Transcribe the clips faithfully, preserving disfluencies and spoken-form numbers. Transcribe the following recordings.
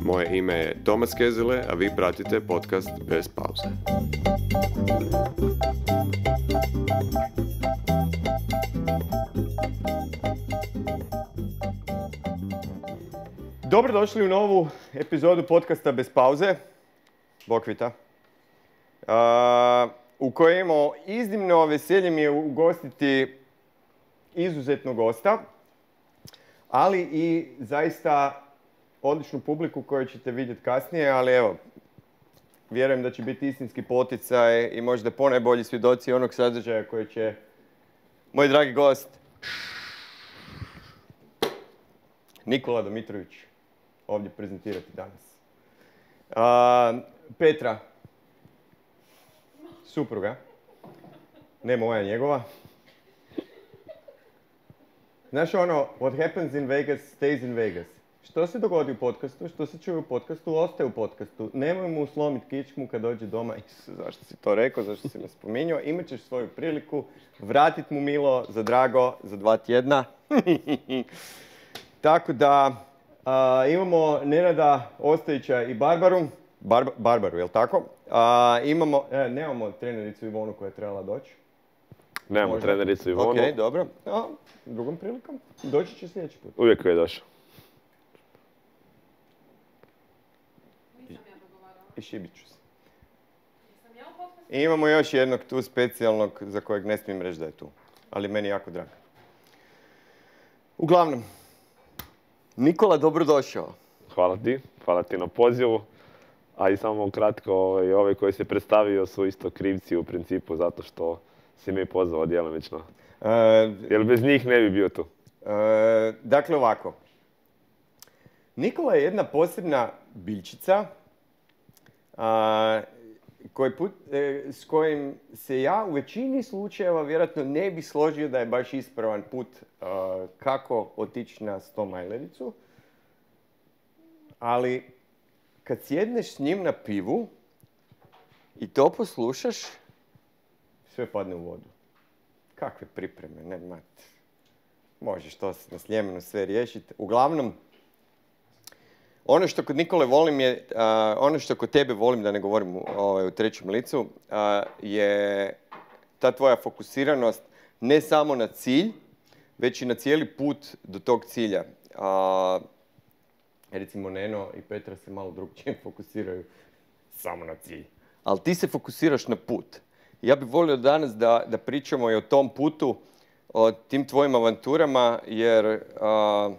Moje ime je Tomas Kezele, a vi pratite podcast Bez pauze. Dobrodošli u novu epizodu podcasta Bez pauze. Bokvita. Uh, u kojoj imamo iznimno veselje mi je ugostiti izuzetnog gosta, ali i zaista odličnu publiku koju ćete vidjeti kasnije, ali evo, vjerujem da će biti istinski poticaj i možda ponajbolji svjedoci onog sadržaja koji će moj dragi gost Nikola Domitrović ovdje prezentirati danas. Uh, Petra, supruga, ne moja, njegova. Znaš ono, what happens in Vegas stays in Vegas. Što se dogodi u podcastu, što se čuje u podcastu, ostaje u podcastu. Nemoj mu slomiti kičmu kad dođe doma. Isus, zašto si to rekao, zašto si me spominjao. Imat ćeš svoju priliku, vratit mu milo za drago za dva tjedna. Tako da a, imamo Nenada Ostojića i Barbaru. Bar, Barbaru, jel tako? A, imamo, e, nemamo trenericu Ivonu koja je trebala doći. Nemamo Možda. trenericu Ivonu. Ok, dobro. A, drugom prilikom. Doći će sljedeći put. Uvijek je došao. I šibit ću se. I imamo još jednog tu specijalnog za kojeg ne smijem reći da je tu. Ali meni jako drago. Uglavnom, Nikola, dobrodošao. Hvala ti, hvala ti na pozivu. A i samo kratko, ovaj, ovaj koji se predstavio su isto krivci u principu zato što si me pozvao djelomično. E, Jer bez njih ne bi bio tu. e, dakle ovako. Nikola je jedna posebna biljčica a, koji put, e, s kojim se ja u većini slučajeva vjerojatno ne bi složio da je baš ispravan put a, kako otići na stomajlericu. Ali kad sjedneš s njim na pivu i to poslušaš, sve padne u vodu. Kakve pripreme, ne mat. Možeš to na Sljemenu sve riješiti. Uglavnom, ono što kod Nikole volim je, uh, ono što kod tebe volim, da ne govorim u, ovaj, u trećem licu, uh, je ta tvoja fokusiranost ne samo na cilj, već i na cijeli put do tog cilja. Uh, recimo Neno i Petra se malo drugčije fokusiraju samo na cilj. Ali ti se fokusiraš na put. Ja bih volio danas da, da pričamo i o tom putu, o tim tvojim avanturama, jer uh,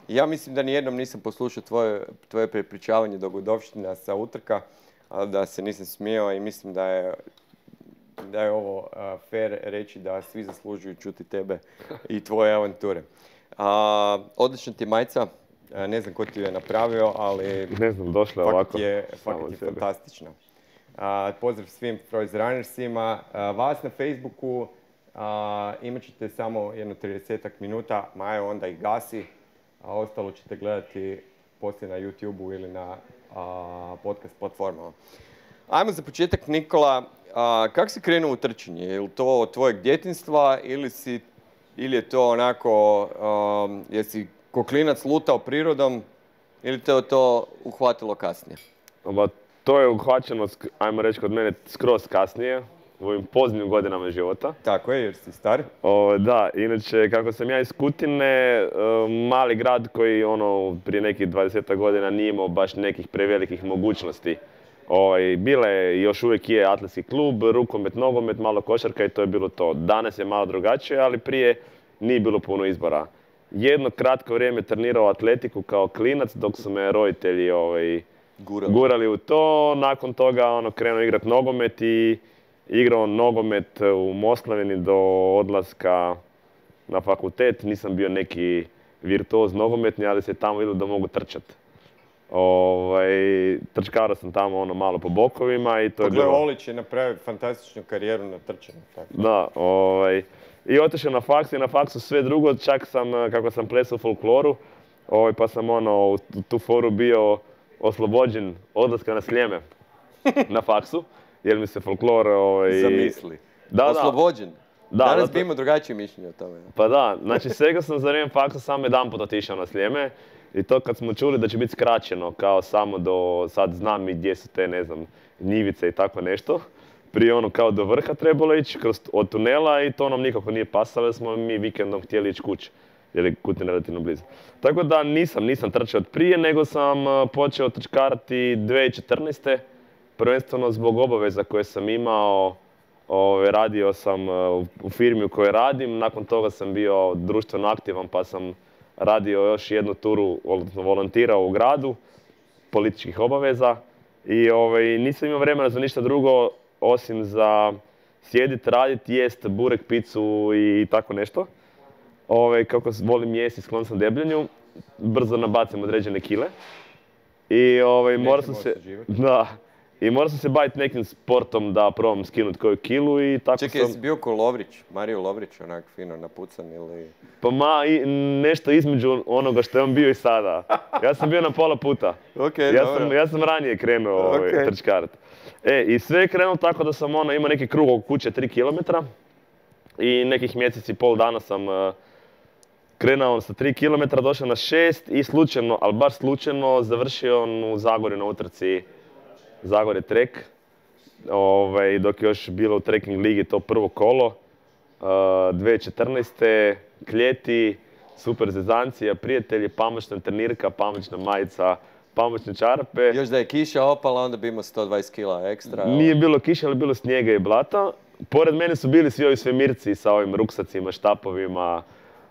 ja mislim da nijednom nisam poslušao tvoje, tvoje prepričavanje dogodovština sa utrka, ali da se nisam smijao i mislim da je, da je ovo uh, fair reći da svi zaslužuju čuti tebe i tvoje avanture. Uh, odlična ti majica, uh, ne znam ko ti je napravio, ali Ne znam, došla je fakat ovako. je, samo fakat od je sebe. fantastična. Uh, pozdrav svim Froze Runnersima. Uh, vas na Facebooku uh, imat ćete samo jedno tridesetak minuta, Majo onda ih gasi, a ostalo ćete gledati poslije na YouTubeu ili na uh, podcast platformama. Ajmo za početak, Nikola, uh, kako si krenuo u trčanje? Je li to od tvojeg djetinjstva ili, si, ili je to onako, um, jesi ko klinac lutao prirodom ili te to uhvatilo kasnije? Ba, to je uhvaćeno, sk- ajmo reći kod mene, skroz kasnije, u ovim poznim godinama života. Tako je, jer si star. O, da, inače, kako sam ja iz Kutine, e, mali grad koji ono, prije nekih dvadesetak godina nije imao baš nekih prevelikih mogućnosti. Ovaj, bile je i još uvijek je atletski klub, rukomet, nogomet, malo košarka i to je bilo to. Danas je malo drugačije, ali prije nije bilo puno izbora. Jedno kratko vrijeme trenirao atletiku kao klinac dok su me roditelji ovaj, Gurali. gurali u to. Nakon toga ono, krenuo igrati nogomet i igrao nogomet u Moslavini do odlaska na fakultet. Nisam bio neki virtuoz nogometni, ali se tamo vidio da mogu trčati. Ovaj, trčkarao sam tamo ono malo po bokovima i to je Pogled, bilo... Olić je napravio fantastičnu karijeru na trčanju. Tako. Da, ovaj, i otišao na faks i na faksu sve drugo, čak sam, kako sam plesao u folkloru, ovaj, pa sam ono, u tu foru bio oslobođen odlaska na Sljeme na faksu, jer mi se folklor... Ovaj, Zamisli. Da, da. Oslobođen. Da, Danas zato- bi imao drugačije mišljenje o tome. Pa da, znači svega sam za vrijeme faksa samo jedan put otišao na Sljeme I to kad smo čuli da će biti skraćeno, kao samo do, sad znam i gdje su te, ne znam, njivice i tako nešto. Prije ono kao do vrha trebalo ići kroz, od tunela i to nam nikako nije pasalo jer smo mi vikendom htjeli ići kući. Jer je Kutina relativno blizu. Tako da nisam, nisam trčao od prije, nego sam počeo trčkarati dvije tisuće četrnaeste. Prvenstveno zbog obaveza koje sam imao. Ove, radio sam u firmi u kojoj radim, nakon toga sam bio društveno aktivan pa sam radio još jednu turu, odnosno volontirao u gradu, političkih obaveza. I ove, nisam imao vremena za ništa drugo osim za sjediti, raditi, jest burek, picu i tako nešto. Ove, kako volim jesti, sklon sam debljenju, brzo nabacim određene kile. I ove, morao sam se... Da, i morao sam se baviti nekim sportom da probam skinuti koju kilu i tako Čekaj, sam... Čekaj, jesi bio ko Lovrić, Mario Lovrić, onak fino napucan ili... Pa ma, i, nešto između onoga što je on bio i sada. Ja sam bio na pola puta. Okay, ja, dobro. sam, ja sam ranije krenuo okay. ovaj, trčkarat. E, i sve je krenulo tako da sam ono, imao neki krug oko kuće tri kilometra. I nekih mjesec i pol dana sam uh, krenuo sa tri kilometra, došao na šest i slučajno, ali baš slučajno, završio u Zagorju na utrci Zagorje Trek. Ove, dok je još bilo u trekking ligi to prvo kolo. Uh, dvije tisuće četrnaeste. Kljeti, super zezancija, prijatelji, pamučna trenirka, pamučna majica, pamučne čarape. Još da je kiša opala, onda bi imao sto dvadeset kila ekstra. Nije bilo kiša, ali bilo snijega i blata. Pored mene su bili svi ovi svemirci sa ovim ruksacima, štapovima,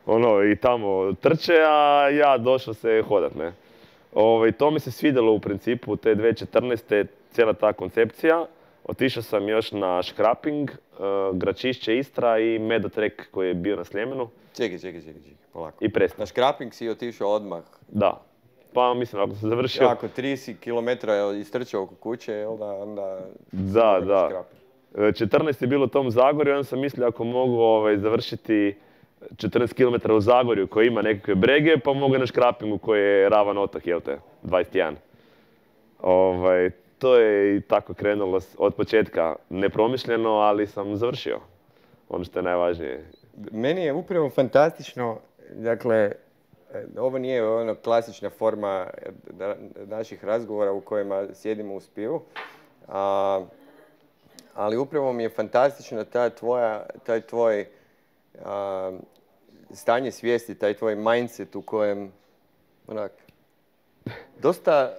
ono, i tamo trče, a ja došao se hodat, ne. Ove, to mi se svidjelo u principu, te dvije tisuće četrnaeste. cijela ta koncepcija. Otišao sam još na škraping, uh, Gračišće Istra i Medotrek koji je bio na Sljemenu. Čekaj, čekaj, čekaj, čekaj, polako. I prestao. Na škraping si otišao odmah? Da. Pa mislim, ako sam završio... Ako trideset kilometara istrčao oko kuće, jel da, onda... Da, da. četrnaest je bilo u tom Zagorju, onda sam mislio ako mogu ovaj, završiti četrnaest kilometara u Zagorju koji ima nekakve brege, pa mogu na škrapingu koji je ravan otok, jel te, dvadeset jedan. Ovaj, to je i tako krenulo od početka nepromišljeno, ali sam završio. Ono što je najvažnije. Meni je upravo fantastično, dakle, ovo nije ono klasična forma naših razgovora u kojima sjedimo u spivu, a, ali upravo mi je fantastično ta tvoja, taj tvoj a, stanje svijesti, taj tvoj mindset u kojem onak, dosta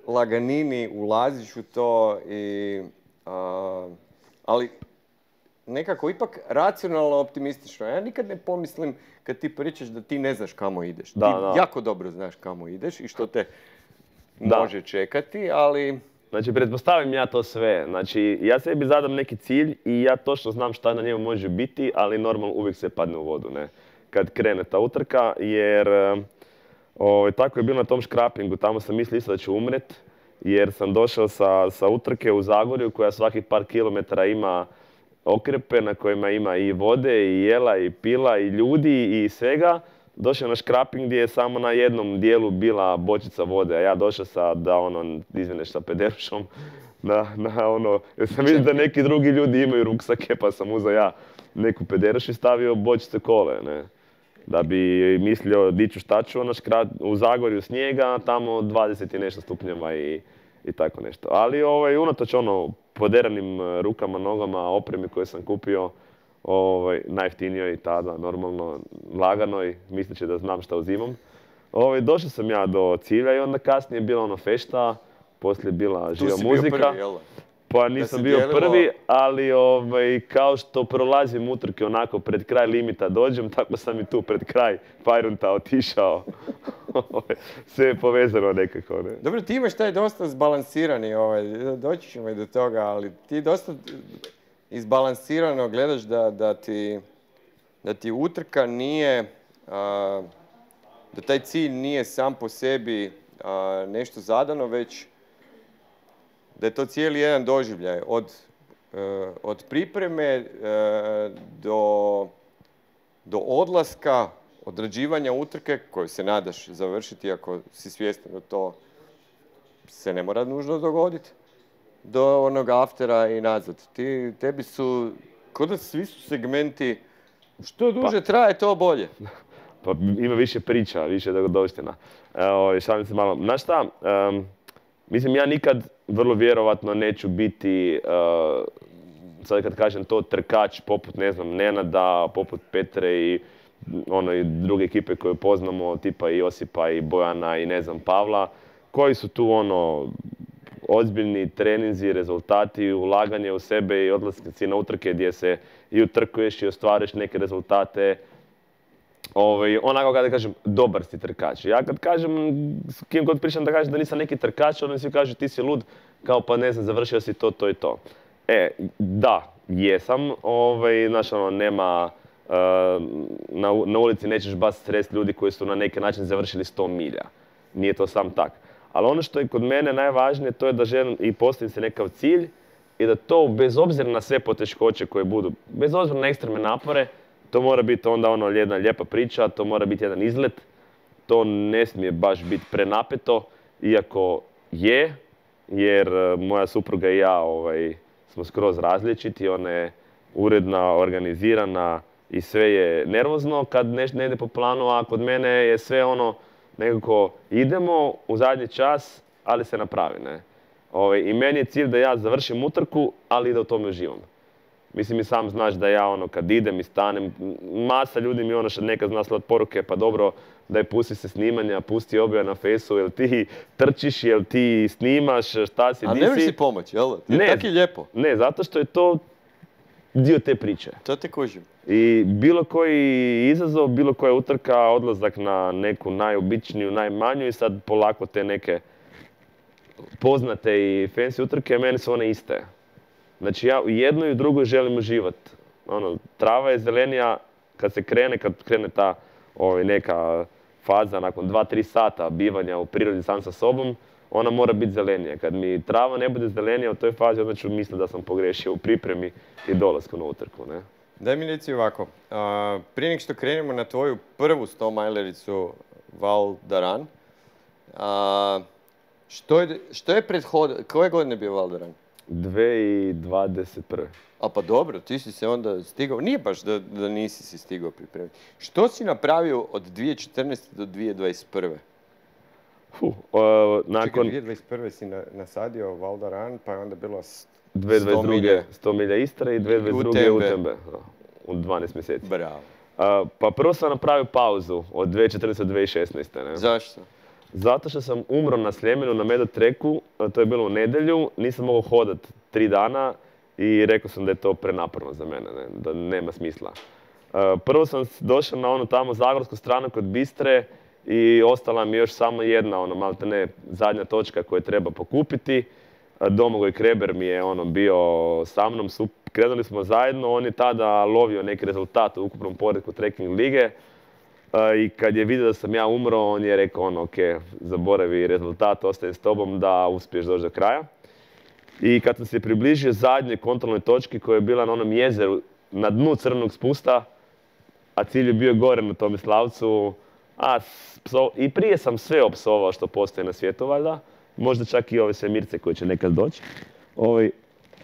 laganini ulaziš u to, i, a, ali nekako ipak racionalno optimistično. Ja nikad ne pomislim kad ti pričaš da ti ne znaš kamo ideš. Da, ti da. jako dobro znaš kamo ideš i što te da. može čekati, ali... Znači, pretpostavim ja to sve. Znači, ja sebi zadam neki cilj i ja točno znam šta na njemu može biti, ali normalno uvijek se padne u vodu, ne? Kad krene ta utrka, jer o, tako je bilo na tom škrapingu. Tamo sam mislio isto da ću umret, jer sam došao sa, sa utrke u Zagorju koja svakih par kilometara ima okrepe na kojima ima i vode, i jela, i pila, i ljudi, i svega. Došao na škraping gdje je samo na jednom dijelu bila bočica vode, a ja došao sa, da ono, izvineš, sa pederušom, na, na ono, jer sam vidio da neki drugi ljudi imaju ruksake, pa sam uzeo ja neku pederušu i stavio bočice kole, ne. Da bi mislio diću šta ću, ono, škrat, u Zagorju snijega, tamo dvadeset i nešto stupnjeva i, i tako nešto. Ali ovaj, unatoč ono, poderanim rukama, nogama, opremi koje sam kupio, ovaj, najjeftinijoj tada, normalno, laganoj, misleći da znam šta uzimam. Ovaj, došao sam ja do cilja i onda kasnije je bila ono fešta, poslije je bila živa muzika. Tu si bio prvi, jel? Pa nisam bio dijelimo... prvi, ali ovaj, kao što prolazim utrke onako pred kraj limita dođem, tako sam i tu pred kraj Fajrunta otišao. Sve je povezano nekako. Ne? Dobro, ti imaš taj dosta zbalansirani, ovaj, doći ćemo i do toga, ali ti dosta izbalansirano gledaš da, da, ti, da ti utrka nije, a, da taj cilj nije sam po sebi a, nešto zadano, već da je to cijeli jedan doživljaj, od, e, od pripreme e, do, do odlaska, odrađivanja utrke, koju se nadaš završiti ako si svjestan da to se ne mora nužno dogoditi, do onog aftera i nazad. Ti, tebi su, kod da svi su segmenti, što duže pa, traje, to bolje. Pa ima više priča, više dogodovština. Evo, šalim se malo. Znaš šta, um, mislim, ja nikad vrlo vjerovatno neću biti, uh, sad kad kažem to, trkač poput, ne znam, Nenada, poput Petre i ono i druge ekipe koje poznamo, tipa i Josipa i Bojana i ne znam, Pavla, koji su tu ono, ozbiljni treninzi, rezultati, ulaganje u sebe i odlasci na utrke gdje se i utrkuješ i ostvariš neke rezultate. Ovaj, onako kada kažem, dobar si trkač. Ja kad kažem, s kim god pričam da kažem da nisam neki trkač, oni svi kažu ti si lud, kao pa ne znam, završio si to, to i to. E, da, jesam, ovaj, znaš ono, nema, uh, na, na ulici nećeš baš sresti ljudi koji su na neki način završili sto milja. Nije to sam tak. Ali ono što je kod mene najvažnije, to je da želim i postavim se nekakav cilj i da to, bez obzira na sve poteškoće koje budu, bez obzira na ekstremne napore, to mora biti onda ono jedna lijepa priča, to mora biti jedan izlet, to ne smije baš biti prenapeto, iako je, jer moja supruga i ja ovaj, smo skroz različiti, ona je uredna, organizirana i sve je nervozno kad nešto ne ide po planu, a kod mene je sve ono nekako idemo u zadnji čas, ali se napravi. Ne? Ovaj, I meni je cilj da ja završim utrku, ali i da u tome uživam. Mislim, i sam znaš da ja ono kad idem i stanem, masa ljudi mi ono što nekad zna slat poruke, pa dobro, daj pusti se snimanja, pusti objave na fejsu, jel ti trčiš, jel ti snimaš, šta si, di si. A nemaš si pomoć, jel? Ne, tako je lijepo. Ne, zato što je to dio te priče. To te kužim. I bilo koji izazov, bilo koja utrka, odlazak na neku najobičniju, najmanju i sad polako te neke poznate i fancy utrke, meni su one iste. Znači ja u jednoj i u drugoj želim uživati. Ono, trava je zelenija kad se krene, kad krene ta ovaj, neka faza nakon dva tri sata bivanja u prirodi sam sa sobom, ona mora biti zelenija. Kad mi trava ne bude zelenija u toj fazi, onda ću misliti da sam pogriješio u pripremi i dolasku na utrku. Ne? Daj mi reci ovako, a, prije nek što krenemo na tvoju prvu sto-majlericu Val d'Aran, što je, što je prethod... Koje godine je bio Val d'Aran? dvije tisuće dvadeset prve. A pa dobro, ti si se onda stigao, nije baš da, da nisi si stigao pripremiti. Što si napravio od dvije tisuće četrnaeste do dvije tisuće dvadeset prve? Uh, uh, nakon... Čekaj, dvije tisuće dvadeset prve si na, nasadio Val d'Aran, pa je onda bilo dvije tisuće dvadeset druge sto milja Istre i dvije tisuće dvadeset druge U T M B. U dvanaest mjeseci. Bravo. Uh, pa prvo sam napravio pauzu od dvije tisuće četrnaeste do dvije tisuće šesnaeste. Ne? Zašto? Zato što sam umro na Sljemenu na Medo treku, to je bilo u nedjelju, nisam mogao hodati tri dana i rekao sam da je to prenaporno za mene, ne? Da nema smisla. Uh, prvo sam došao na onu tamo zagorsku stranu kod Bistre i ostala mi još samo jedna, ono, malte ne, zadnja točka koju treba pokupiti. Uh, Domagoj Kreber mi je ono bio sa mnom, su, krenuli smo zajedno, on je tada lovio neki rezultat u ukupnom poretku trekking lige. Uh, I kad je vidio da sam ja umro, on je rekao ono, ok, zaboravi rezultat, ostaje s tobom da uspiješ doći do kraja. I kad sam se približio zadnjoj kontrolnoj točki koja je bila na onom jezeru, na dnu crvenog spusta, a cilj je bio gore na Tomislavcu, a pso, i prije sam sve opsovao što postoji na svijetu, valjda, možda čak i ove svemirce koje će nekad doći. Ovaj,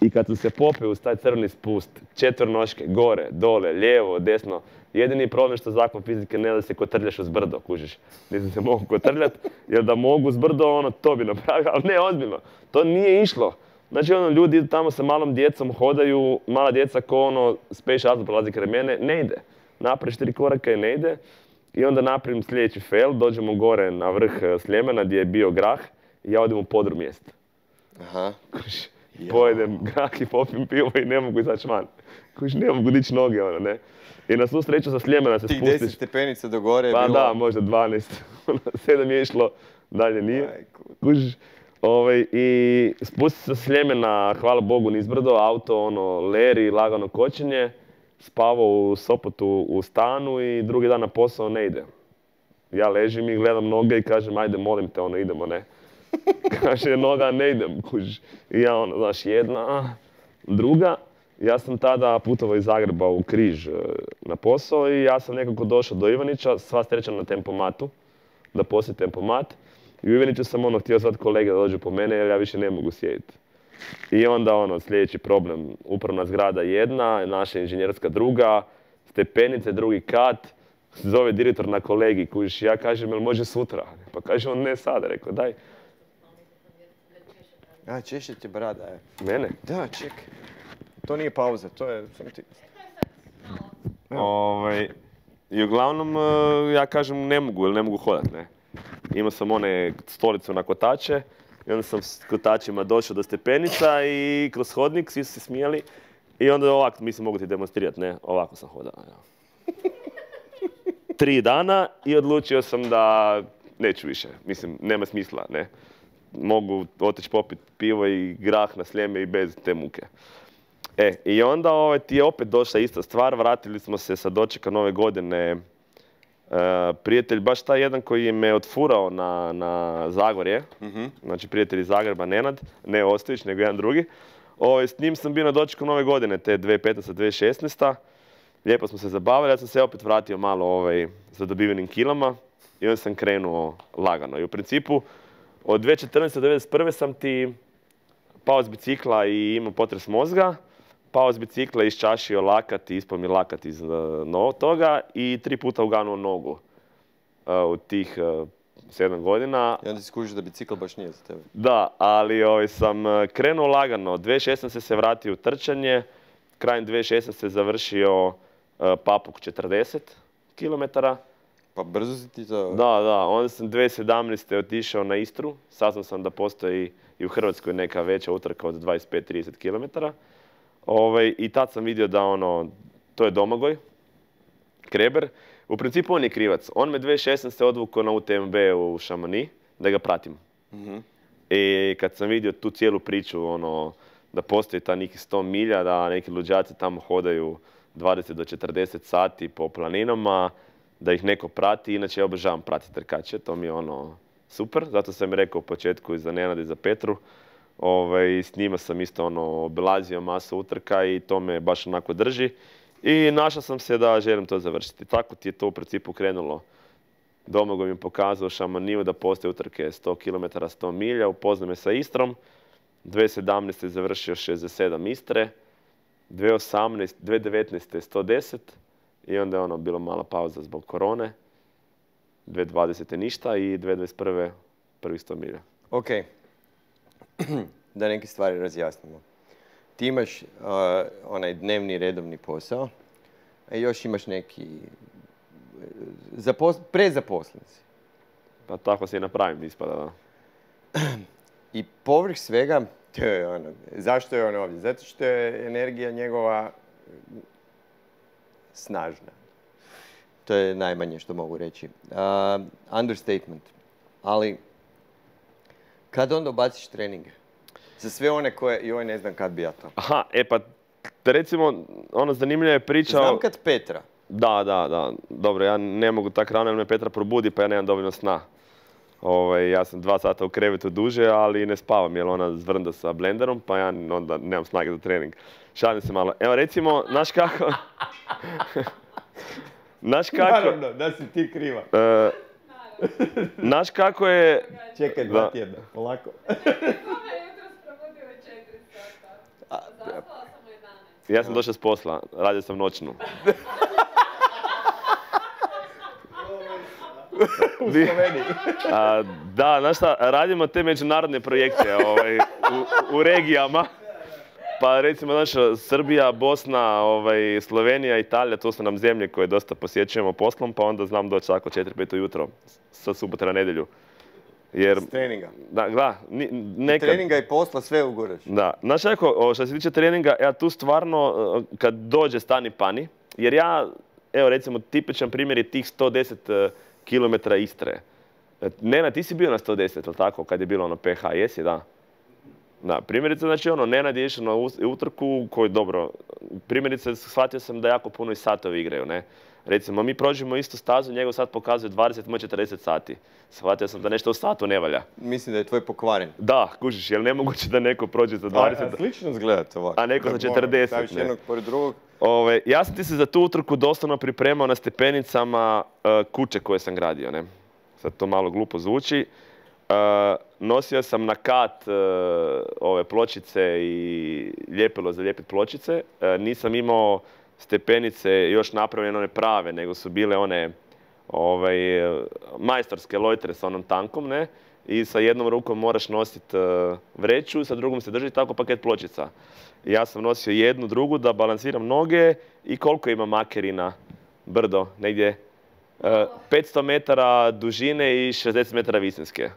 I kad sam se popeo uz taj crveni spust, četvrnoške, gore, dole, lijevo, desno, jedini problem što zakon fizike ne da se kotrljaš uz brdo, kužiš. Nisam se mogu kotrljat, jer da mogu uz brdo, ono, to bi napravio, ali ne, ozbiljno. To nije išlo. Znači, ono, ljudi idu tamo sa malom djecom, hodaju, mala djeca ko ono, space shuttle prolazi kraj mene, ne ide. Napraviš tri koraka i ne ide. I onda napravim sljedeći fail, dođemo gore na vrh Sljemena gdje je bio grah i ja odem u podrum mjesta. Aha. Kužiš, pojedem grah i popim pivo i ne mogu izaći van. Kužiš, ne mogu dići noge, ono, ne. I na svu sreću sa Sljemena se Tih spustiš. deset stepenica do gore je pa bilo... Pa da, možda dvanaest. sedam je išlo, dalje nije. Kužiš. Ovaj, I spusti se sa Sljemena, hvala Bogu, nizbrdo, auto, ono, leri, lagano kočenje. Spavao u Sopotu u stanu i drugi dan na posao ne ide. Ja ležim i gledam noge i kažem, ajde, molim te, ono, idemo, ne. Kaže, noga, ne idem, kužiš. I ja, ono, znaš, jedna, druga. Ja sam tada putovao iz Zagreba u Križ na posao i ja sam nekako došao do Ivanića, sva sreća na tempomatu, da posjetim tempomat. I u Ivaniću sam ono htio zvati kolege da dođu po mene jer ja više ne mogu sjediti. I onda ono, sljedeći problem, upravna zgrada jedna, naša inženjerska druga, stepenice, drugi kat, zove direktor na kolegij, kužiš, ja kažem, jel može sutra? Pa kaže on, ne sada, rekao, daj. A, češe ti brada, je. Mene? Da, čekaj. To nije pauza, to je... Sam ti... Ovaj, I uglavnom, ja kažem, ne mogu, ili ne mogu hodat, ne. Imao sam one stolicu na kotače, i onda sam s kotačima došao do stepenica i kroz hodnik, svi su se smijali. I onda ovako, mislim, mogu ti demonstrirati, ne, ovako sam hodao. Tri dana i odlučio sam da neću više, mislim, nema smisla, ne. Mogu otići popiti pivo i grah na Sljeme i bez te muke. E, i onda ovaj, ti je opet došla ista stvar, vratili smo se sa dočeka nove godine. E, prijatelj, baš taj jedan koji me odfurao na, na Zagorje, mm-hmm. znači prijatelj iz Zagreba, Nenad, ne Ostojić, nego jedan drugi. O, s njim sam bio na dočeku nove godine, te dvije tisuće petnaeste. dvije tisuće šesnaeste. Lijepo smo se zabavili, ja sam se opet vratio malo ovaj, za dobivenim kilama i onda sam krenuo lagano. I u principu, od dvije tisuće četrnaeste. do devedeset prve. sam ti pao s bicikla i imao potres mozga, pao s bicikla, iščašio lakat i ispao mi lakat iz uh, toga i tri puta uganuo nogu uh, u tih uh, sedam godina. I onda si skužiš da bicikl baš nije za tebe. Da, ali ovaj, sam krenuo lagano. dvije tisuće šesnaeste. se vratio u trčanje, krajem dvije tisuće šesnaeste. završio uh, Papuk četrdeset kilometara. Pa brzo si ti to... Da, da. Onda sam dvije tisuće sedamnaeste. otišao na Istru. Saznao sam da postoji i u Hrvatskoj neka veća utrka od dvadeset pet do trideset kilometara. Ovaj, I tad sam vidio da ono, to je Domagoj Kreber. U principu on je krivac. On me dvije tisuće šesnaeste. odvukao na U T M B u Šamoni da ga pratim. Mm-hmm. I kad sam vidio tu cijelu priču, ono, da postoji ta nekih sto milja, da neki luđaci tamo hodaju dvadeset do četrdeset sati po planinama, da ih neko prati. Inače, ja obožavam pratiti trkače, to mi je ono super. Zato sam rekao u početku i za Nenada i za Petru. Ove, s njima sam isto ono, obilazio masu utrka i to me baš onako drži. I našao sam se da želim to završiti. Tako ti je to u principu krenulo. Domagoj mi pokazao Šamoniju da postoje utrke sto kilometara, sto milja, upoznao me sa Istrom. dvije tisuće sedamnaeste. završio šezdeset sedam Istre, dvije tisuće osamnaeste. dvije tisuće devetnaeste. sto deset i onda je ono bilo mala pauza zbog korone. dvije tisuće dvadesete. ništa i dvije tisuće dvadeset prve. prvih sto milja. Ok, da neke stvari razjasnimo. Ti imaš uh, onaj dnevni redovni posao, a još imaš neki Zapos- prezaposlen si. Pa tako se i napravim, ispada, da. I povrh svega, to je ono, zašto je on ovdje? Zato što je energija njegova snažna. To je najmanje što mogu reći. Uh, understatement. Ali, kad onda baciš treninge? Za sve one koje, joj ne znam kad bi ja to. Aha, e pa, recimo, ono zanimljiva je priča... Znam kad Petra. Da, da, da. Dobro, ja ne mogu tak rano jer me Petra probudi pa ja nemam dovoljno sna. Ove, ja sam dva sata u krevetu duže, ali ne spavam jer ona zvrnda sa blenderom pa ja onda nemam snage za trening. Šalim se malo. Evo recimo, znaš kako... Znaš kako... Naravno, da si ti kriva. Uh, znaš kako je... Čekaj dva tjedna, polako. Ja sam došao s posla, radio sam noćnu. U Sloveniji. A, da, znaš šta, radimo te međunarodne projekte ovaj, u, u regijama. Pa recimo, znaš, Srbija, Bosna, ovaj, Slovenija, Italija, to su nam zemlje koje dosta posjećujemo poslom, pa onda znam doći tako četiri pet ujutro, sa subote na nedjelju. Jer, s treninga. Da, da, nekad... I treninga i posla sve uguraš. Da. Znaš, ako, što se tiče treninga, ja tu stvarno, kad dođe stani pani, jer ja, evo recimo, tipičan primjer je tih sto deset kilometara Istre. Nenad, ti si bio na sto deset, ali tako, kad je bilo ono P H, jesi, da? Da, primjerice, znači ono, Nenad je išao na utrku koji, dobro, primjerice, shvatio sam da jako puno i satovi igraju, ne? Recimo, mi prođemo istu stazu, njegov sat pokazuje dvadeset, moj četrdeset sati. Shvatio sam da nešto u satu ne valja. Mislim da je tvoj pokvaren. Da, kužiš, jer nemoguće da neko prođe za dvadeset... A, a slično izgledate ovako. A neko za četrdeset, staviš ne. jednog pored drugog. Ove, ja sam ti se za tu utrku doslovno pripremao na stepenicama uh, kuće koje sam gradio, ne. Sad to malo glupo zvuči. Uh, nosio sam na kat uh, ove pločice i ljepilo za lijepit pločice. Uh, nisam imao stepenice još napravljene one prave, nego su bile one ovaj, majstorske lojtre sa onom tankom, ne? I sa jednom rukom moraš nositi uh, vreću, sa drugom se drži tako paket pločica. I ja sam nosio jednu, drugu da balansiram noge i koliko ima makerina brdo, negdje uh, petsto metara dužine i šezdeset metara visinske.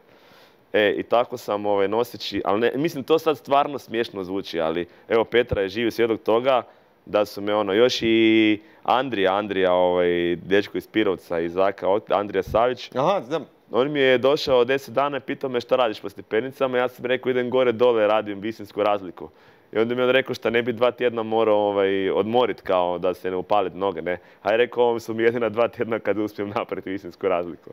E, i tako sam ovaj, noseći, ali ne, mislim to sad stvarno smiješno zvuči, ali evo Petra je živi svjedok toga da su me ono, još i Andrija, Andrija, ovaj, dečko iz Pirovca, iz Zaka, Andrija Savić. Aha, znam. On mi je došao deset dana i pitao me šta radiš po stepenicama, ja sam rekao idem gore dole, radim visinsku razliku. I onda mi je on rekao šta ne bi dva tjedna morao ovaj, odmorit kao da se ne upalit noge, ne. A je rekao ovo su mi jedina dva tjedna kad uspijem napraviti visinsku razliku.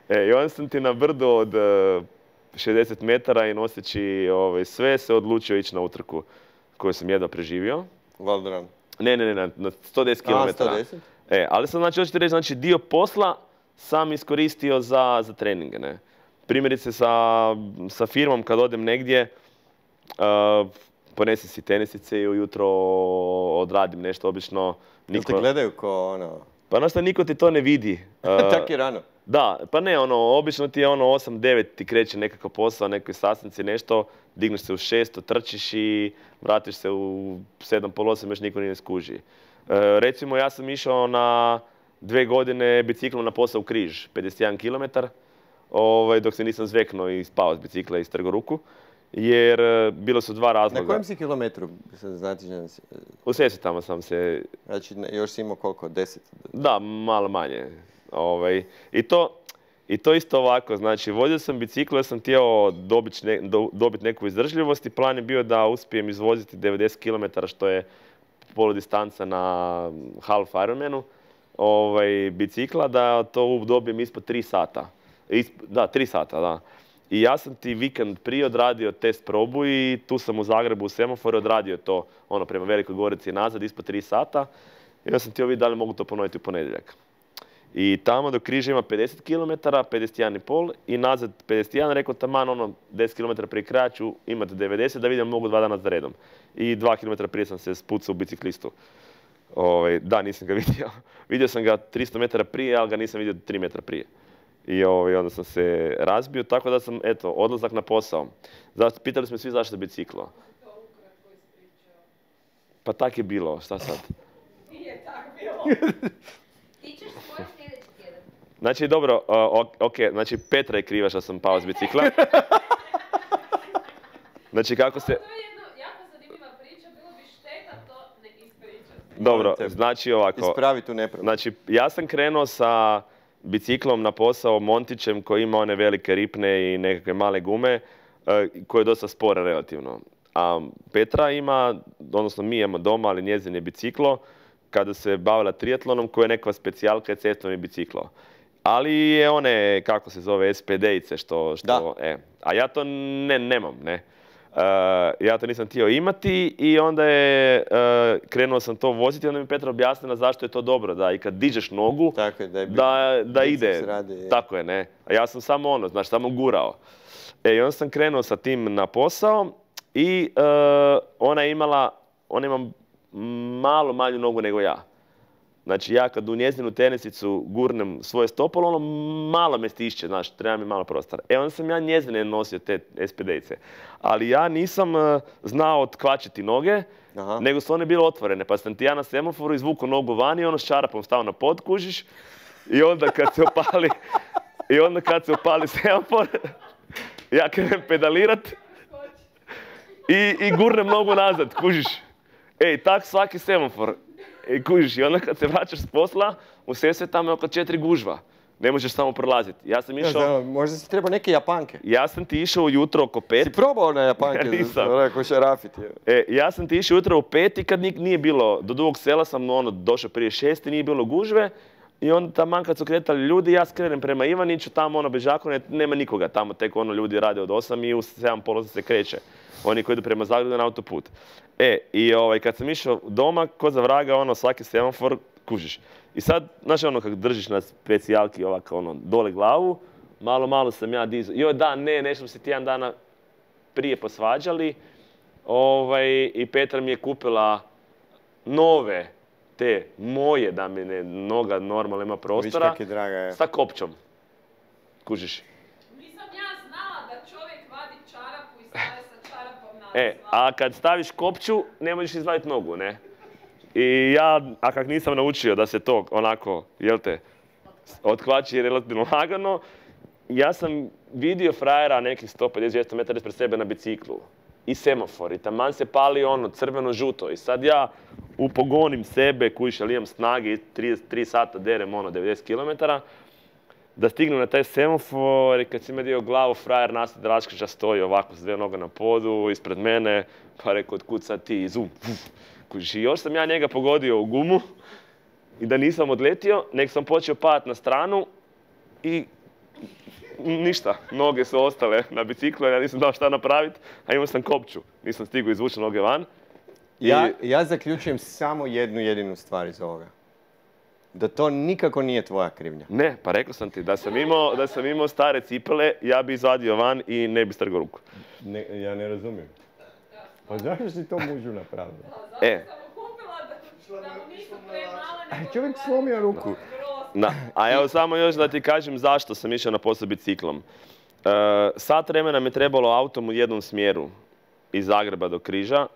E, i onda sam ti na brdu od uh, šezdeset metara i noseći ovaj, sve se odlučio ići na utrku koju sam jedva preživio. Valderan. Ne, ne, ne, na sto deset kilometara. A, sto deset? E, ali sam znači, hoćete reći, znači dio posla sam iskoristio za, za treninge, ne. Primjerice sa, sa firmom kad odem negdje, uh, ponesem si tenisice i ujutro odradim nešto, obično niko... Jel te gledaju ko ono... Pa znaš šta, niko ti to ne vidi. Uh, Tak je rano. Da, pa ne, ono, obično ti je ono osam devet ti kreće nekakav posao, nekoj sastanci, nešto, digneš se u šest, trčiš i vratiš se u sedam, pol osam, još niko nije skuži. Uh, recimo, ja sam išao na dve godine biciklom na posao u Križ, pedeset jedan kilometar, ovaj, dok se nisam zveknuo i spao s bicikla i strgo ruku. Jer uh, bilo su dva razloga. Na kojem si kilometru? Znači, u Sesvetama sam se... Znači, još si imao koliko? Deset? Da, malo manje. Ovaj, i, to, I to isto ovako, znači, vozio sam biciklo jer sam htio dobiti ne, do, dobit neku izdržljivost i plan je bio da uspijem izvoziti devedeset kilometara, što je poludistanca na half Ironmanu, ovaj, bicikla, da to dobijem ispod tri sata. Isp, da, tri sata, da. I ja sam ti vikend prije odradio test probu i tu sam u Zagrebu u semaforu odradio to ono prema Velikoj Gorici nazad ispod tri sata. I ja sam htio vidjeti da li mogu to ponoviti u ponedjeljak. I tamo do Križa ima pedeset kilometara, pedeset jedan i pol i nazad pedeset jedan, rekao taman ono deset kilometara prije kraja ću imati devedeset da vidim mogu dva dana za redom. I dva kilometra prije sam se spucao u biciklistu. Ovaj, da, nisam ga vidio. Vidio sam ga tristo metara prije, ali ga nisam vidio tri metra prije. I ovaj, onda sam se razbio, tako da sam, eto, odlazak na posao. Zašto, pitali smo svi zašto biciklo. Pa tak je bilo, šta sad? Nije tak bilo. Ti ćeš svoj sljedeći tjedan. Znači, dobro, uh, ok, znači Petra je kriva što sam pao s bicikla. Znači, kako se... To je jedna jako zanimljiva priča, bilo bi šteta to ne ispričati. Dobro, znači ovako. Ispravi tu nepravdu. Znači, ja sam krenuo sa biciklom na posao Montićem koji ima one velike ripne i nekakve male gume, uh, koje je dosta spore relativno. A Petra ima, odnosno mi imamo doma, ali njezin je biciklo, kada se bavila triatlonom, koja je neka specijalka je cestovni biciklo. Ali je one, kako se zove, es pe de-ice, što... što e, a ja to ne, nemam, ne. Uh, ja to nisam htio imati i onda je, uh, krenuo sam to voziti i onda mi Petra objasnila zašto je to dobro, da i kad dižeš nogu, tako je, da, je da, da ide. Radi, tako je, ne. A ja sam samo ono, znaš, samo gurao. E, i onda sam krenuo sa tim na posao i uh, ona je imala, ona ima malo manju nogu nego ja. Znači, ja kad u njezinu tenisicu gurnem svoje stopalo, ono malo me stišće, znaš, treba mi malo prostora. E, onda sam ja njezine nosio te es pe de-ice. Ali ja nisam uh, znao otkvačiti noge, aha, nego su one bile otvorene. Pa sam ti ja na semaforu izvukao nogu van i ono s čarapom stao na pod, kužiš. I onda kad se opali, i onda kad se opali semafor, ja krenem pedalirat i, i gurnem nogu nazad, kužiš. Ej, tak svaki semafor. I kužiš, i onda kad se vraćaš s posla, u Sesvetama je oko četiri gužva. Ne možeš samo prolaziti. Ja sam išao... Ja, možda si trebao neke Japanke. Ja sam ti išao ujutro oko pet. Si probao na Japanke? Nisam. Rekao šarafit. E, ja sam ti išao ujutro u pet i kad nije bilo, do Dugog Sela sam ono, došao prije šest i nije bilo gužve. I onda taman kad su kretali ljudi, ja skrenem prema Ivaniću, tamo ono Bežakone, nema nikoga. Tamo tek ono ljudi rade od osam i u sedam pola se kreće. Oni koji idu prema Zagrebu na autoput. E, i ovaj, kad sam išao doma, ko za vraga, ono, svaki semafor, kužiš. I sad, znaš ono, kad držiš na specijalki ovako, ono, dole glavu, malo, malo sam ja dizao. Joj, da, ne, nešto smo se tjedan dana prije posvađali. Ovaj, i Petra mi je kupila nove te moje, da mi ne noga normalno ima prostora, Viš kak je draga je. sa kopčom. Kužiš? Nisam ja znala da čovjek vadi čarapu i staje sa čarapom na E, a kad staviš kopču, ne možeš izvaditi nogu, ne? I ja, a kak nisam naučio da se to onako, jel te, otkvači relativno lagano, ja sam vidio frajera nekih sto pedeset do dvjesto metara ispred sebe na biciklu. I semafor, i taman se pali ono crveno-žuto. I sad ja upogonim sebe, kujiš, ali imam snage, trideset tri sata derem ono devedeset kilometara, da stignem na taj semafor i kad si me dio glavu, frajer Nastad Raškića stoji ovako s dvije noge na podu, ispred mene, pa rekao, otkud sad ti, zum, uf. Kužiš, i još sam ja njega pogodio u gumu i da nisam odletio, nek sam počeo padati na stranu i ništa, noge su ostale na biciklu, ja nisam dao šta napraviti, a imao sam kopču, nisam stigao izvući noge van. Ja, I- ja zaključujem samo jednu jedinu stvar iz ovoga. Da to nikako nije tvoja krivnja. Ne, pa rekao sam ti, da sam imao, da sam imao stare cipele, ja bi izvadio van i ne bi strgao ruku. Ne, ja ne razumijem. Pa zašto si to mužu napravio? Zato E. sam mu kupila da, da mu nisu premale, nego Čovjek odgovara- slomio ruku. Grozno. Na, a evo samo još da ti kažem zašto sam išao na posao biciklom. E, sat vremena mi je trebalo autom u jednom smjeru iz Zagreba do Križa,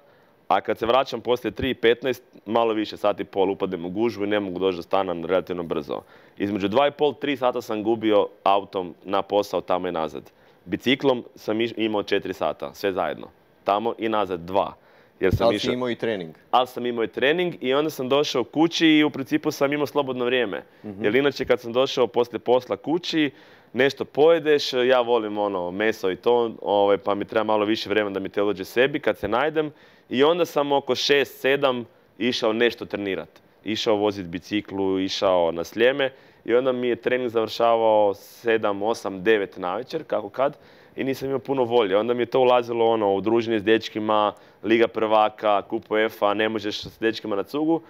a kad se vraćam poslije tri i petnaest, malo više, sat i pol, upadem u gužvu i ne mogu doći do stana relativno brzo. Između dva i pol, tri sata sam gubio autom na posao tamo i nazad. Biciklom sam iš- imao četiri sata, sve zajedno. Tamo i nazad dva. Jer sam Ali išao- si imao i trening. ali sam imao i trening i onda sam došao kući i u principu sam imao slobodno vrijeme. Jer inače kad sam došao poslije posla kući, nešto pojedeš, ja volim ono meso i to, ovaj, pa mi treba malo više vremena da mi te dođe sebi kad se najdem. I onda sam oko šest sedam išao nešto trenirati. Išao voziti biciklu, išao na Sljeme i onda mi je trening završavao sedam, osam, devet navečer, kako kad. I nisam imao puno volje. Onda mi je to ulazilo ono, u druženje s dečkima, Liga prvaka, Kup UEFA, ne možeš s dečkima na cugu.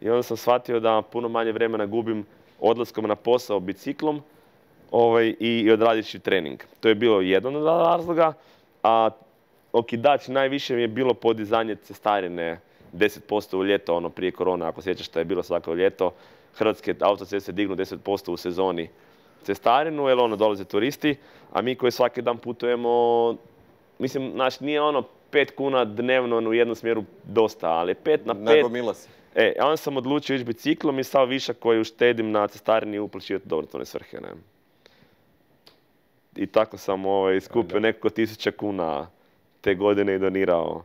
I onda sam shvatio da puno manje vremena gubim odlaskom na posao biciklom ovaj, i, i odradivši trening. To je bilo jedan od razloga, a okidač najviše mi je bilo podizanje cestarine deset posto u ljeto, ono prije korona, ako sjećaš što je bilo svako ljeto. Hrvatske autoceste dignu deset posto u sezoni cestarinu, jer ono dolaze turisti, a mi koji svaki dan putujemo, mislim, znaš, nije ono pet kuna dnevno u jednom smjeru dosta, ali pet na pet. Nagomila si. E, a onda sam odlučio ići biciklom i sav višak koji uštedim na cestarini uplaćivati u dobrotvorne svrhe, ne. I tako sam ovaj, skupio nekoliko tisuća kuna te godine i donirao.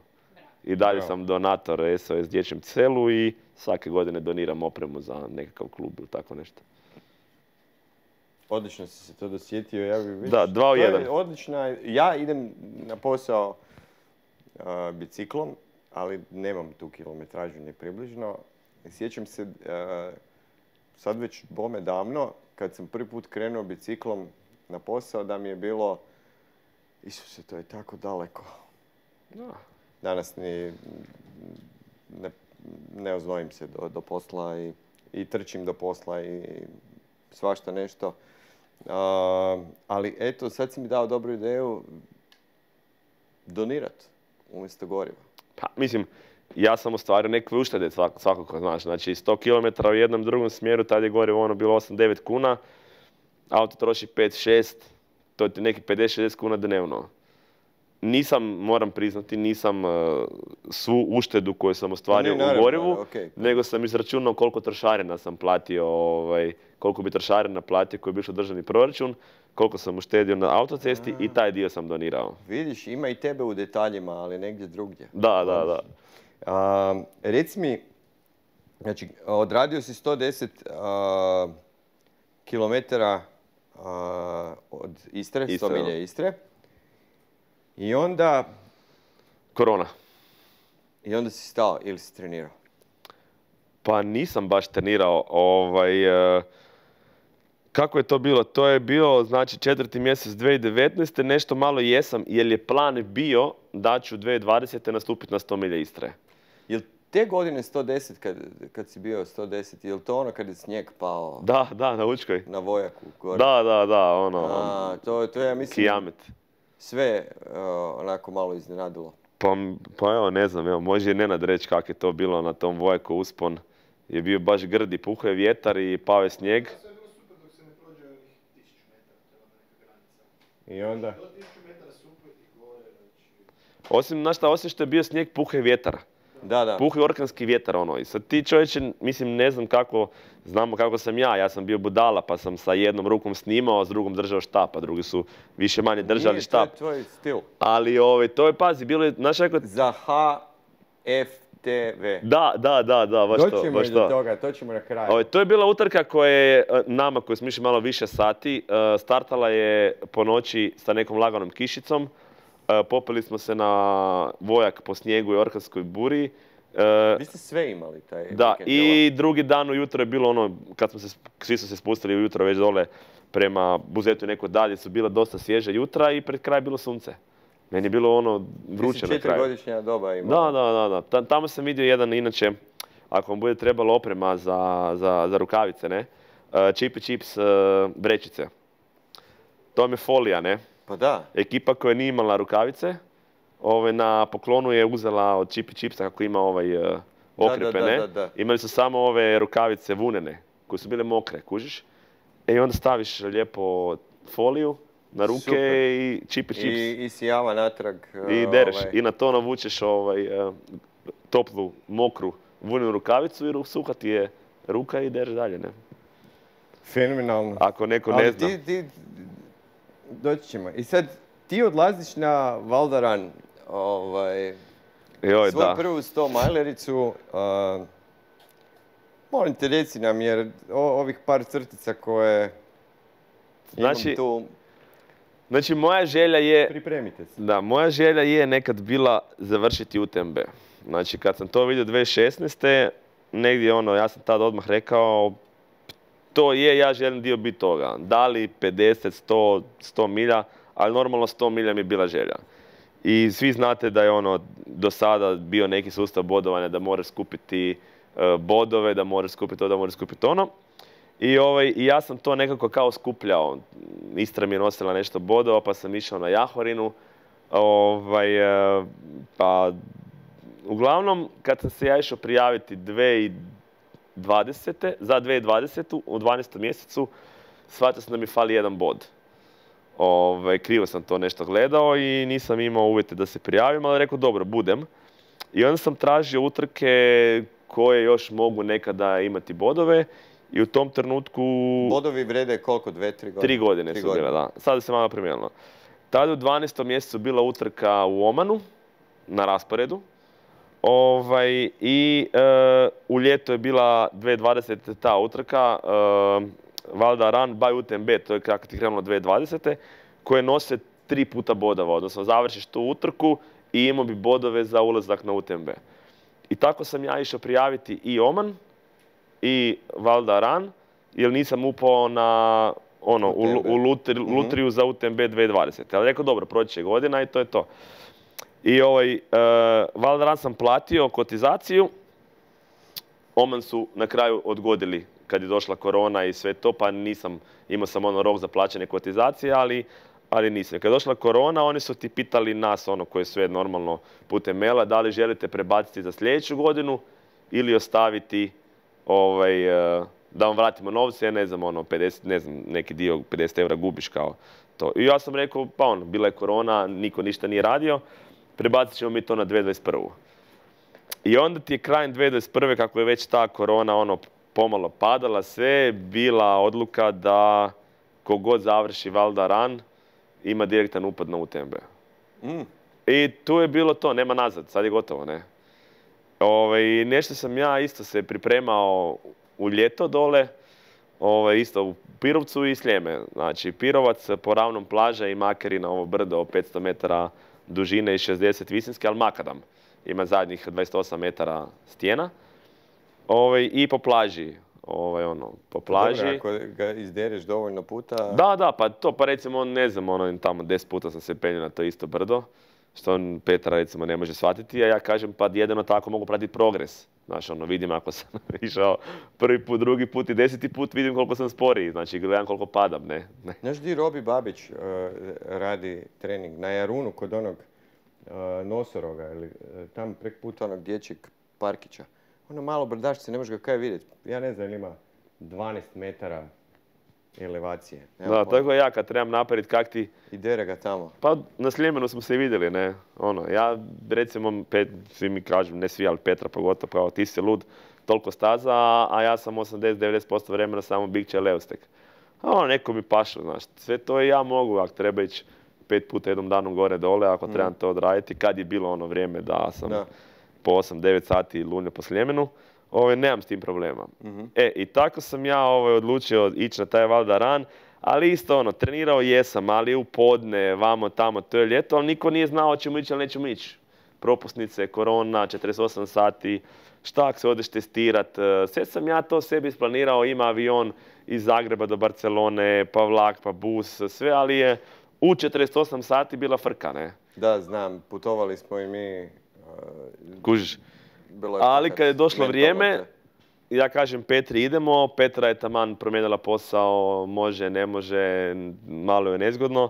I dalje Bravo. sam donator S O S dječjem selu i svake godine doniram opremu za nekakav klub ili tako nešto. Odlično si se to dosjetio. Ja bi već... Da, dva u to je jedan. Odlična. Ja idem na posao a, biciklom, ali nemam tu kilometražu ni približno. Sjećam se, a, sad već bome davno, kad sam prvi put krenuo biciklom na posao, da mi je bilo, Isuse, to je tako daleko. Da. Danas ni ne, ne oznojim se do, do posla i, i trčim do posla i svašta nešto. A, ali eto, sad si mi dao dobru ideju donirat umjesto goriva. Pa, mislim, ja sam ostvario neke uštede svak- svakako, znaš. Znači, sto kilometara u jednom drugom smjeru, tad je gorivo ono bilo osam devet kuna, auto troši pet šest, to ti neki pedeset šezdeset kuna dnevno. Nisam, moram priznati, nisam uh, svu uštedu koju sam ostvario Ne, naravno, u gorivu, okej. nego sam izračunao koliko trošarina sam platio, ovaj, koliko bi trošarina platio koji bi išao u državni proračun, koliko sam uštedio na autocesti i taj dio sam donirao. Vidiš, ima i tebe u detaljima, ali negdje drugdje. Da, da, da. A, reci mi, znači, odradio si sto deset a, kilometara a, od Istre, sto Istre, milja da. Istre. I onda, Korona. i onda si stao ili si trenirao? Pa nisam baš trenirao. Ovaj, e, kako je to bilo? To je bio, znači, četvrti mjesec dvije tisuće devetnaeste. Nešto malo jesam, jer je plan bio da ću dvije tisuće dvadesete nastupiti na sto milja Istre. Jel te godine sto deset, kad, kad si bio sto deset, jel to ono kad je snijeg pao Da, da, na Učkoj. na Vojaku gore? Da, da, da, ono, A, to, to je, ja mislim, kijamet. sve uh, onako malo iznenadilo. Pa, pa evo, ne znam, evo, može i Nenad reći kako je to bilo na tom Vojaku uspon. je bio baš grdi, puhao je vjetar i pao je snijeg. Sve je bilo super dok se ne prođe onih tisuću metara, to je onda neka granica. I onda? Do tisuću metara super i gore, znači... Osim, znaš šta, osim što je bio snijeg, puhao je vjetar. Da, da. Puhao je orkanski vjetar, ono. I sad ti čovječe, mislim, ne znam kako, znamo kako sam ja, ja sam bio budala, pa sam sa jednom rukom snimao, a s drugom držao štap, a drugi su više manje držali Nije, štap. to je tvoj stil. Ali, ovaj, to je, pazi, bilo je, znaš kako... Za H F T V. Da, da, da, da, baš to, Doćemo baš i do to. toga, to ćemo na kraju. Ovaj, to je bila utrka koja je e, nama, koji smo išli malo više sati, e, startala je po noći sa nekom laganom kišicom. E, popeli smo se na vojak po snijegu i orkanskoj buri. E, Vi ste sve imali taj Da, vikend, i drugi dan ujutro je bilo ono, kad smo se, svi su se spustili ujutro već dole prema Buzetu i neko dalje, su bila dosta svježa jutra i pred kraj je bilo sunce. Meni je bilo ono vruće na kraju. Četiri-godišnja doba imao. Da, da, da, da. Ta- Tamo sam vidio jedan, inače, ako vam bude trebalo oprema za, za, za rukavice, ne? Uh, Chippy Chips uh, vrećice. To vam je folija, ne? Pa da. Ekipa koja nije imala rukavice, ove, na poklonu je uzela od Chippy Chipsa kako ima ovaj uh, okrepe, da, ne? da, da. Imali su samo ove rukavice vunene, koje su bile mokre, kužiš? E, i onda staviš lijepo foliju na ruke Super. i Chippy Chips. I, i sijava natrag. I uh, dereš. ovaj, I na to navučeš ovaj, eh, toplu, mokru, vunenu rukavicu i ru- suha ti je ruka i dereš dalje, ne? Fenomenalno. Ako neko Ali ne zna. Ti, ti, doći ćemo. I sad, ti odlaziš na Valdaran, ovaj, Joj, svoju da. prvu sto majlericu. Uh, molim te, reci nam, jer o- ovih par crtica koje Znači- imam tu, Znači, moja želja je, pripremite se. da, moja želja je nekad bila završiti U T M B. Znači, kad sam to vidio dvije tisuće šesnaeste. negdje ono, ja sam tada odmah rekao, to je, ja želim dio biti toga. Da li pedeset, sto, sto milja, ali normalno sto milja mi je bila želja. I svi znate da je ono do sada bio neki sustav bodovanja da moraš skupiti e, bodove, da moraš skupiti to, da moraš skupiti ono. I, ovaj, I ja sam to nekako kao skupljao. Istra mi je nosila nešto bodova, pa sam išao na Jahorinu. Ovaj, e, pa, uglavnom, kad sam se ja išao prijaviti dvije tisuće dvadesete. za dvije tisuće dvadesetu u dvanaestom mjesecu, shvatio sam da mi fali jedan bod. Ovaj, krivo sam to nešto gledao i nisam imao uvjete da se prijavim, ali rekao dobro, budem. I onda sam tražio utrke koje još mogu nekada imati bodove i u tom trenutku... Bodovi vrede koliko, dve, tri godine? Tri godine Tri su godine. bile, da. Sada se malo promijenilo. Tada u dvanaestom mjesecu bila utrka u Omanu, na rasporedu. Ovaj, I e, u ljeto je bila dvije tisuće dvadesete. ta utrka, e, Valda Run by U T M B, to je kako ti krenulo dvije tisuće dvadesete. koje nose tri puta bodova, odnosno završiš tu utrku i imao bi bodove za ulazak na U T M B. I tako sam ja išao prijaviti i Oman i Valda Run, jer nisam upao na ono, u, u lutri, lutriju za U T M B dvije tisuće dvadesete. Ali rekao, dobro, proći će godina i to je to. I ovaj, uh, Valda Run sam platio kotizaciju, Oman su na kraju odgodili kad je došla korona i sve to, pa nisam, imao sam ono rok za plaćanje kotizacije, ali, ali nisam. Kad je došla korona, oni su ti pitali nas, ono koje sve normalno putem maila, da li želite prebaciti za sljedeću godinu ili ostaviti ovaj, uh, da vam vratimo novce, ja ne znam, ono, pedeset, ne znam, neki dio pedeset eura gubiš kao to. I ja sam rekao, pa ono, bila je korona, niko ništa nije radio, prebacit ćemo mi to na dvije tisuće dvadeset prvu. I onda ti je krajem dvije tisuće dvadeset prve, kako je već ta korona ono pomalo padala, sve bila odluka da kogod završi Valda Run ima direktan upad na U T M B. Mm. I tu je bilo to, nema nazad, sad je gotovo, ne. Ove, nešto sam ja isto se pripremao u ljeto dole, ove, isto u Pirovcu i Sljeme. Znači, Pirovac po ravnom plaža i Makarina, ovo brdo petsto metara dužine i šezdeset visinske, ali makadam. Ima zadnjih dvadeset osam metara stijena. Ove, I po plaži. Ove, ono, po plaži. Dobro, ako ga izdereš dovoljno puta... Da, da, pa to, pa recimo, ne znam, ono, tamo deset puta sam se penio na to isto brdo, što on Petra, recimo, ne može shvatiti, a ja kažem, pa jedino tako mogu pratiti progres. Znaš, ono, vidim ako sam išao prvi put, drugi put i deseti put, vidim koliko sam sporiji, znači, gledam koliko padam, ne. ne. Znaš di Robi Babić uh, radi trening? Na Jarunu, kod onog uh, nosoroga, ili uh, tam prek puta onog dječjeg parkića. ono malo brdašce, ne možeš ga kaj vidjeti. Ja ne znam, ili ima dvanaest metara elevacije. Da, tako ja kad trebam napraviti kak ti... I dere ga tamo. Pa na Sljemenu smo se i vidjeli, ne. Ono, ja recimo, pet, svi mi kažu, ne svi, ali Petra pogotovo, kao ti si lud, toliko staza, a ja sam osamdeset do devedeset posto vremena samo bikće leustek. A ono, neko mi pašu, znaš. Sve to i ja mogu, ako treba ići pet puta jednom danom gore dole, ako mm. trebam to odraditi. Kad je bilo ono vrijeme da sam da. po osam devet sati lunio po Sljemenu, ovaj, nemam s tim problema. Mm-hmm. E, i tako sam ja ovaj, odlučio ići na taj Valda ran, ali isto ono, trenirao jesam, ali u podne, vamo, tamo, to je ljeto, ali niko nije znao ćemo ići ili nećemo ići. Propusnice, korona, četrdeset osam sati, šta ako se odeš testirat. Sve sam ja to sebi isplanirao, ima avion iz Zagreba do Barcelone, pa vlak, pa bus, sve, ali je u četrdeset osam sati bila frka, ne? Da, znam, putovali smo i mi. Uh, Kužiš. Ali kad je došlo vrijeme, ja kažem Petri idemo, Petra je taman promijenila posao, može, ne može, malo je nezgodno.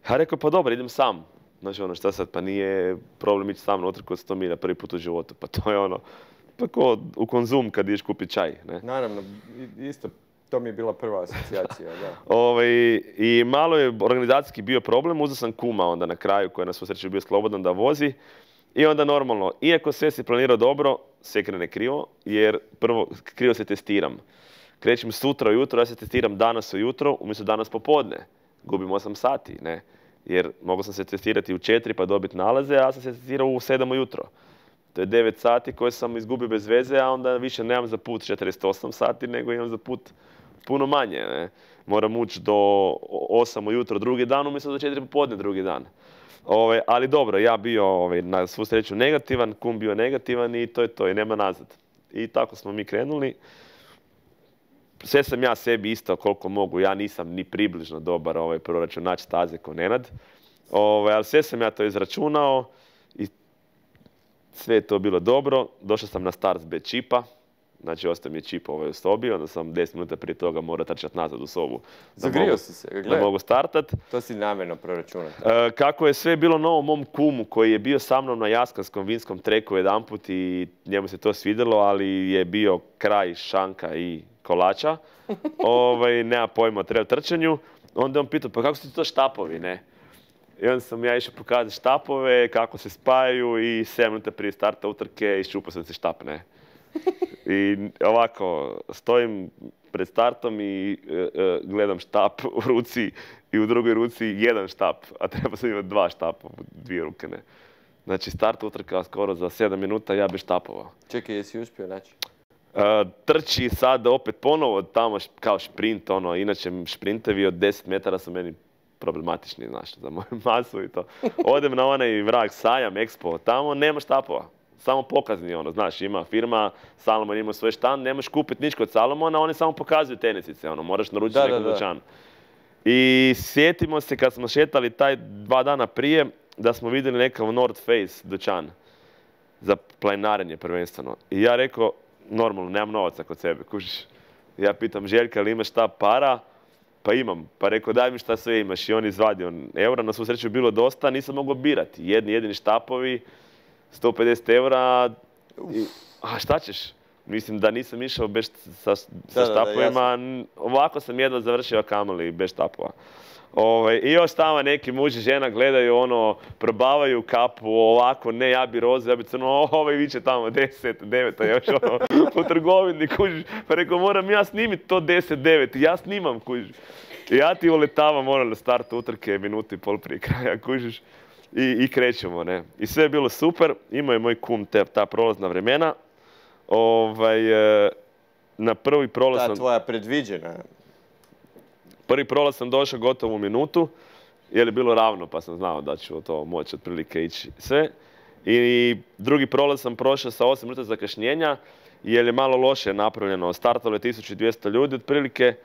Ja rekao pa dobro, idem sam. Znači ono, šta sad, pa nije problem ići sam na utrku od sto milja prvi put u životu, pa to je ono, pa ko u Konzum kad ideš kupiti čaj, ne? Naravno, isto, to mi je bila prva asocijacija, da. Ove, I malo je organizacijski bio problem, uzeo sam kuma onda na kraju koji je na svu sreću bio slobodan da vozi. I onda normalno, iako sve si planirao dobro, sve krene krivo, jer prvo krivo se testiram. Krećem sutra ujutro, ja se testiram danas ujutro, umjesto danas popodne. Gubim osam sati, ne? Jer mogao sam se testirati u četiri pa dobiti nalaze, a ja sam se testirao u sedam ujutro. To je devet sati koje sam izgubio bez veze, a onda više nemam za put četrdeset osam sati, nego imam za put puno manje, ne? Moram ući do osam ujutro drugi dan, umjesto do četiri popodne drugi dan. Ove, ali dobro, ja bio ove, na svu sreću negativan, kum bio negativan i to je to, i nema nazad. I tako smo mi krenuli. Sve sam ja sebi isto koliko mogu, ja nisam ni približno dobar ovaj, proračunač staze ko Nenad. Ove, ali sve sam ja to izračunao i sve je to bilo dobro. Došao sam na start bez čipa. Znači, ostao mi je čip ovaj u sobi, onda sam deset minuta prije toga morao trčati nazad u sobu. Zagrio si se, gledaj. Da mogu startat. To si namjerno proračunat. E, kako je sve bilo novo mom kumu koji je bio sa mnom na Jaskanskom vinskom treku jedanput i njemu se to svidjelo, ali je bio kraj šanka i kolača. ovaj, nema pojma o trail trčanju. Onda je on pitao, pa kako su ti to štapovi, ne? I onda sam ja išao pokazati štapove, kako se spajaju i sedam minuta prije starta utrke iščupao sam se štap, ne? I ovako, stojim pred startom i e, e, gledam štap u ruci i u drugoj ruci jedan štap, a treba sam imati dva štapa u dvije ruke, ne. Znači, start utrka skoro za sedam minuta, ja bi štapova. Čekaj, jesi uspio naći? E, trči sad opet ponovo tamo kao šprint, ono, inače šprintevi od deset metara su meni problematični, znaš, za moju masu i to. Odem na onaj vrag sajam, Expo, tamo nema štapova. Samo pokazni, ono, znaš, ima firma, Salomon ima svoj štand, nemaš kupiti nič kod Salomona, oni samo pokazuju tenisice, ono, moraš naručiti nekom dućanu. I sjetimo se kad smo šetali taj dva dana prije, da smo vidjeli nekav North Face dućan za planinarenje prvenstveno. I ja rekao, normalno, nemam novaca kod sebe, kužiš. Ja pitam Željka, ali imaš šta para? Pa imam. Pa rekao, daj mi šta sve imaš. I on izvadio eura, na svu sreću bilo dosta, nisam mogao birati. Jedni jedini štapovi, sto pedeset eura, i, a šta ćeš? Mislim da nisam išao bez sa, sa da, štapovima, da, da, ovako sam jedva završio kamoli bez štapova. Ove, I još tamo neki muž i žena gledaju ono, probavaju kapu, ovako, ne, ja bi roze, ja bi crno, ovaj viče tamo deset, devet, a još ono, u trgovini, kužiš. Pa rekao, moram ja snimiti to deset, devet, ja snimam, kužiš. I ja ti uletavam, ono, na startu utrke, minutu i pol prije kraja, kužiš. I, i krećemo, ne. I sve je bilo super, imao je moj kum te, ta prolazna vremena. Ovaj, na prvi prolaz sam... Ta tvoja predviđena. Prvi prolaz sam došao gotovo u minutu, jer je bilo ravno, pa sam znao da ću to moći otprilike ići sve. I drugi prolaz sam prošao sa osam minuta zakašnjenja, jer je malo loše napravljeno. Startalo je tisuću dvjesto ljudi, otprilike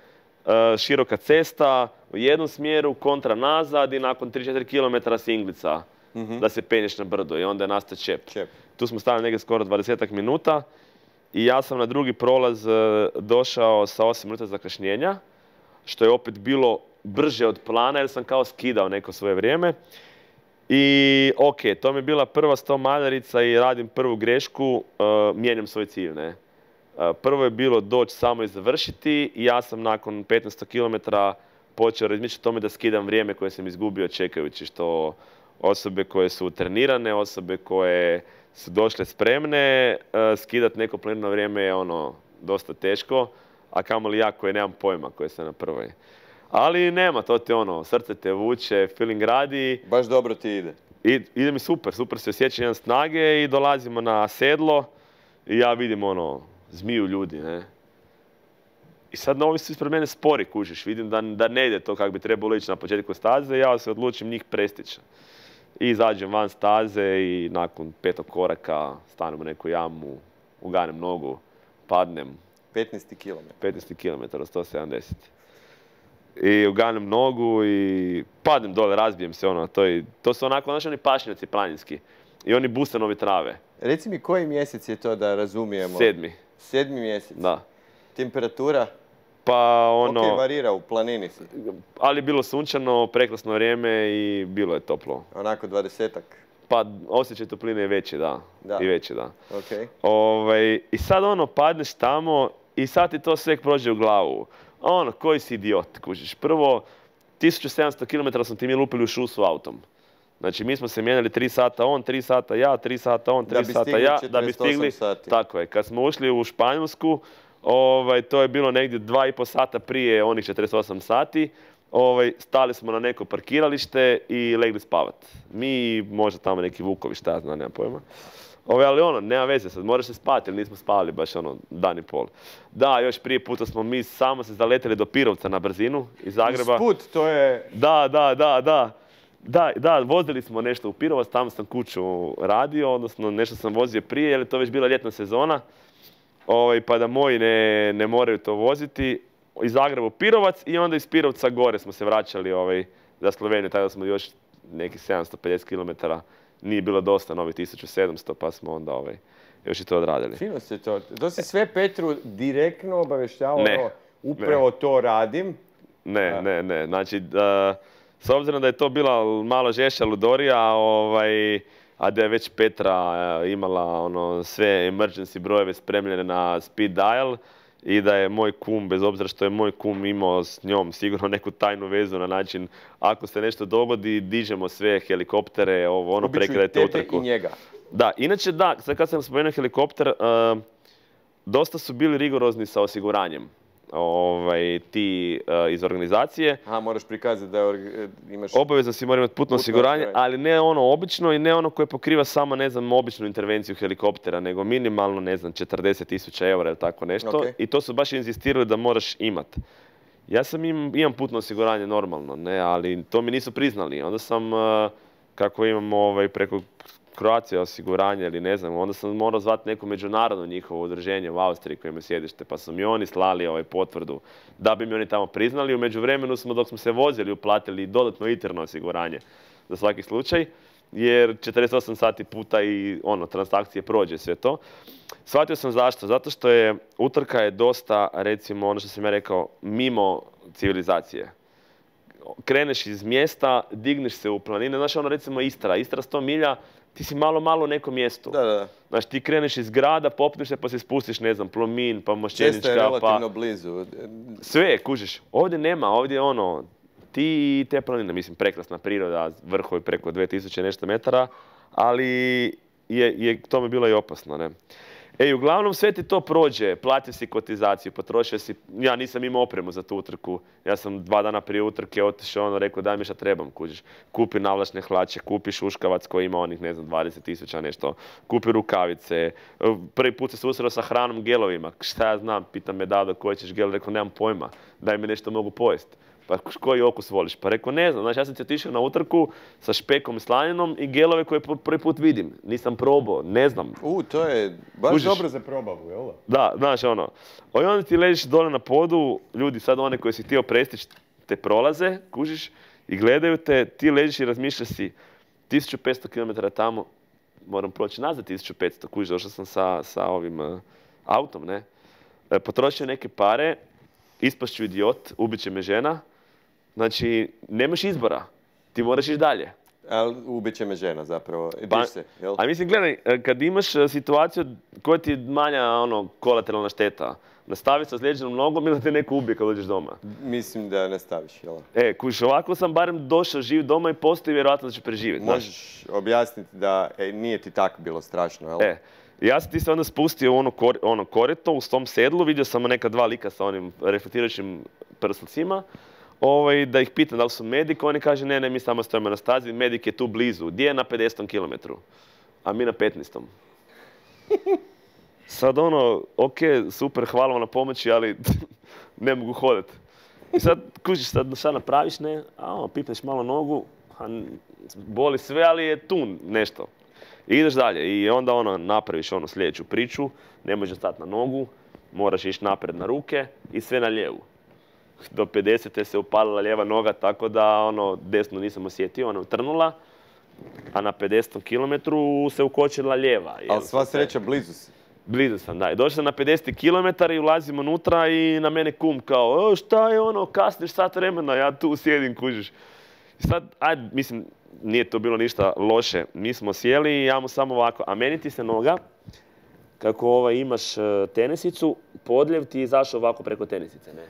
široka cesta u jednom smjeru, kontra nazad i nakon tri do četiri kilometra singlica mm-hmm. da se penješ na brdo i onda je nastao čep. čep. Tu smo stali negdje skoro dvadesetak minuta i ja sam na drugi prolaz došao sa osam minuta zakašnjenja, što je opet bilo brže od plana jer sam kao skidao neko svoje vrijeme. I ok, to mi je bila prva sto maljarica i radim prvu grešku, uh, mijenjam svoj cilj, ne. Uh, prvo je bilo doći samo i završiti i ja sam nakon petnaest kilometara počeo razmišljati o tome da skidam vrijeme koje sam izgubio čekajući, što osobe koje su trenirane, osobe koje su došle spremne, uh, skidat neko planirano vrijeme je ono dosta teško, a kamoli ja koji nemam pojma koji sam na prvoj. Ali nema, to ti ono, srce te vuče, feeling radi. Baš dobro ti ide. I, ide mi super, super se osjećam jedan snage i dolazimo na sedlo i ja vidim ono, zmiju ljudi, ne. I sad novi su ispred mene spori, kužiš, vidim da, da ne ide to kako bi trebalo ići na početku staze i ja se odlučim njih prestići. I izađem van staze i nakon petog koraka stanem u neku jamu, uganem nogu, padnem. petnaest kilometara. petnaest kilometara, sto sedamdeset. I uganem nogu i padnem dole, razbijem se ono, to, je, to su onako, znaš, oni pašnjaci planinski. I oni busanovi trave. Reci mi koji mjesec je to da razumijemo? Sedmi. Sedmi mjesec? Da. Temperatura? Pa ono... Ok, varira, u planini si. Ali je bilo sunčano, prekrasno vrijeme i bilo je toplo. Onako dvadesetak? Pa osjećaj topline je veći, da. Da. I veći, da. Ok. Ovaj, i sad ono, padneš tamo i sad ti to sve prođe u glavu. Ono, koji si idiot, kužiš. Prvo, tisuću sedamsto kilometara smo ti mi lupili u šusu autom. Znači, mi smo se mijenjali tri sata on, tri sata ja, tri sata on, tri sata ja, da bi stigli. Sati. Tako je. Kad smo ušli u Španjolsku, ovaj, to je bilo negdje dva i pol sata prije onih četrdeset osam sati. Ovaj, stali smo na neko parkiralište i legli spavat. Mi, možda tamo neki vukovi, šta ja znam, nemam pojma. Ove, ali ono, nema veze, sad moraš se spati jer nismo spavali baš ono dan i pol. Da, još prije puta smo mi samo se zaleteli do Pirovca na brzinu iz Zagreba. Usput, to je... Da, da, da, da. Da, da, vozili smo nešto u Pirovac, tamo sam kuću radio, odnosno nešto sam vozio prije jer je to već bila ljetna sezona. Ovaj, pa da moji ne, ne moraju to voziti. Iz Zagreba u Pirovac i onda iz Pirovca gore smo se vraćali ovaj, za Sloveniju, tada smo još nekih sedamsto pedeset kilometara. Nije bilo dosta, novi tisuću sedamsto, pa smo onda ovaj, još i to odradili. Fino se to. To si sve Petru direktno obavještavao, Ne, upravo ne. to radim. Ne, Da. ne, ne. Znači, da, s obzirom da je to bila malo žešća ludorija, ovaj, a da je već Petra eh, imala ono, sve emergency brojeve spremljene na speed dial i da je moj kum, bez obzira što je moj kum imao s njom sigurno neku tajnu vezu na način ako se nešto dogodi, dižemo sve helikoptere, ovo, ono, Ubiću i prekidajte tebe utrku. i njega. Da, inače da, sad kad sam spomenuo helikopter, uh, dosta su bili rigorozni sa osiguranjem. Ovaj, ti uh, iz organizacije. Aha, moraš prikazati da je org- imaš... Obavezno si mora imati putno Putno osiguranje, osiguranje. ali ne ono obično i ne ono koje pokriva samo, ne znam, običnu intervenciju helikoptera, nego minimalno, ne znam, četrdeset tisuća eura ili tako nešto. Ok. I to su baš inzistirali da moraš imat. Ja sam im, imam putno osiguranje normalno, ne, ali to mi nisu priznali. Onda sam, uh, kako imam ovaj, preko Croatia osiguranje ili ne znam, onda sam morao zvati neko međunarodno njihovo udruženje u Austriji koje ima sjedište, pa su mi oni slali ovaj potvrdu da bi mi oni tamo priznali. U međuvremenu smo, dok smo se vozili, uplatili dodatno interno osiguranje za svaki slučaj, jer četrdeset osam sati puta i ono, transakcije prođe sve to. Shvatio sam zašto, zato što je utrka je dosta, recimo ono što sam ja rekao, mimo civilizacije. Kreneš iz mjesta, digneš se u planine, znaš ono recimo Istra, Istra sto milja, ti si malo, malo u nekom mjestu. Da, da. Znači ti kreneš iz grada, popneš se pa se spustiš, ne znam, Plomin, pa Često je Mošćenička, relativno pa... blizu. Sve, kužiš. Ovdje nema, ovdje je ono, ti i te planine, mislim, prekrasna priroda, vrhovi preko dvije tisuće nešto metara, ali je, je tome bilo i opasno, ne. E, uglavnom sve ti to prođe, platio si kotizaciju, potrošio si, ja nisam imao opremu za tu utrku, ja sam dva dana prije utrke otišao, ono, rekao daj mi šta trebam, kužiš, kupi navlačne hlače, kupi šuškavac koji ima onih, ne znam, dvadeset tisuća nešto, kupi rukavice, prvi put se susreo sa hranom, gelovima, šta ja znam, pita me Dado koji ćeš gel, rekao nemam pojma, daj mi nešto mogu pojesti. Pa koji okus voliš? Pa rekao, ne znam, znači ja sam ti otišao na utrku sa špekom i slaninom i gelove koje prvi put vidim. Nisam probao, ne znam. U, to je baš Kužiš? dobro za probavu, jel da? Da, znaš ono. I onda ti ležiš dole na podu, ljudi sad one koje si htio prestići te prolaze, kužiš, i gledaju te, ti ležiš i razmišljaš si tisuću petsto kilometara tamo, moram proći nazad tisuću petsto, kužiš, došao sam sa, sa ovim uh, autom, ne. E, potrošio neke pare, ispašću idiot, ubit će me žena. Znači, nemaš izbora. Ti moraš ići dalje. Ali ubit će me žena zapravo. Pa, Diš se, jel? a mislim, gledaj, kad imaš e, situaciju koja ti je manja ono, kolateralna šteta, nastavi sa ozlijeđenom nogom ili te neko ubije kad dođeš doma. Mislim da ne staviš, jel? E, kužiš, ovako sam barem došao živ doma i postoji vjerojatno da će preživjeti. znaš. Možeš objasniti da e, nije ti tako bilo strašno, jel? E, ja sam ti se onda spustio u ono, kor, ono korito u tom sedlu, vidio sam neka dva lika sa onim reflektirajućim prslcima, ovaj, da ih pitam da li su medik, oni kaže ne, ne, mi samo stojimo na stazi, medik je tu blizu, gdje je na pedesetom kilometru, a mi na petnaestom. Sad ono, ok, super, hvala vam na pomoći, ali ne mogu hodati. I sad, kužiš, sad šta napraviš, ne, a ono, pipneš malo nogu, a boli sve, ali je tu nešto. I ideš dalje i onda ono, napraviš ono sljedeću priču, ne možeš stati na nogu, moraš ići naprijed na ruke i sve na lijevu. Do pedesete se upalila lijeva noga, tako da ono, desnu nisam osjetio, ona utrnula, a na pedesetom kilometru se ukočila lijeva. Ali sva sreća blizu si. Blizu sam, da. I došao sam na pedeseti kilometar i ulazim unutra i na mene kum kao, o, šta je ono, kasniš sat vremena, ja tu sjedim, kužiš. I sad, ajde, mislim, nije to bilo ništa loše. Mi smo sjeli i ja mu samo ovako, a meni ti se noga, kako ovaj, imaš uh, tenisicu, podljev ti je izašao ovako preko tenisice, ne?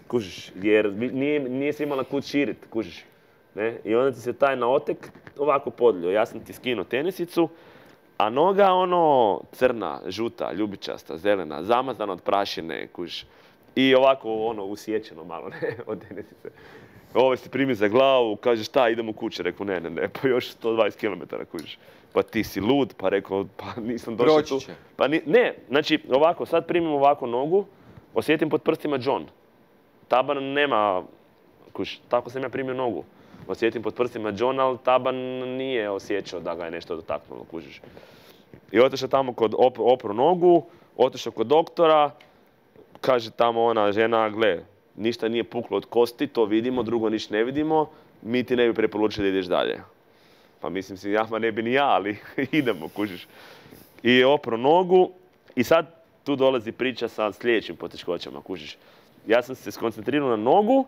Kužiš, jer nije, nije se imala kud širit, kužiš. Ne? I onda ti se taj naotek ovako podljio. Ja sam ti skinuo tenisicu, a noga ono crna, žuta, ljubičasta, zelena, zamazana od prašine, kužiš. I ovako ono usjećeno malo, ne, od tenisice. Ovo se primi za glavu, kaže šta, idemo kuće. Rekao ne, ne, ne, pa još sto dvadeset kilometara, kužiš. Pa ti si lud, pa rekao, pa nisam došao tu. Proći će. Pa ni, ne, znači ovako, sad primim ovako nogu, osjetim pod prstima John. Taban nema, kužiš, tako sam ja primio nogu. Osjetim pod prstima John, ali taban nije osjećao da ga je nešto dotaknulo, kužiš. I otišao tamo kod op, opru nogu, otišao kod doktora, kaže tamo ona žena, gle, ništa nije puklo od kosti, to vidimo, drugo ništa ne vidimo, mi ti ne bi preporučili da ideš dalje. Pa mislim si, ja, ma ne bi ni ja, ali idemo, kužiš. I opro nogu i sad tu dolazi priča sa sljedećim poteškoćama, kužiš. Ja sam se skoncentrirao na nogu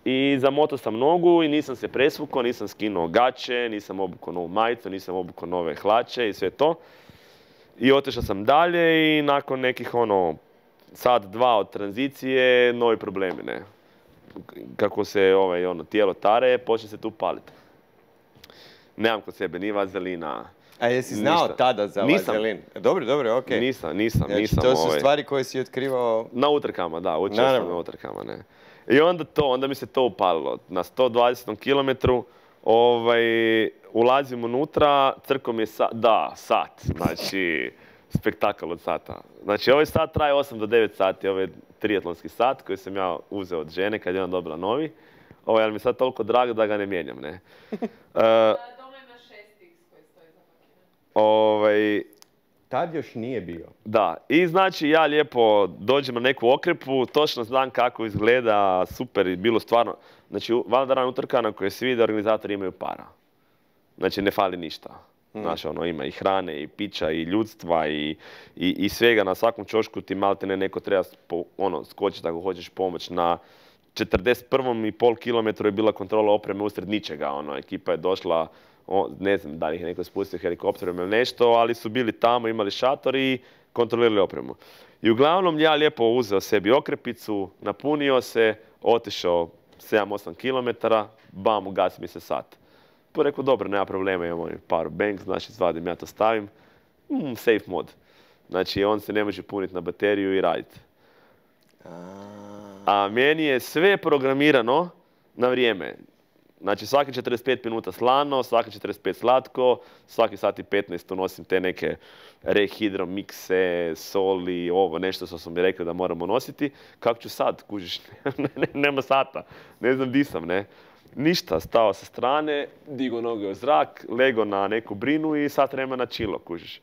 i zamotao sam nogu i nisam se presvukao, nisam skinuo gaće, nisam obukao novu majicu, nisam obukao nove hlače i sve to. I otišao sam dalje i nakon nekih ono, sat, dva od tranzicije, novi problemi, ne. Kako se ovaj, ono, tijelo tare, počne se tu paliti. Nemam kod sebe ni vazelina. A jesi znao ništa. Tada za Nisam. vazelin? Dobro, dobro, okej. Nisam, nisam, Znači, nisam. to su ovaj, stvari koje si otkrivao... Na utrkama, da, učio sam Naravno. na utrkama, ne. I onda to, onda mi se to upalilo. Na sto dvadesetom kilometru ovaj, ulazim unutra, crko mi je sat, da, sat, znači, spektakl od sata. Znači, ovaj sat traje osam do devet sati, ovaj triatlonski sat koji sam ja uzeo od žene kad je ona dobila novi. Ovaj, ali mi je sad toliko drag da ga ne mijenjam, ne. Uh, Doma ima šest iks koji stoji zapakiran. ovaj, Tad još nije bio. Da, i znači ja lijepo dođem na neku okrepu, točno znam kako izgleda, super, i bilo stvarno. Znači, Valdaran utrka na kojoj svi da organizatori imaju para. Znači, ne fali ništa. Mm. Znači, ono, ima i hrane, i pića, i ljudstva, i, i, i svega. Na svakom čošku ti malte ne neko treba spo, ono, skočiti ako hoćeš pomoć. Na četrdeset jedan i pol kilometru je bila kontrola opreme usred ničega. Ono, ekipa je došla, o, ne znam da li ih je neko spustio helikopterom ili nešto, ali su bili tamo, imali šator i kontrolirali opremu. I uglavnom ja lijepo uzeo sebi okrepicu, napunio se, otišao sedam osam kilometara, bam, ugasi mi se sat. Pa rekao, dobro, nema problema, imamo power bank, znači izvadim, ja to stavim, mm, safe mod. Znači on se ne može puniti na bateriju i raditi. A meni je sve programirano na vrijeme. Znači svaki četrdeset pet minuta slano, svaki četrdeset pet slatko, svaki sat i petnaest unosim te neke rehidro mikse, soli, ovo, nešto što su mi rekli da moramo nositi. Kako ću sad, kužiš, nema sata, ne znam di sam, ne. Ništa, stao sa strane, digo noge u zrak, lego na neku brinu i sat vremena čilo, kužiš.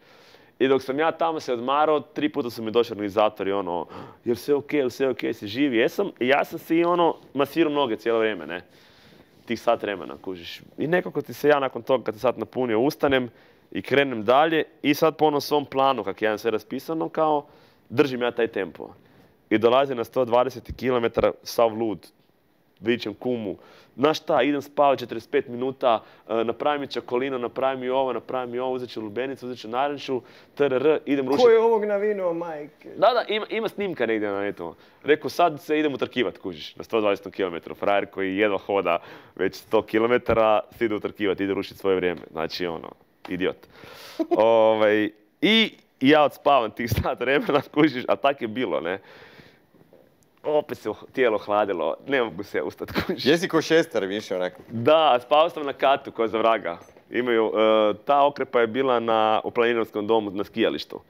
I dok sam ja tamo se odmarao, tri puta su mi došli organizatori, ono, jel sve okej, jel sve okej, si živ, jesam. I ja sam si, ono, masirao noge cijelo vrijeme, ne. Tih sat vremena, kužiš. I nekako ti se ja nakon toga, kad se sat napunio, ustanem i krenem dalje i sad po onom svom planu, kak ja imam sve raspisano, kao, držim ja taj tempo. I dolazim na sto dvadeset kilometara sav lud. vičem kumu, znaš šta, idem spavati četrdeset pet minuta, napravi mi čokolino, napravi mi ovo, napravi mi ovo, uzet ću lubenicu, uzet ću naranču, trr, idem rušiti. Ko je ovog navinuo, majke? Da, da, ima, ima snimka negdje na netu. Rekao, sad se idem utrkivat, kužiš, na sto dvadeset kilometara. Frajer koji jedva hoda već sto kilometara, se ide utrkivat, ide rušiti svoje vrijeme. Znači, ono, idiot. Ovaj, I ja odspavam tih sat vremena, kužiš, a tak je bilo, ne. Opet se tijelo hladilo, ne mogu se ustati, kužiš. Jesi ko šestar više onako? Da, spavao sam na katu, ko za vraga. Imaju, uh, ta okrepa je bila na, u planinarskom domu na skijalištu.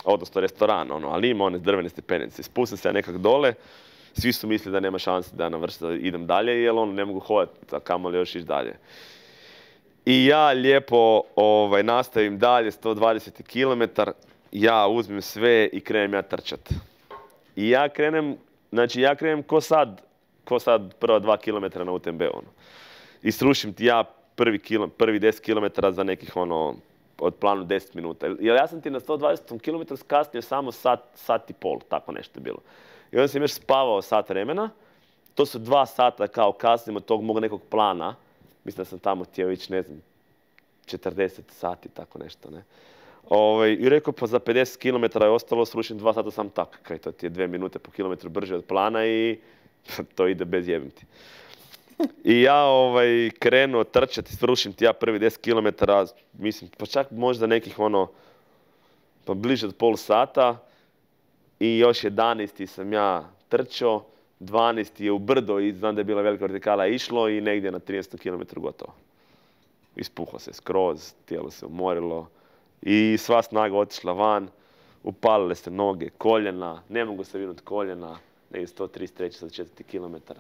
Odnosno restoran, ono, ali ima one drvene stepenice. Spustim se ja nekak dole, svi su mislili da nema šanse da navršim, da idem dalje, jer ono, ne mogu hodati, a kamoli još ići dalje. I ja lijepo ovaj, nastavim dalje, sto dvadeset kilometara, ja uzmem sve i krenem ja trčat. I ja krenem, znači ja krenem ko sad, ko sad prva dva kilometra na U T M B, ono. I srušim ti ja prvi, kilo, prvi deset kilometara za nekih, ono, od planu deset minuta. Jer ja sam ti na sto dvadeset kilometara skasnio samo sat, sat i pol, tako nešto je bilo. I onda sam još spavao sat vremena, to su dva sata kao kasnimo od tog mog nekog plana. Mislim da sam tamo htio ići, ne znam, četrdeset sati, tako nešto, ne. Ove, I rekao, pa za pedeset kilometara je ostalo, srušim dva sata sam tak. Kaj to ti je dvije minute po kilometru brže od plana i to ide bez jebim ti. I ja ovaj, krenuo trčati, srušim ti ja prvi deset kilometara, mislim, pa čak možda nekih ono, pa bliže od pol sata. I još jedanaesti sam ja trčao, dvanaesti je u brdo i znam da je bila velika vertikala išlo i negdje na tridesetom kilometru gotovo. Ispuhao se skroz, tijelo se umorilo i sva snaga otišla van, upalile se noge, koljena, ne mogu se vinuti koljena, negdje sto trideset tri do četiri kilometara.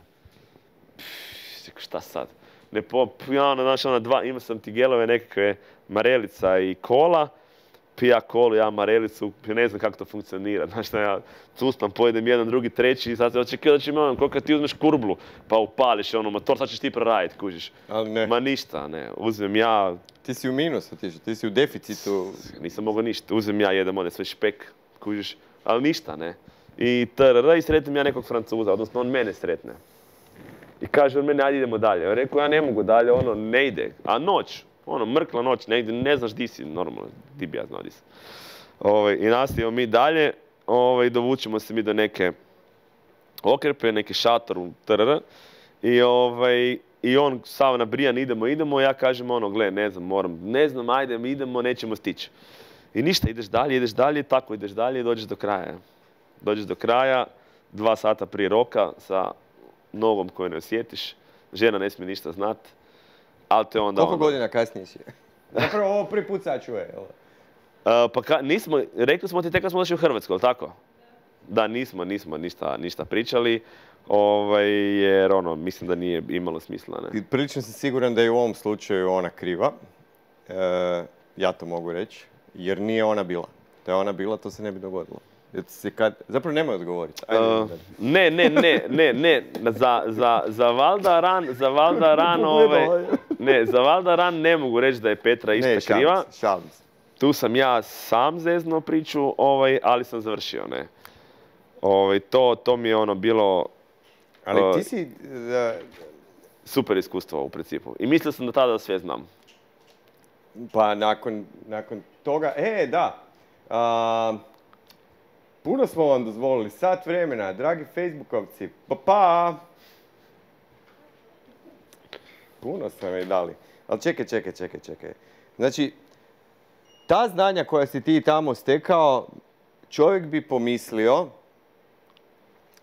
Šta sad? Ne po, ja ono, znaš, ona dva, imao sam ti gelove nekakve marelica i kola, pija kolu, ja marelicu, ne znam kako to funkcionira, znaš šta ja cuspam, pojedem jedan, drugi, treći i sad se očekio da će mi ono, koliko ti uzmeš kurblu, pa upališ ono motor, sad ćeš ti preraditi, kužiš. Ali ne. Ma ništa, ne, uzmem ja... Ti si u minusu otišao, ti si u deficitu. Nisam mogao ništa, uzmem ja, jedem one sve špek, kužiš, ali ništa, ne. I trr, i sretnem ja nekog Francuza, odnosno on mene sretne. I kaže on meni, ajde idemo dalje. Ja rekao, ja ne mogu dalje, ono, ne ide. A noć, ono, mrkla noć, ne ide, ne znaš di si, normalno, ti bi ja znao di si. Ove, I nastavimo mi dalje, ove, dovučemo se mi do neke okrepe, neki šator u trr. I, ove, I on sav nabrijan, idemo, idemo, ja kažem ono, gle, ne znam, moram, ne znam, ajde, idemo, nećemo stići. I ništa, ideš dalje, ideš dalje, tako ideš dalje i dođeš do kraja. Dođeš do kraja, dva sata prije roka, sa nogom koju ne osjetiš, žena ne smije ništa znat, ali te onda... Koliko onda... godina kasnije si? Zapravo ovo prvi put sad čuje, jel? Uh, pa ka, nismo, rekli smo ti tek kad smo došli u Hrvatsku, jel tako? Da, nismo, nismo ništa, ništa pričali, ovaj, jer ono, mislim da nije imalo smisla, ne? Prilično sam siguran da je u ovom slučaju ona kriva, e, ja to mogu reći, jer nije ona bila. Da je ona bila, to se ne bi dogodilo. Kad... Zapravo nemoj odgovoriti. Uh, ne, ne, ne, ne, ne, za, za, za Valdaran, za Valdaran, ovaj, ne, za Valdaran ne mogu reći da je Petra išta ne, kriva. šalim se, šalim se. Tu sam ja sam zeznuo priču, ovaj, ali sam završio, ne. Ovaj, to, to mi je ono bilo... Ali uh, ti si... Uh, super iskustvo u principu. I mislio sam da tada sve znam. Pa nakon, nakon toga... E, da. Uh, Puno smo vam dozvolili, sat vremena, dragi Facebookovci, pa pa! Puno ste mi dali. Ali čekaj, čekaj, čekaj, čekaj. Znači, ta znanja koja si ti tamo stekao, čovjek bi pomislio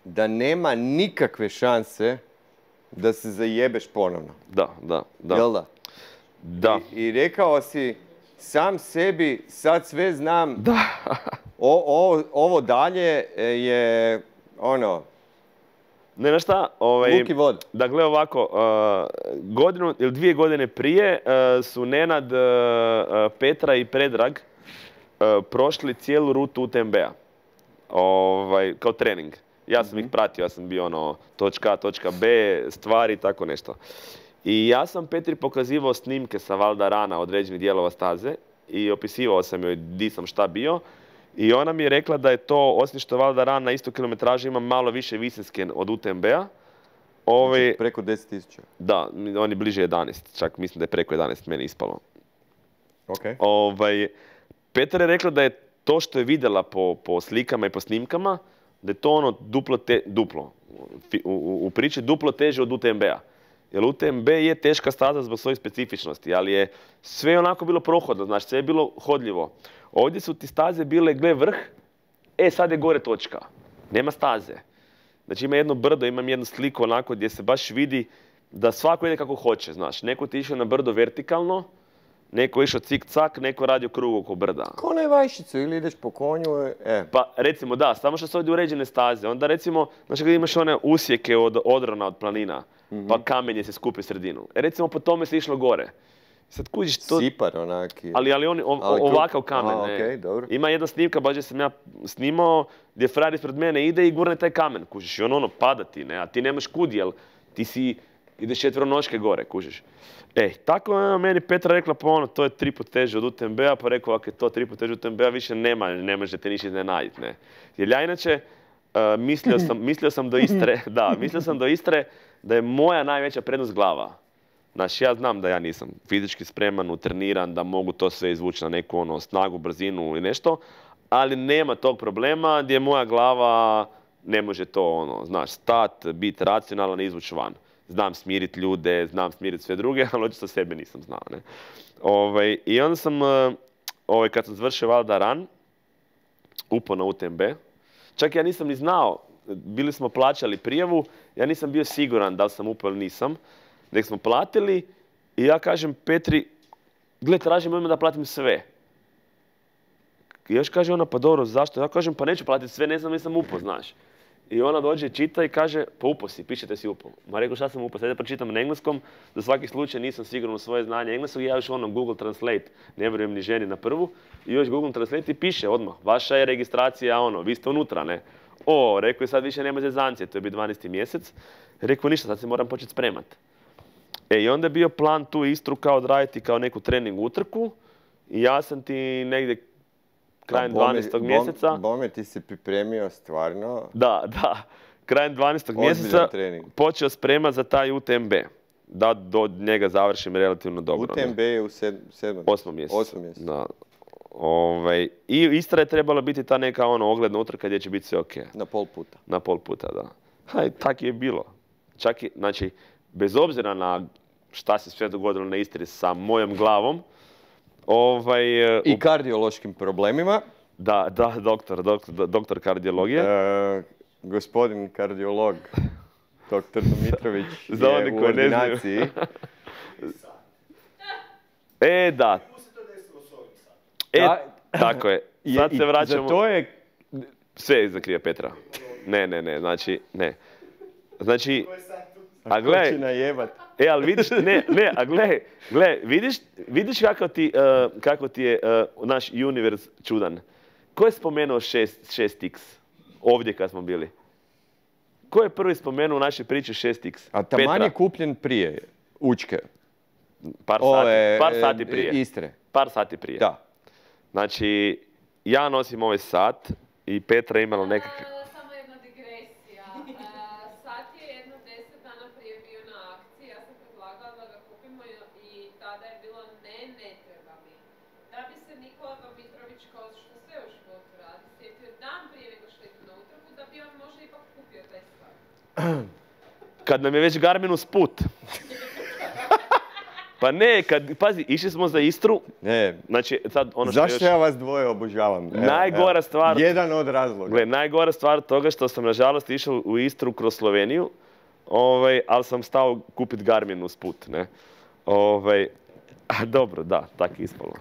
da nema nikakve šanse da se zajebeš ponovno. Da, da, da. Jel da? Da. I, i rekao si, sam sebi, sad sve znam. Da. O, o, ovo dalje je, ono... Ne, znaš šta? Ovaj, luk i vod. Dakle, ovako, uh, godinu ili dvije godine prije uh, su Nenad, uh, Petra i Predrag uh, prošli cijelu rutu U T M B-a. Ovaj, kao trening. Ja sam mm-hmm. ih pratio, ja sam bio ono, točka A, točka B, stvari, tako nešto. I ja sam Petri pokazivao snimke sa Valdarana određenih dijelova staze i opisivao sam joj di sam šta bio. I ona mi je rekla da je to, osim što Valdaran na istu kilometražu ima malo više visinske od U T M B-a, Ovaj, Znači, preko deset tisuća. da, on je bliže jedanaest, čak mislim da je preko jedanaest meni ispalo. Ok. Ovaj, Petra je rekla da je to što je vidjela po, po slikama i po snimkama, da je to ono duplo, te, duplo u, u, u priči duplo teže od U T M B-a. Jer U T M B je teška staza zbog svojih specifičnosti, ali je sve onako bilo prohodno, znači sve je bilo hodljivo. Ovdje su ti staze bile, gle vrh, e sad je gore točka, nema staze. Znači ima jedno brdo, imam jednu sliku onako gdje se baš vidi da svako ide kako hoće, znaš. Neko ti išao na brdo vertikalno, neko išao cik-cak, neko radio krug oko brda. Ko na vajšicu, ili ideš po konju, e. Pa recimo da, samo što su ovdje uređene staze. Onda recimo, znači kada imaš one usjeke od odrona, od planina, mm-hmm. pa kamenje se skupi u sredinu. E recimo po tome se išlo gore. Sad kužiš to... Sipar onaki. Ali, ali on o, ali ovakav kamen. Aha, ne. okay, dobro. Ima jedna snimka, baš gdje sam ja snimao, gdje frajer ispred mene ide i gurne taj kamen, kužiš. I on ono pada ti, ne, a ti nemaš kud, jel ti si, ideš četveronoške gore, kužiš. E, tako je meni Petra rekla, pa ono, to je tri put teže od U T M B-a, pa rekao, ako je to tri put teže od U T M B-a, više nema, ne možete ništa iznenaditi, ne. Jer ja inače, uh, mislio, sam, mislio sam do Istre, da, mislio sam do Istre da je moja najveća prednost glava. Znači, ja znam da ja nisam fizički spreman, utreniran, da mogu to sve izvući na neku ono, snagu, brzinu ili nešto, ali nema tog problema gdje moja glava ne može to, ono, znaš, stat, biti racionalan i izvući van. Znam smiriti ljude, znam smiriti sve druge, ali očito sebe nisam znao, ne. Ovaj, I onda sam, ovaj, kad sam završio valjda ran, upao na U T M B. Čak ja nisam ni znao, bili smo plaćali prijavu, ja nisam bio siguran da li sam upao ili nisam. Nek smo platili i ja kažem Petri, gle, tražim ime da platim sve. I još kaže ona, pa dobro, zašto? Ja kažem, pa neću platiti sve, ne znam, nisam upao, znaš. I ona dođe, čita i kaže, pa upao si, pišete si upao. Ma rekao, šta sam upao? Sad ja pročitam na engleskom, za svaki slučaj nisam siguran u svoje znanje engleskog i ja još ono Google Translate, ne vjerujem ni ženi na prvu, i još Google Translate i piše odmah, vaša je registracija, ono, vi ste unutra, ne. O, rekao je, sad više nema zezancije, to je bio dvanaesti mjesec. Rekao, ništa, sad se moram početi spremat. E, i onda je bio plan tu Istru kao odraditi kao neku trening utrku i ja sam ti negdje krajem dvanaestog mjeseca... Bome, ti si pripremio stvarno... Da, da. Krajem dvanaestog mjeseca počeo spremat za taj U T M B. Da do njega završim relativno dobro. U T M B je u sedmom Osmom mjesecu. Osmom mjesecu. Da. Ovaj, I Istra je trebala biti ta neka ono ogledna utrka gdje će biti sve ok. Na pol puta. Na pol puta, da. Ha, tak je bilo. Čak i, znači, bez obzira na šta se sve dogodilo na Istri sa mojom glavom, ovaj... I kardiološkim problemima. Da, da, doktor, doktor, doktor kardiologije. E, gospodin kardiolog, doktor Domitrović, za je u ordinaciji. E, da. E, tako je. Sad se vraćamo... Za to je... Sve je iza krija Petra. Ne, ne, ne, znači, ne. Znači... A gle, e, ali vidiš, ne, ne, a gle, gle, vidiš, vidiš kako ti, uh, kako ti je uh, naš univerz čudan. Ko je spomenuo šest iks ovdje kad smo bili? Ko je prvi spomenuo u našoj priči šest iks? A taman je kupljen prije Učke. Par sati, par sati prije. Istre. Par sati prije. Da. Znači, ja nosim ovaj sat i Petra je imala nekakve... Samo jedna digresija. Sat je jedno deset dana prije bio na akciji, ja sam predlagala da ga kupimo i tada je bilo ne, ne treba mi. Da bi se Nikola Domitrović, kao što sve u životu radi, sjetio dan prije nego što ide na utrku, da bi on možda ipak kupio taj sat. Kad nam je već Garmin usput. Pa ne, kad, pazi, išli smo za Istru. Ne. Znači, sad ono što Zašto još... ja vas dvoje obožavam? Evo, najgora evo. stvar... Jedan od razloga. Gle, najgora stvar toga što sam, nažalost, išao u Istru kroz Sloveniju, ovaj, ali sam stao kupit Garmin usput, ne. Ovaj, a dobro, da, tako je ispalo.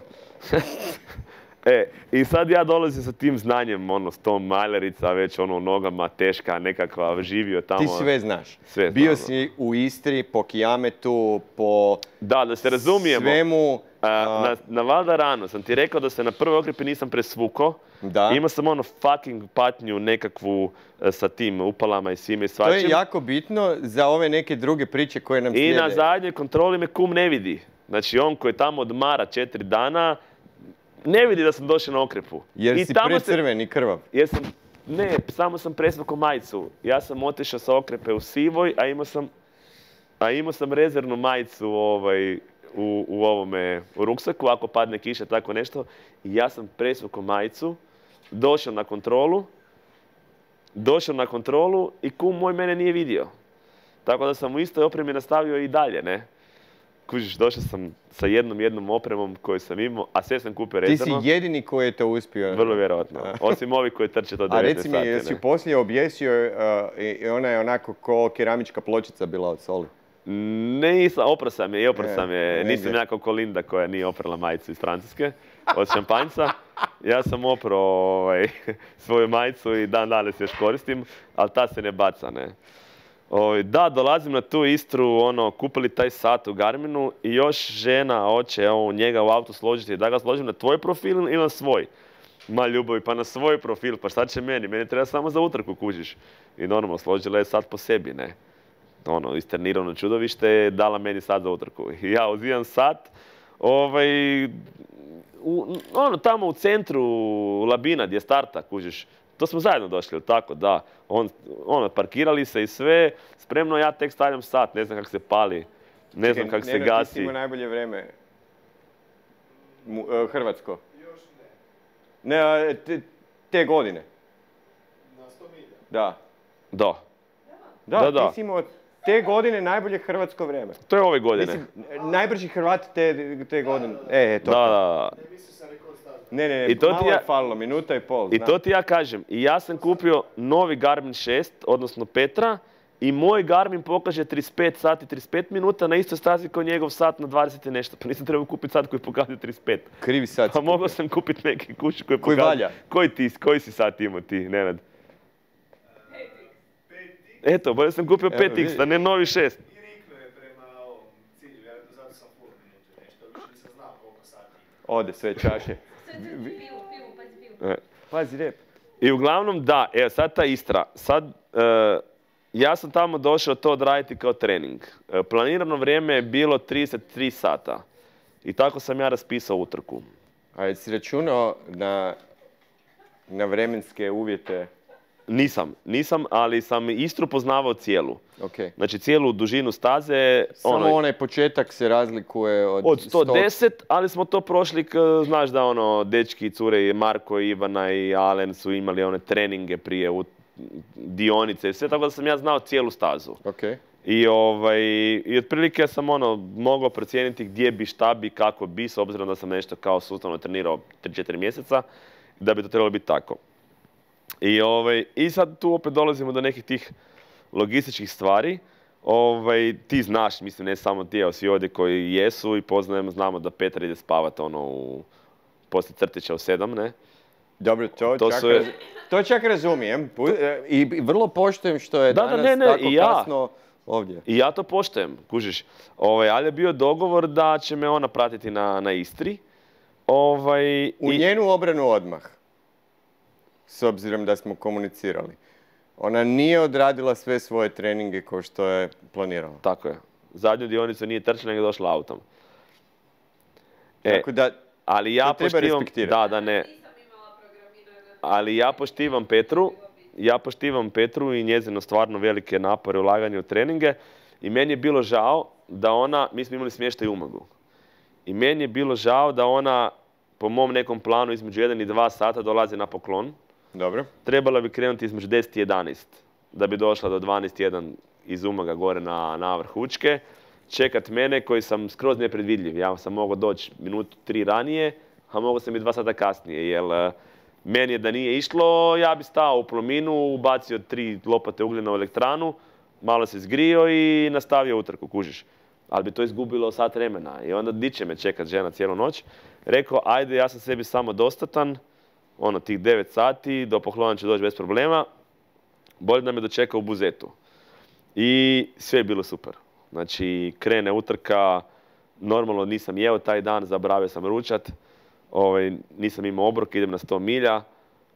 E, i sad ja dolazim sa tim znanjem, ono, s tom maljarica, već ono, nogama, teška, nekakva, živio tamo. Ti sve znaš. Sve Bio znam. si u Istri, po Kijametu, po... Da, da se razumijemo. Svemu... A, na, na Valda rano sam ti rekao da se na prvoj okrepi nisam presvukao. Da. Imao sam ono fucking patnju nekakvu sa tim upalama i svime i svačim. To je jako bitno za ove neke druge priče koje nam I slijede. I na zadnjoj kontroli me kum ne vidi. Znači on koji tamo odmara četiri dana, ne vidi da sam došao na okrepu. Jer I si tamo precrven i krvav. Jer sam Ne, samo sam presvukao majicu. Ja sam otišao sa okrepe u sivoj, a imao sam, a imao sam rezervnu majicu ovaj, u, u ovome u ruksaku, ako padne kiša, tako nešto. I ja sam presvukao majicu, došao na kontrolu, došao na kontrolu i kum moj mene nije vidio. Tako da sam u istoj opremi nastavio i dalje, ne. Kužiš, došao sam sa jednom jednom opremom koju sam imao, a sve sam kupio rezervno. Ti si jedini koji je to uspio. Vrlo vjerovatno. Osim ovih koji trče to devetnaest sati. A reci mi, jesi poslije objesio uh, i ona je onako ko keramička pločica bila od soli? Nisam, opro sam je i opro sam je. Ne, Nisam ne. jako ko Linda koja nije oprala majicu iz Francuske od šampanjca. Ja sam opro ovaj, svoju majicu i dan danas još koristim, ali ta se ne baca, ne. O, da, dolazim na tu Istru, ono, kupili taj sat u Garminu i još žena hoće evo, njega u auto složiti. Da ga složim na tvoj profil ili na svoj? Ma ljubavi, pa na svoj profil, pa šta će meni? Meni treba samo za utrku, kužiš. I normalno, složila je sat po sebi, ne. Ono, istrenirano čudovište, dala meni sat za utrku. I ja uzimam sat, ovaj, u, ono, tamo u centru Labina gdje je starta, kužiš. To smo zajedno došli, tako, da. On, ono, parkirali se i sve, spremno ja tek stavljam sat, ne znam kako se pali, ne znam kako se Nenad, gasi. ti si imao najbolje vrijeme. Mu, uh, Hrvatsko. Još ne. Ne, a, te, te godine. Na sto milja. Da. Da. Da, Da, da. ti si imao te godine najbolje hrvatsko vrijeme. To je ove godine. Mislim, najbrži Hrvat te, te godine. E, e, to. Da, da, da. Ne mislim sam rekord staviti. Ne, ne, ne, I to ti malo ja- je falilo, minuta i pol. I znam. to ti ja kažem. I ja sam kupio novi Garmin šest, odnosno Petra, i moj Garmin pokaže trideset pet sati, trideset pet minuta na istoj stazi kao njegov sat na dvadeset i nešto. Pa nisam trebao kupiti sat koji pokazuje trideset pet. Krivi sad. Pa mogao sam kupiti neki kući koji Koji pokazuje... valja. Koji ti, koji si sat imao ti, Nenad? pet x Eto, bolje sam kupio Evo, pet x, vidi. a ne novi šest. i riknuo je prema ovom cilju, vjerojatno zato sam full minutu i nešto, više nisam znao koliko sati ima. Ode sve čaše. Sve, sve, pivu, pivu, pazi pivu. E. Pazi rep. I uglavnom, da, evo sad ta Istra. Sad, e, ja sam tamo došao to odraditi kao trening. E, planirano vrijeme je bilo trideset tri sata. I tako sam ja raspisao utrku. A jesi računao na, na vremenske uvjete? Nisam, nisam, ali sam Istru poznavao cijelu. Ok. Znači cijelu dužinu staze. Samo ono, onaj početak se razlikuje od, Od sto deset, ali smo to prošli, k- znaš da ono, dečki i cure, i Marko, i Ivana i Alen su imali one treninge prije, u, dionice i sve, tako da sam ja znao cijelu stazu. Ok. I, ovaj, i otprilike sam ono, mogao procijeniti gdje bi, šta bi, kako bi, s obzirom da sam nešto kao sustavno trenirao tri četiri mjeseca, da bi to trebalo biti tako. I, ovaj, I sad tu opet dolazimo do nekih tih logističkih stvari. Ovaj, ti znaš, mislim, ne samo ti, evo svi ovdje koji jesu i poznajemo, znamo da Petar ide spavat ono u, poslije crtića u sedam, ne? Dobro, to, To čak, su- raz- to čak razumijem. Pu- e, I i vrlo poštujem što je Da, da, danas ne, ne, tako i ja. kasno ovdje. I ja to poštujem, kužiš. Ovaj, ali je bio dogovor da će me ona pratiti na, na Istri. Ovaj, U i- njenu obranu odmah, s obzirom da smo komunicirali. Ona nije odradila sve svoje treninge kao što je planirala. Tako je. Zadnju dionicu nije trčala, nego je došla autom. E, Tako da, ali ja to treba poštivam, respektirati. da, da ne, Nisam imala programirano. ali ja poštivam Petru, ja poštivam Petru i njezino stvarno velike napore ulaganje u treninge i meni je bilo žao da ona, mi smo imali smještaj u Umagu, i meni je bilo žao da ona po mom nekom planu između jedan i dva sata dolazi na poklon. dobro. Trebala bi krenuti između deset i jedanaest da bi došla do dvanaest jedan iz Umaga gore na, na vrh Učke. Čekat mene koji sam skroz nepredvidljiv. Ja sam mogao doći minutu tri ranije, a mogao sam i dva sata kasnije. Jer eh, meni je da nije išlo, ja bi stao u Plominu, ubacio tri lopate ugljena u elektranu, malo se zgrio i nastavio utrku, kužiš. Ali bi to izgubilo sat vremena. I onda di će me čekat žena cijelu noć. Rekao, ajde, ja sam sebi samo dostatan, ono, tih devet sati, do poklona ću doći bez problema, bolje da me dočeka u Buzetu. I sve je bilo super. Znači, krene utrka, normalno nisam jeo taj dan, zaboravio sam ručat, ovaj, nisam imao obrok, idem na sto milja,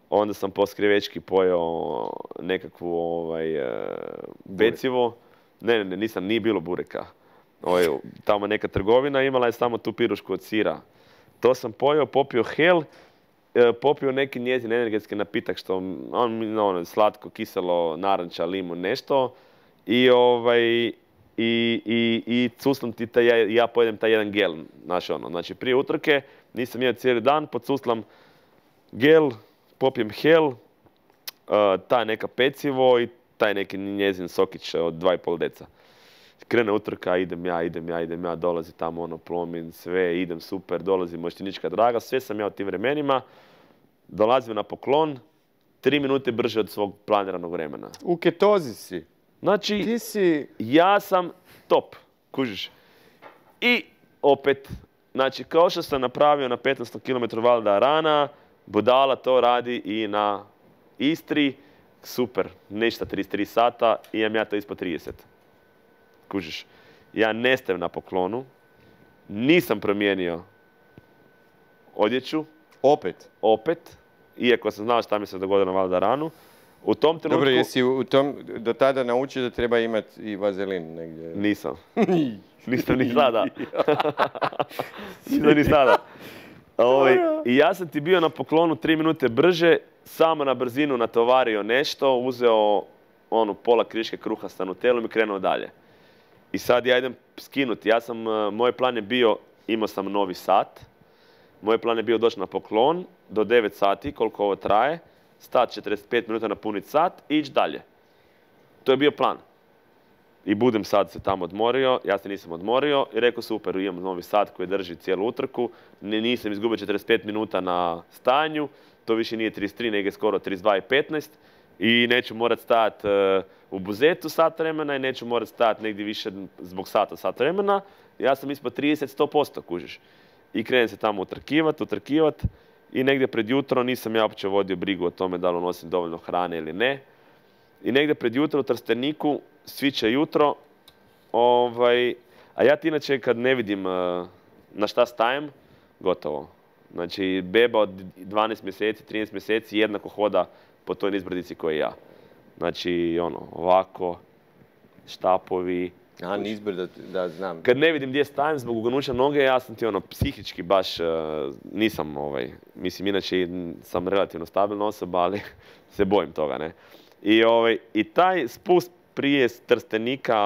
onda sam po skrivečki pojeo nekakvu ovaj, e, pecivo. Ne, ne, ne, nisam, nije bilo bureka. Ovaj, tamo neka trgovina imala je samo tu pirušku od sira. To sam pojeo, popio hel, e, popio neki njezin energetski napitak, što on, ono, slatko, kiselo, naranča, limun, nešto. I ovaj, i, i, i cuslam ti taj, ja, ja pojedem taj jedan gel, znaš ono. Znači, prije utrke nisam jeo cijeli dan, podsuslam gel, popijem hel, uh, taj neka pecivo i taj neki njezin sokić od dva i pol deca. Krene utrka, idem ja, idem ja, idem ja, dolazi tamo ono Plomin, sve, idem super, dolazi Moštinička Draga, sve sam ja u tim vremenima, dolazim na poklon, tri minute brže od svog planiranog vremena. U ketozi si. Znači, Ti si... ja sam top, kužiš. I opet, znači, kao što sam napravio na petnaestom kilometru Val d'Arana, budala to radi i na Istri, super, ništa trideset tri sata, imam ja to ispod trideset. Kužiš, ja ne stajem na poklonu, nisam promijenio odjeću. Opet? Opet, iako sam znao šta mi se dogodilo na Val d'Aranu. U tom trenutku... Dobro, jesi u tom, do tada naučio da treba imati i vazelin negdje? Nisam. Nisam ni sada. Nisam ni sada. Ovaj, I ja sam ti bio na poklonu tri minute brže, samo na brzinu natovario nešto, uzeo onu pola kriške kruha sa nutelom i krenuo dalje. I sad ja idem skinuti. Ja sam, moj plan je bio, imao sam novi sat. Moj plan je bio doći na poklon do devet sati, koliko ovo traje, stat četrdeset pet minuta napuniti sat i ići dalje. To je bio plan. I budem sad se tamo odmorio, ja se nisam odmorio i rekao super, imam novi sat koji drži cijelu utrku, nisam izgubio četrdeset pet minuta na stanju, to više nije trideset tri, nego je skoro trideset dva i petnaest i neću morat stajati uh, u Buzetu sat vremena i neću morat stajati negdje više zbog sata, sat vremena. Ja sam ispod trideset do sto posto, kužiš. I krenem se tamo utrkivat, utrkivat i negdje pred jutro nisam ja uopće vodio brigu o tome da li nosim dovoljno hrane ili ne. I negdje pred jutro u Trsteniku sviće jutro, ovaj, a ja ti inače kad ne vidim uh, na šta stajem, gotovo. Znači, beba od dvanaest mjeseci, trinaest mjeseci jednako hoda po toj nizbrdici koji ja. Znači, ono, ovako, štapovi. A, nizbrda, da, znam. Kad ne vidim gdje stajem zbog uganuća noge, ja sam ti ono, psihički baš, uh, nisam, ovaj, mislim, inače sam relativno stabilna osoba, ali se bojim toga, ne. I, ovaj, i taj spust prije Trstenika,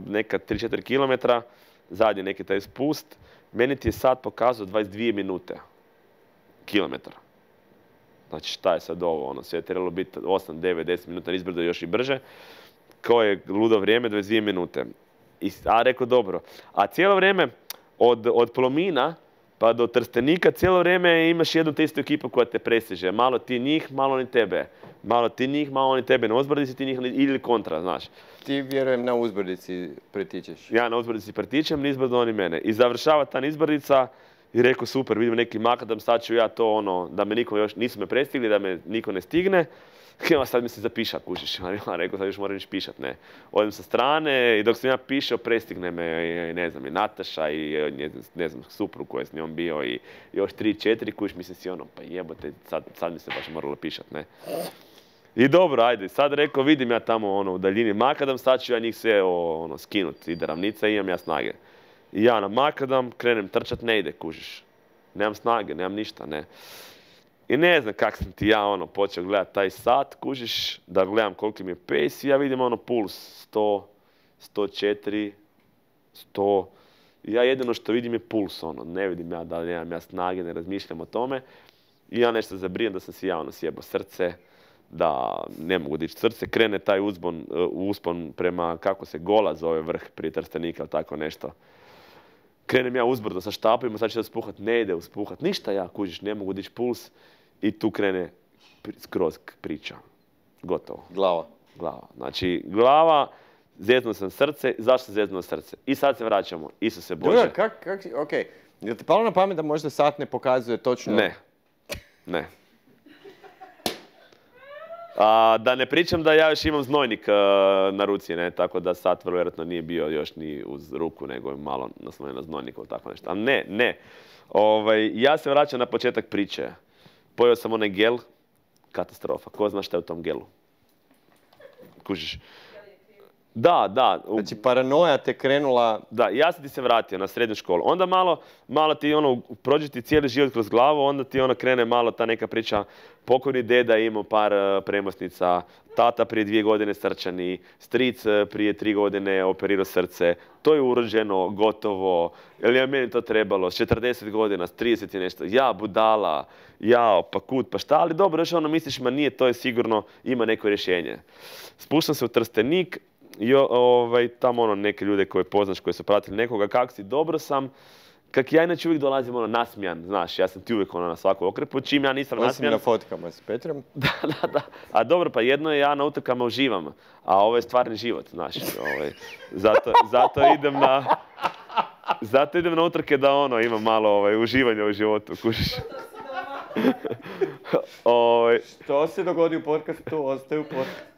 neka tri do četiri kilometra, zadnji neki taj spust, meni ti je sad pokazao dvadeset dvije minute kilometra. Znači šta je sad ovo, ono, sve je trebalo biti osam, devet, deset minuta izbrdo još i brže. Kao je ludo vrijeme, dvadeset dvije minute. I, a rekao dobro, a cijelo vrijeme od, od Plomina pa do Trstenika cijelo vrijeme imaš jednu te istu ekipu koja te prestiže. Malo ti njih, malo ni tebe. Malo ti njih, malo ni tebe na uzbrdici, ti njih ili kontra, znaš. Ti vjerujem na uzbrdici pretičeš. Ja na uzbrdici pretičem, nizbrdo oni mene. I završava ta nizbrdica i rekao super, vidim neki makadam, sad ću ja to ono, da me niko još, nisu me prestigli, da me niko ne stigne. Ja sad mi se zapiša, kužiš. Ja rekao, sad još moram ići pišat, ne. Odem sa strane i dok sam ja pišao, prestigne me, i, ne znam, i Nataša i, ne znam, ne znam suprug koji je s njom bio i još tri, četiri, kužiš, mislim si ono, pa jebote, sad, sad mi se baš moralo pišat, ne. I dobro, ajde, sad rekao, vidim ja tamo ono, u daljini makadam, sad ću ja njih sve ono, skinut, ide ravnica i imam ja snage. I ja na makadam, krenem trčat, ne ide, kužiš. Nemam snage, nemam ništa, ne. I ne znam kak sam ti ja ono počeo gledat taj sat, kužiš, da gledam koliki mi je pace i ja vidim ono puls sto, sto četiri, sto. I ja jedino što vidim je puls, ono, ne vidim ja da li nemam ja snage, ne razmišljam o tome. I ja nešto zabrijem da sam si ja ono sjebao srce, da ne mogu dići srce, krene taj uzbon, uspon prema, kako se Gola zove vrh prije Trstenika ili tako nešto. Krenem ja uzbrdo sa štapima, sad ću da spuhat, ne ide uspuhat, ništa ja, kužiš, ne mogu dići puls. I tu krene skroz priča. Gotovo. Glava. Glava. Znači, glava, zeznuo sam srce, zašto sam zeznuo srce? I sad se vraćamo, Isuse Bože. Dobro, kak, kak, okej. Jel ti palo na pamet da možda sat ne pokazuje točno? Ne. Ne. A, da ne pričam da ja još imam znojnik uh, na ruci, ne, tako da sat vrlo vjerojatno nije bio još ni uz ruku, nego je malo naslonjen na znojnik ili tako nešto. Ali ne, ne. Ovaj, ja se vraćam na početak priče. Pojeo sam onaj gel, katastrofa. Ko zna šta je u tom gelu? Kužiš? Da, da. u- Znači, paranoja te krenula... Da, ja sam ti se vratio na srednju školu. Onda malo, malo ti ono, prođe ti cijeli život kroz glavu, onda ti ono krene malo ta neka priča, pokojni deda je imao par uh, premosnica, tata prije dvije godine srčani, stric uh, prije tri godine operirao srce, to je urođeno, gotovo, jer je meni to trebalo, s četrdeset godina, s trideset i nešto, ja budala, jao, pa kut, pa šta, ali dobro, još ono misliš, ma nije, to je sigurno, ima neko rješenje. Spuštam se u Trstenik, i ovaj, tamo ono neke ljude koje poznaš, koji su pratili nekoga, kak si, dobro sam. Kak ja inače uvijek dolazim ono nasmijan, znaš, ja sam ti uvijek ono na svaku okrepu, čim ja nisam Osim nasmijan... na fotkama s Petrom. Da, da, da. A dobro, pa jedno je ja na utrkama uživam, a ovo je stvarni život, znaš. Ovaj, zato, zato idem na... Zato idem na utrke da ono, imam malo ovaj, uživanja u životu, kužiš. ovaj, Što se dogodi u podcastu, ostaje u podcastu.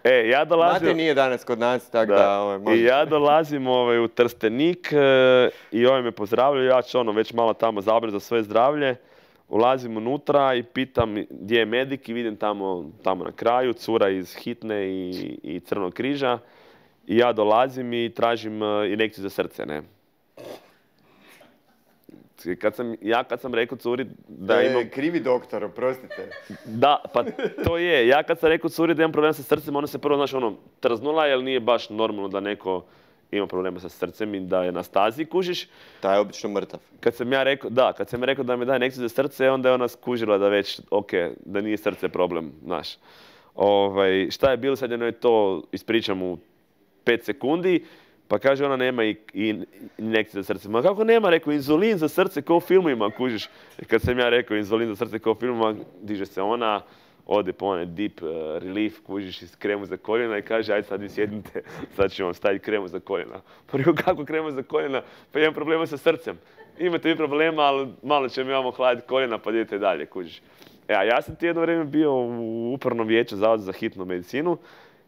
e, ja dolazim... Mate nije danas kod nas, tako da... Da. ovaj, I može- ja dolazim ovaj, u Trstenik e, i ovaj me pozdravljaju, ja ću ono već malo tamo zabrinuti za svoje zdravlje. Ulazim unutra i pitam gdje je medik i vidim tamo, tamo na kraju cura iz Hitne i, i Crvenog križa. I ja dolazim i tražim e, injekciju za srce, ne. Kad sam, ja kad sam rekao curi da E, imam... krivi doktor, oprostite. Da, pa to je. Ja kad sam rekao curi da imam problema sa srcem, ona se prvo, znaš, ono, trznula, jer nije baš normalno da neko ima problema sa srcem i da je na stazi, kužiš. Taj je obično mrtav. Kad sam ja rekao, da, kad sam ja rekao da mi daje injekciju za srce, onda je ona skužila da već, ok, da nije srce problem, znaš. Ovaj, šta je bilo, sad je to ispričam u pet sekundi, pa kaže ona nema i, i injekcije za srce. Ma kako nema, rekao, inzulin za srce kao u filmima, kužiš. I kad sam ja rekao inzulin za srce kao u filmima, diže se ona, ode po onaj deep uh, relief, kužiš, iz kremu za koljena i kaže, ajde sad vi sjednite, sad ću vam staviti kremu za koljena. Pa rekao, kako kremu za koljena? Pa imam problema sa srcem. Imate vi problema, ali malo će mi vam ohladiti koljena, pa idete dalje, kužiš. E, a ja sam ti jedno vrijeme bio u upravnom vijeću Zavoda za hitnu medicinu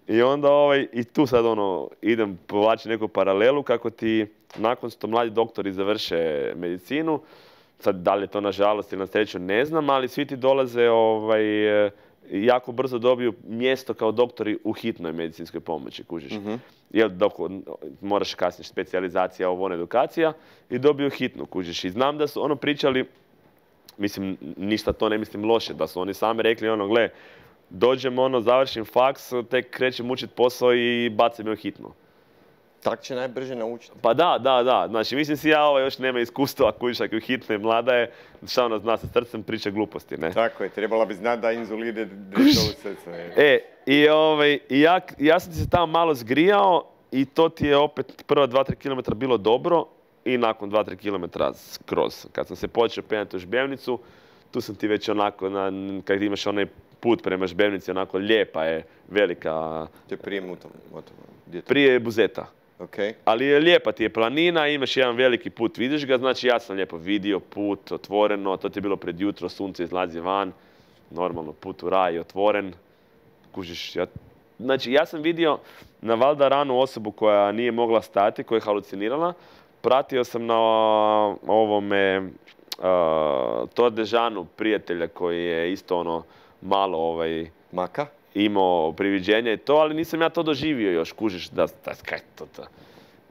i onda ovaj, i tu sad ono, idem povlačiti neku paralelu kako ti nakon što mladi doktori završe medicinu, sad da li je to nažalost ili na sreću ne znam, ali svi ti dolaze ovaj, jako brzo dobiju mjesto kao doktori u hitnoj medicinskoj pomoći, kužiš. Mhm. Jel, dok moraš kasnije specijalizacija, ovo ono, edukacija i dobiju hitnu, kužiš. I znam da su ono pričali, mislim, ništa to ne mislim loše, da su oni sami rekli ono, gle, dođem ono, završim faks, tek krećem učit posao i bacim je u hitnu. Tak će najbrže naučiti. Pa da, da, da. Znači, mislim si ja ovo još nema iskustva, kužiš, ako je hitna i mlada je, šta ona zna sa srcem, priča gluposti, ne? Tako je, trebala bi znati da inzulin ide dešava u srce. E, i, ovaj, i ja, ja sam ti se tamo malo zgrijao i to ti je opet prva dva do tri kilometra bilo dobro i nakon dva do tri kilometra skroz. Kad sam se počeo penjati u Žbevnicu, tu sam ti već onako, na, kad imaš onaj put prema Žbevnici, onako lijepa je, velika, To je prije Motovo. Gdje je to? prije Buzeta. Ok. Ali je lijepa ti je planina, imaš jedan veliki put, vidiš ga, znači ja sam lijepo vidio put, otvoreno, to ti je bilo pred jutro, sunce izlazi van, normalno put u raj je otvoren, kužiš, ja, znači ja sam vidio na valjda ranu osobu koja nije mogla stati, koja je halucinirala, pratio sam na ovome uh, Tour de Jeanu prijatelja koji je isto ono malo ovaj, Maka? imao priviđenje i to, ali nisam ja to doživio još, kužiš, da, da, kaj to, to.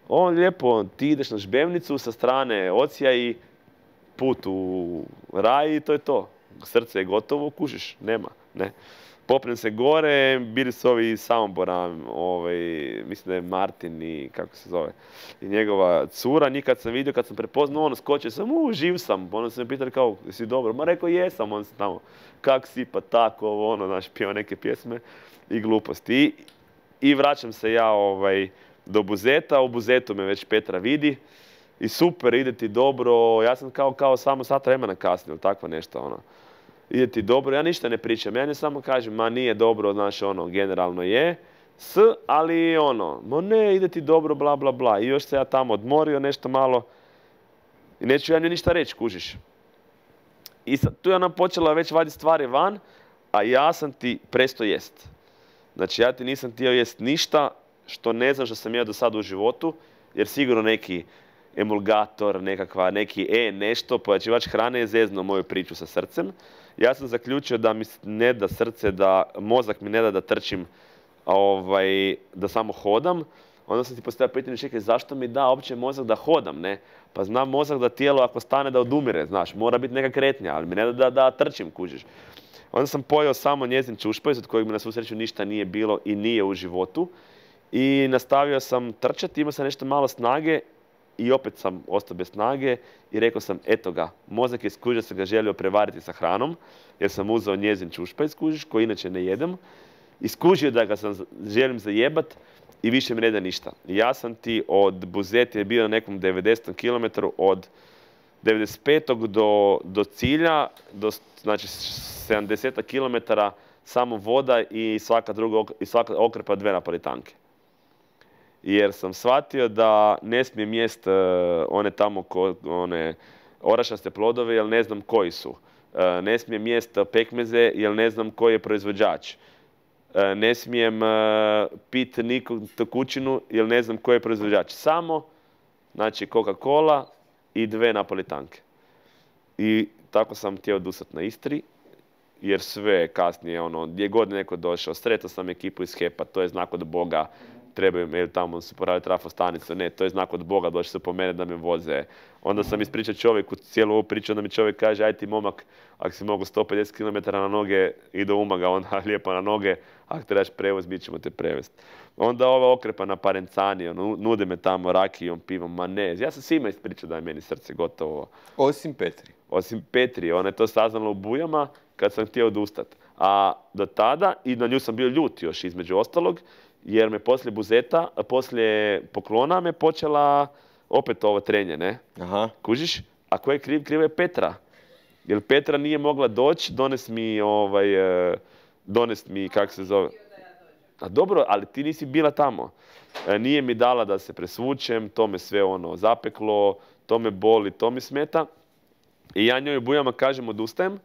On lijepo, ti ideš na Žbevnicu sa strane Ocija i put u raj i to je to. Srce je gotovo, kužiš, nema, ne. Popnem se gore, bili su ovi iz Samobora, ovaj, mislim da je Martin i kako se zove, i njegova cura, njih kad sam vidio, kad sam prepoznao, ono, skočio sam, u, živ sam, ono su me pitali kao, jesi dobro, ma rekao, jesam, on se tamo, kak si, pa tako, ovo, ono, znaš, pjeva neke pjesme i gluposti. I, i vraćam se ja, ovaj, do Buzeta, u Buzetu me već Petra vidi i super, ide ti dobro, ja sam kao, kao samo sat vremena kasnije, ili takvo nešto, ono. Ide ti dobro, ja ništa ne pričam, ja ne samo kažem, ma nije dobro, znaš, ono, generalno je, s, ali ono, ma ne, ide ti dobro, bla, bla, bla. I još se ja tamo odmorio nešto malo i neću ja ni ništa reći, kužiš. I sad, tu je ona počela već vaditi stvari van, a ja sam ti prestao jest. Znači, ja ti nisam htio jest ništa što ne znam što sam jeo do sada u životu, jer sigurno neki emulgator, nekakva, neki E nešto, pojačivač hrane je zeznuo moju priču sa srcem. Ja sam zaključio da mi ne da srce, da mozak mi ne da da trčim ovaj, da samo hodam, onda sam ti postavio pitanje, čekaj, zašto mi da uopće mozak da hodam, ne? Pa znam mozak da tijelo ako stane da odumire, znaš, mora biti neka kretnja, ali mi ne da da, da trčim, kužiš. Onda sam pojeo samo njezin čušpajz, od kojeg mi na svu sreću ništa nije bilo i nije u životu. I nastavio sam trčati, imao sam nešto malo snage i opet sam ostao bez snage i rekao sam, eto ga, mozak je skužio, sam ga želio prevariti sa hranom, jer sam uzeo njezin čušpajz, kužiš, koji inače ne jedem. I skužio da ga sam želim zajebat i više mi ne da ništa. Ja sam ti od Buzete je bio na nekom devedesetom kilometru, od devedeset petog do, do cilja, do, znači sedamdeset kilometara, samo voda i svaka druga i svaka okrpa dve napolitanke. Jer sam shvatio da ne smijem jest uh, one tamo ko, one orašaste plodove jer ne znam koji su. Uh, ne smijem jest pekmeze jer ne znam koji je proizvođač. Uh, ne smijem uh, pit nikog tekućinu jer ne znam koji je proizvođač. Samo, znači, Coca-Cola i dve napolitanke. I tako sam htio odustati na Istri, jer sve kasnije, ono, gdje god neko došao, sretao sam ekipu iz HEP-a, to je znak od Boga, trebaju me, tamo su poradili trafostanicu, ne, to je znak od Boga, došli su po mene da me voze. Onda sam ispričao čovjeku cijelu ovu priču, onda mi čovjek kaže, aj ti momak, ako si mogu sto pedeset kilometara na noge i do Umaga, onda lijepo na noge, ako trebaš prevoz, mi ćemo te prevesti. Onda ova okrepa na Parencani, ono, nude me tamo rakijom, pivom, ma ne, ja sam svima ispričao da je meni srce gotovo. Osim Petri. Osim Petri, ona je to saznala u Bujama kad sam htio odustati. A do tada, i na nju sam bio ljut još između ostalog, jer me poslije Buzeta, poslije Poklona me počela opet ovo trenje, ne? Aha. Kužiš? A ko je kriv? Kriva je Petra. Jer Petra nije mogla doći, dones mi, ovaj, dones mi, kak se zove... A dobro, ali ti nisi bila tamo. Nije mi dala da se presvučem, to me sve ono zapeklo, to me boli, to mi smeta. I ja njoj u Bujama kažem odustajem.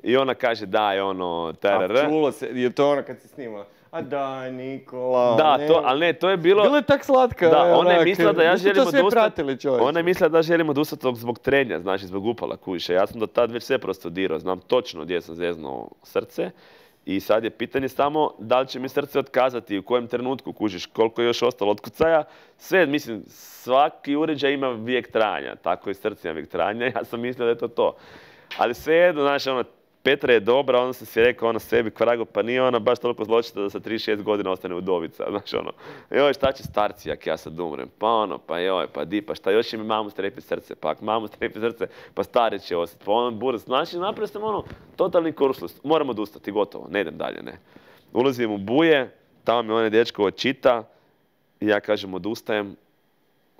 I ona kaže daj ono... Tarara. A čulo se, je to ono kad si snimala? A daj Nikola, da, ne. To, ali ne, to je bilo... Bilo je tak slatka. Da, ona je mislila da ja želim odustati. Ona je mislila da želim odustati zbog trenja, znači zbog upala kujiša. Ja sam do tad već sve prostudirao, znam točno gdje sam zeznuo srce. I sad je pitanje samo da li će mi srce otkazati, u kojem trenutku kužiš, koliko je još ostalo od kucaja. Sve, mislim, svaki uređaj ima vijek trajanja, tako i srce ima vijek trajanja. Ja sam mislio da je to to. Ali svejedno, znači, ono, Petra je dobra, onda sam si rekao ona sebi, kvarago, pa nije ona baš toliko zločita da sa trideset šest godina ostane udovica, znaš ono. Joj, šta će starci jak ja sad umrem? Pa ono, pa joj, pa di, pa šta, još će mi mamu strepi srce, pa ako mamu strepi srce, pa stari će ostati, pa ono, burac. Znači, napravio sam ono, totalni kuršlus, moram odustati, gotovo, ne idem dalje, ne. Ulazim u Buje, tamo mi onaj dečko očita i ja kažem odustajem,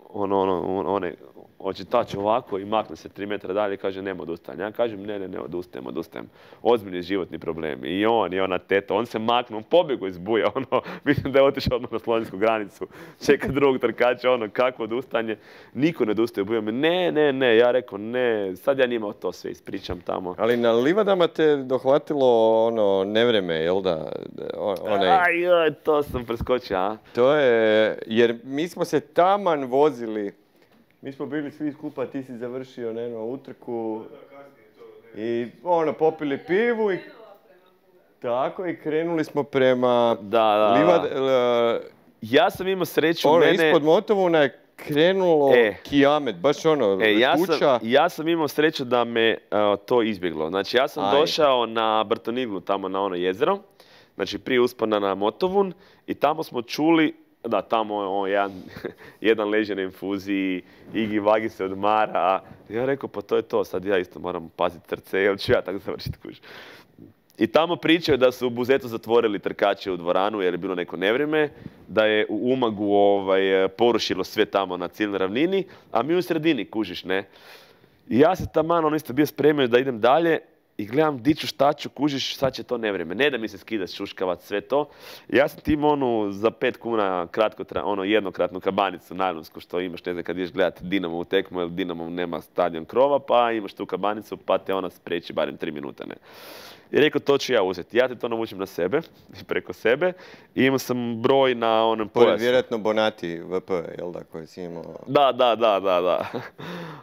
ono, ono, one, očitač ovako i makne se tri metra dalje i kaže nema odustajanja. Ja kažem ne, ne, ne, odustajem, odustajem. Ozbiljni životni problemi. I on, i ona teta, on se maknu, on pobjegao iz Buja, ono, mislim da je otišao odmah na slovensku granicu. Čeka drugog trkača, ono, kako odustanje. Niko ne odustaje u Buja. Ne, ne, ne, ja rekao ne, sad ja njima to sve ispričam tamo. Ali na livadama te dohvatilo ono nevreme, jel da? Onaj... Aj, joj, to sam preskočio, a? To je, jer mi smo se taman vozili. Mi smo bili svi skupa, ti si završio neno utrku i ono, popili pivu i tako i krenuli smo prema da, da, Livad... da. Ja sam imao sreću, ono, mene... ispod Motovuna je krenulo e, kijamet, baš ono, e, ja kuća. Sam, ja sam imao sreću da me uh, to izbjeglo. Znači ja sam Aj. došao na Brtoniglu, tamo na ono jezero, znači prije uspona na Motovun i tamo smo čuli. Da, tamo on, jedan, jedan leže na infuziji, Igi Vagi se odmara. Ja rekao, pa to je to, sad ja isto moram paziti srce, jel ću ja tako završiti kuć. I tamo pričaju da su u Buzetu zatvorili trkače u dvoranu jer je bilo neko nevrijeme, da je u Umagu ovaj, porušilo sve tamo na cijeloj ravnini, a mi u sredini kužiš, ne. I ja se taman, ono isto bio spremio da idem dalje. I gledam diću šta ću, kužiš, sad će to nevrijeme. Ne da mi se skida šuškavac, sve to. Ja sam ti imao onu za pet kuna kratko, ono jednokratnu kabanicu najlonsku što imaš, ne znam, kad ideš gledati Dinamo u tekmu, jer Dinamo nema stadion krova, pa imaš tu kabanicu, pa te ona spriječi barem tri minute, ne. I rekao, to ću ja uzeti. Ja te to navučem na sebe, preko sebe. I imao sam broj na onom pojasu. Vjerojatno Bonati V P, jel da, koji si imao? Da, da, da, da, da.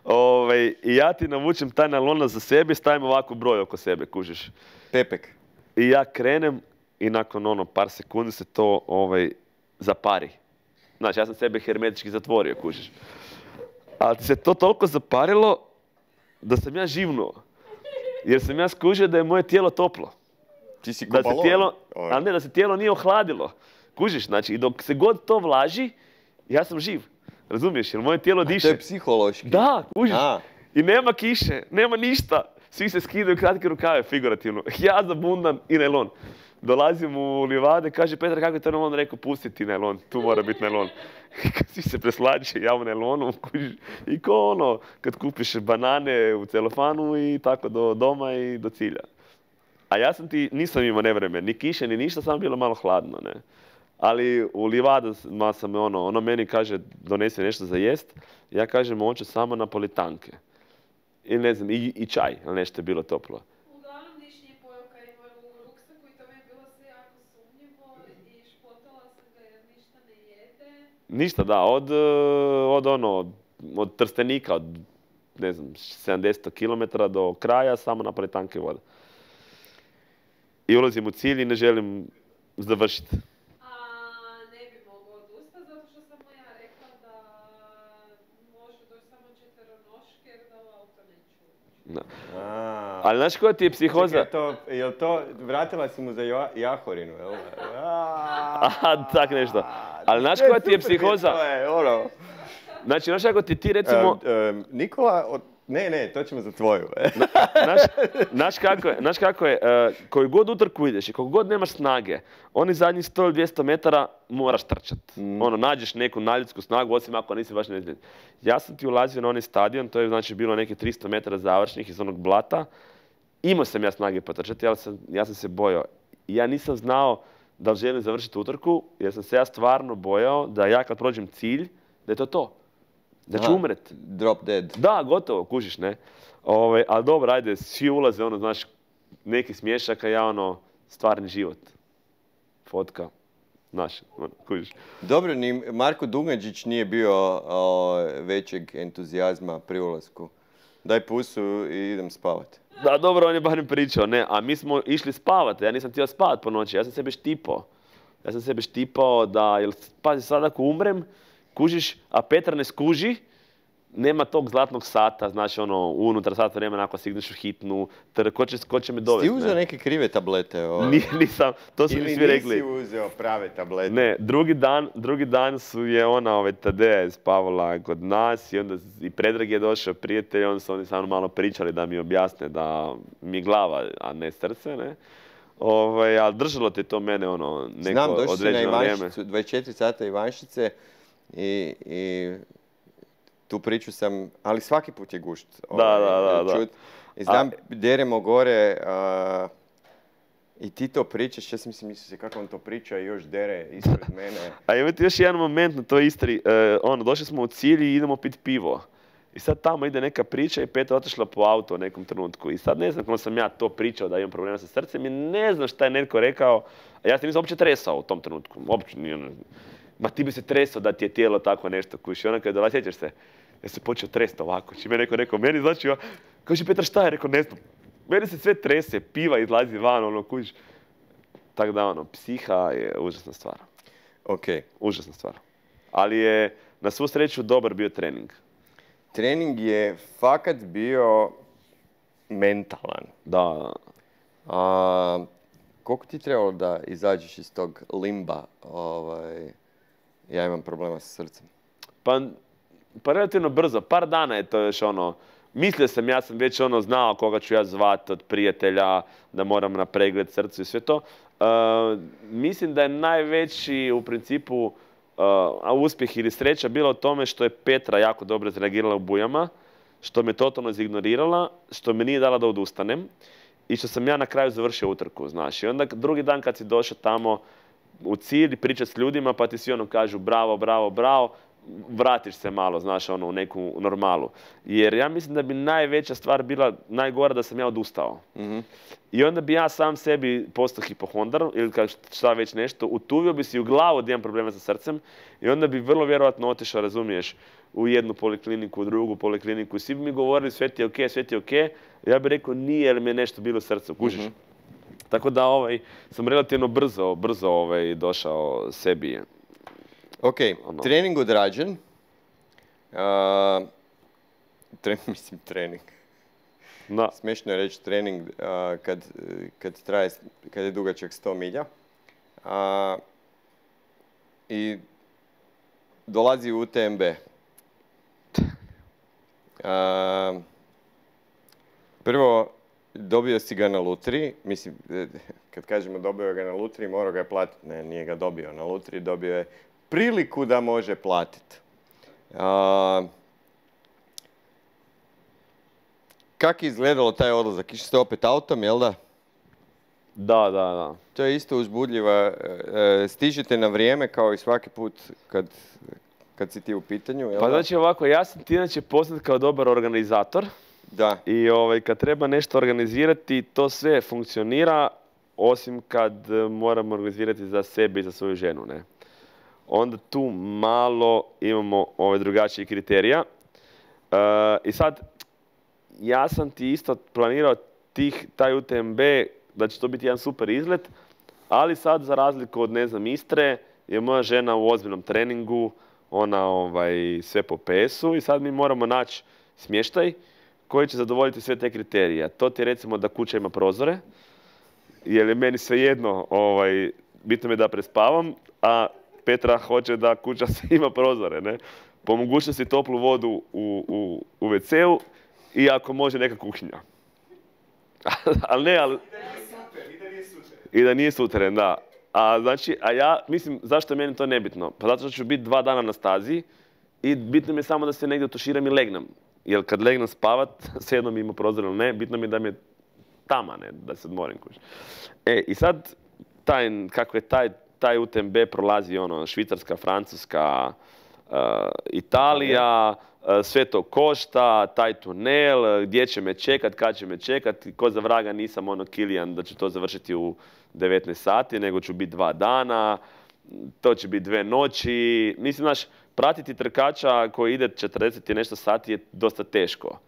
Ove, I ja ti navučem taj nalona za sebe i stavim ovako broj oko sebe, kužiš. Pepek. I ja krenem i nakon ono par sekundi se to ovaj, zapari. Znači, ja sam sebe hermetički zatvorio, kužiš. Ali ti se to toliko zaparilo da sam ja živnuo. Jer sam ja skužio da je moje tijelo toplo. Ti si ko Da se balon. tijelo, Ovaj. a ne, da se tijelo nije ohladilo. Kužiš, znači, i dok se god to vlaži, ja sam živ. Razumiješ, jer moje tijelo A to diše. je psihološki. Da, kužiš. A. I nema kiše, nema ništa. Svi se skidaju kratke rukave, figurativno. Ja zabundan i najlon. Dolazim u livade, kaže Petar, kako je to najlon? Rekao, pusti ti najlon, tu mora biti najlon. Svi se preslađe, ja u najlonu, kužiš. I ko ono, kad kupiš banane u celofanu i tako do doma i do cilja. A ja sam ti, nisam imao nevreme, ni kiše, ni ništa, samo bilo malo hladno, ne. Ali u livadama sam ono, ono meni kaže donesi nešto za jest, ja kažem hoću samo napolitanke. I ne znam, i, i čaj, ali nešto je bilo toplo. Uglavnom niš nije pojao kad ima u ruksaku i to mi je bilo sve jako sumnjivo i špotala sam ga jer ništa ne jede. Ništa, da, od, od ono, od Trstenika, od ne znam, sedamdeset kilometara do kraja, samo napolitanke i voda. I ulazim u cilj i ne želim završiti. A ne bi mogao odustati zato što sam mu ja rekla da može doći samo četveronoške jer da u auto neću ući. Da. A. Ali znaš koja ti je psihoza? Čekaj, to, jel to, vratila si mu za Jo- Jahorinu, jel? Aha, tak nešto. Ali znaš koja ti je psihoza? To je, ono. Znači, znaš kako ti ti recimo... Em, em, Nikola, od- ne, ne, to ćemo za tvoju. Znaš, znaš kako je, znaš kako je, uh, koju god utrku ideš i koliko god nemaš snage, oni zadnjih sto ili dvjesto metara moraš trčat. Mm. Ono, nađeš neku nadljudsku snagu, osim ako nisi baš nezbiljen. Ja sam ti ulazio na onaj stadion, to je znači bilo neki tristo metara završnih iz onog blata. Imao sam ja snage potrčati, ali sam, ja sam se bojao. I ja nisam znao da li želim završiti utrku, jer sam se ja stvarno bojao da ja kad prođem cilj, da je to to. Da ću Aha, umret. Drop dead. Da, gotovo, kužiš, ne? Ove, ali dobro, ajde, svi ulaze, ono, znaš, neki smješak, a ja, ono, stvarni život. Fotka, znaš, ono, kužiš. Dobro, ni Marko Duganđić nije bio o, većeg entuzijazma pri ulasku. Daj pusu i idem spavat. Da, dobro, on je barem pričao, ne, a mi smo išli spavati, ja nisam htio spavat po noći, ja sam sebe štipao. Ja sam sebe štipao da, jel, pazi, sad ako umrem, kužiš, a Petar ne skuži, nema tog zlatnog sata, znači ono, unutar sata vremena ako signeš u hitnu, ter, ko će, ko će me Ti dovesti, uzeo ne? neke krive tablete? O, Ni- nisam, to su mi ili svi rekli. nisi uzeo prave tablete? Ne, drugi dan, drugi dan su je ona, ovaj, Tadeja je spavala kod nas i onda i Predrag je došao, prijatelj, onda su oni sa mnom malo pričali da mi objasne da mi je glava, a ne srce, ne. Ovaj, ali držalo ti to mene, ono, neko Znam, došli si na određeno vrijeme. Ivanšicu, dvadeset četiri sata Ivanšice i, i tu priču sam, ali svaki put je gušt. Da, da, da, da. čut. I znam, deremo gore a, i ti to pričaš, ja sam mislim, mislio se kako on to priča i još dere ispred mene. A imate još jedan moment na toj Istri, e, ono, došli smo u cilj i idemo pit pivo. I sad tamo ide neka priča i Petra otišla po auto u nekom trenutku. I sad ne znam kako sam ja to pričao da imam problema sa srcem i ne znam šta je netko rekao. A ja se nisam uopće tresao u tom trenutku. Uopće nije ono, ma ti bi se tresao da ti je tijelo tako nešto kuši. I ona kada dolazi, sjećaš se, ja se počeo tresti ovako. Čime je neko rekao, meni znači, ja, kaže Petar šta je? Rekao, ne znam. Meni se sve trese, piva izlazi van, ono, kužiš. Tako da, ono, psiha je užasna stvar. Ok. Užasna stvar. Ali je, na svu sreću, dobar bio trening. Trening je fakat bio mentalan. Da, A, koliko ti trebalo da izađeš iz tog limba? Ovaj, ja imam problema sa srcem. pa, pa relativno brzo, par dana je to još ono, mislio sam, ja sam već ono znao koga ću ja zvati od prijatelja, da moram na pregled srcu i sve to. Uh, mislim da je najveći u principu uh, uspjeh ili sreća bila u tome što je Petra jako dobro izreagirala u bujama, što me totalno izignorirala, što me nije dala da odustanem i što sam ja na kraju završio utrku, znaš. I onda drugi dan kad si došao tamo u cilj i pričat s ljudima, pa ti svi ono kažu bravo, bravo, bravo, vratiš se malo, znaš, ono, u neku normalu. Jer ja mislim da bi najveća stvar bila najgora da sam ja odustao. Mhm. I onda bi ja sam sebi postao hipohondar ili kao šta već nešto, utuvio bi si u glavu da imam problema sa srcem i onda bi vrlo vjerojatno otišao, razumiješ, u jednu polikliniku, u drugu polikliniku i svi bi mi govorili sve ti je okej, sve ti je okej. Ja bih rekao nije jer mi je nešto bilo u srcu, kužiš. Mhm. Tako da ovaj, sam relativno brzo, brzo ovaj, došao sebi. Ok, Ono. trening odrađen. Uh, tre, mislim, trening. Da. Smiješno je reći trening uh, kad, kad, traje, kad je dugačak sto milja. Uh, I dolazi u U T M B. Uh, prvo, dobio si ga na lutriji. Mislim, kad kažemo dobio ga na lutriji, morao ga je platiti. Ne, nije ga dobio na lutriji, dobio je priliku da može platiti. Uh, Kako je izgledalo taj odlazak? Išli ste opet autom, jel da? Da, da, da. To je isto uzbudljiva. E, stižete na vrijeme kao i svaki put kad, kad si ti u pitanju, jel Pa da? znači ovako, ja sam ti inače poznat kao dobar organizator. Da. I ovaj, kad treba nešto organizirati, to sve funkcionira, osim kad e, moramo organizirati za sebe i za svoju ženu, ne? Onda tu malo imamo ove drugačije kriterija. E, I sad, ja sam ti isto planirao tih, taj U T M B, da će to biti jedan super izlet, ali sad za razliku od, ne znam, Istre, je moja žena u ozbiljnom treningu, ona ovaj, sve po P S-u i sad mi moramo naći smještaj koji će zadovoljiti sve te kriterije. To ti je recimo da kuća ima prozore, jer je meni svejedno, ovaj, bitno mi je da prespavam, a Petra hoće da kuća ima prozore, ne? Po mogućnosti toplu vodu u, u, u ve ce-u i ako može neka kuhinja. ali ne, ali... Super, i da nije super. I da nije suteren, da. A znači, a ja, mislim, zašto je meni to nebitno? Pa zato što ću biti dva dana na stazi i bitno mi je samo da se negdje otuširam i legnem. Jer kad legnem spavat, svejedno mi ima prozor ili ne, bitno mi je da mi je tama, ne, da se odmorim kuć. E, i sad, taj, kako je taj, taj U T M B prolazi, ono, Švicarska, Francuska, uh, Italija, uh, sve to košta, taj tunel, gdje će me čekat, kad će me čekat, ko za vraga nisam ono Kilijan da će to završiti u devetnaest sati, nego ću biti dva dana, to će biti dve noći. Mislim, znaš, pratiti trkača koji ide četrdeset i nešto sati je dosta teško.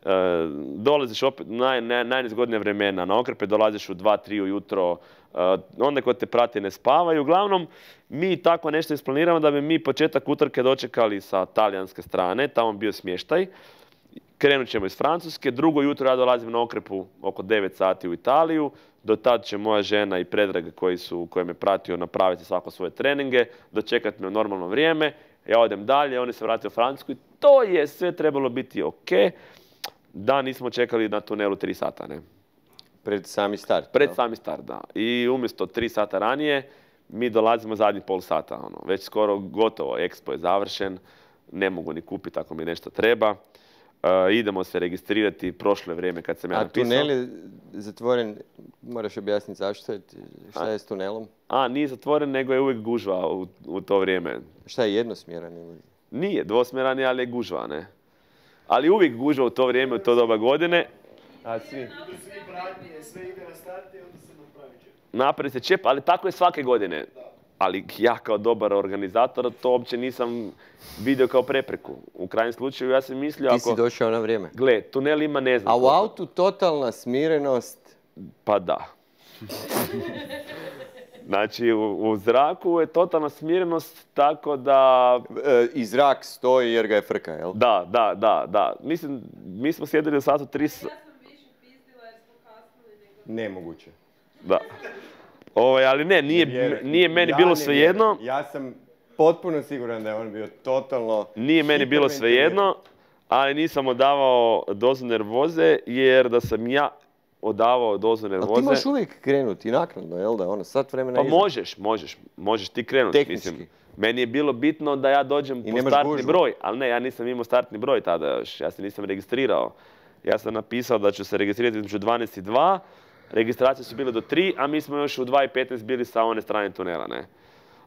E, dolaziš opet naj, naj, najnezgodnija vremena, na okrpe dolaziš u dva, tri ujutro, e, onda ko te prati ne spavaju. Uglavnom, mi tako nešto isplaniramo da bi mi početak utrke dočekali sa talijanske strane, tamo bio smještaj. Krenut ćemo iz Francuske, drugo jutro ja dolazim na okrepu oko devet sati u Italiju, do tad će moja žena i Predrag koji su, koje me pratio napraviti svako svoje treninge, dočekati me u normalno vrijeme, ja odem dalje, oni se vrate u Francusku i to je sve trebalo biti ok, da nismo čekali na tunelu tri sata, ne? Pred sami start. Pred no? sami start, da. I umjesto tri sata ranije, mi dolazimo zadnji pol sata, ono, već skoro gotovo, Expo je završen, ne mogu ni kupiti ako mi nešto treba. Uh, idemo se registrirati prošle vrijeme kad sam ja A napisao. tunel je zatvoren, moraš objasniti zašto je, šta je s tunelom? A, nije zatvoren, nego je uvijek gužva u, u to vrijeme. Šta je jednosmjeran ili? Nije dvosmjeran, je, ali je gužva, ne? Ali uvijek gužva u to vrijeme, u to doba godine. A svi? Idu svi pratnje, sve ide na start i onda se napravi čep. Napravi se čep, ali tako je svake godine. Ali ja kao dobar organizator to uopće nisam vidio kao prepreku. U krajnjem slučaju ja sam mislio Ti ako... si došao na vrijeme. Gle, tunel ima ne znam A u koliko. autu totalna smirenost. Pa da. Znači, u, u zraku je totalna smirenost, tako da... E, I zrak stoji jer ga je frka, jel? Da, da, da, da. Mislim, mi smo sjedili u satu tri... Ja sam više pizdila jer smo kasnili nego... Nemoguće. Da. Ovaj, ali ne, nije, Vjeruj. nije meni Ja bilo ne svejedno. vjerujem. Ja sam potpuno siguran da je on bio totalno... Nije meni bilo svejedno, ali nisam odavao dozu nervoze, jer da sam ja odavao dozu Ali ti nervoze... možeš uvijek krenuti naknadno, jel da? Ono, sat vremena Pa iza. možeš, možeš, možeš ti krenuti. Tehnički. Mislim, meni je bilo bitno da ja dođem I po nemaš startni gužvu. broj, ali ne, ja nisam imao startni broj tada još, ja se nisam registrirao. Ja sam napisao da ću se registrirati između dvanaest i dva, registracije su bile do tri, a mi smo još u dva i petnaest bili sa one strane tunela, ne.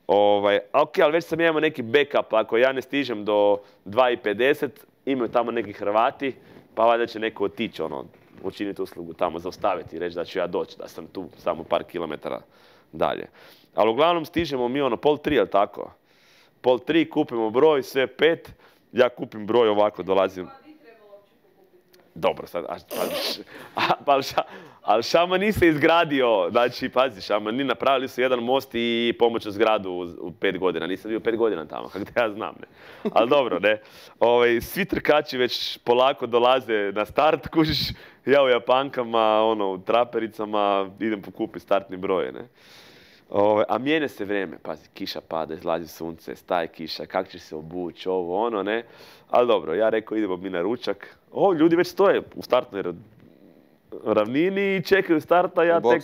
Ovaj, ok, ali već sam ja imao neki backup, ako ja ne stižem do dva i pedeset, imaju tamo neki Hrvati, pa valjda će neko otići, ono, učiniti uslugu tamo, zaustaviti i reći da ću ja doći, da sam tu samo par kilometara dalje. Ali uglavnom stižemo mi ono pol tri, jel tako? Pol tri, kupimo broj, sve pet, ja kupim broj ovako, dolazim. Pa di trebalo uopće pokupiti broj? Dobro, sad, a, a, a, ali, ša, ali Šamani se izgradio, znači, pazi, Šamani napravili su jedan most i pomoću zgradu u, u pet godina. Nisam bio pet godina tamo, kako da ja znam, ne. Ali dobro, ne. Ove, svi trkači već polako dolaze na start, kužiš, ja u japankama, ono, u trapericama, idem pokupiti startni broj, ne. Ove, a mijenja se vrijeme, pazi, kiša pada, izlazi sunce, staje kiša, kako će se obući, ovo, ono, ne. Ali dobro, ja rekao, idemo mi na ručak. O, ljudi već stoje u startnoj ravnini i čekaju starta, ja tek...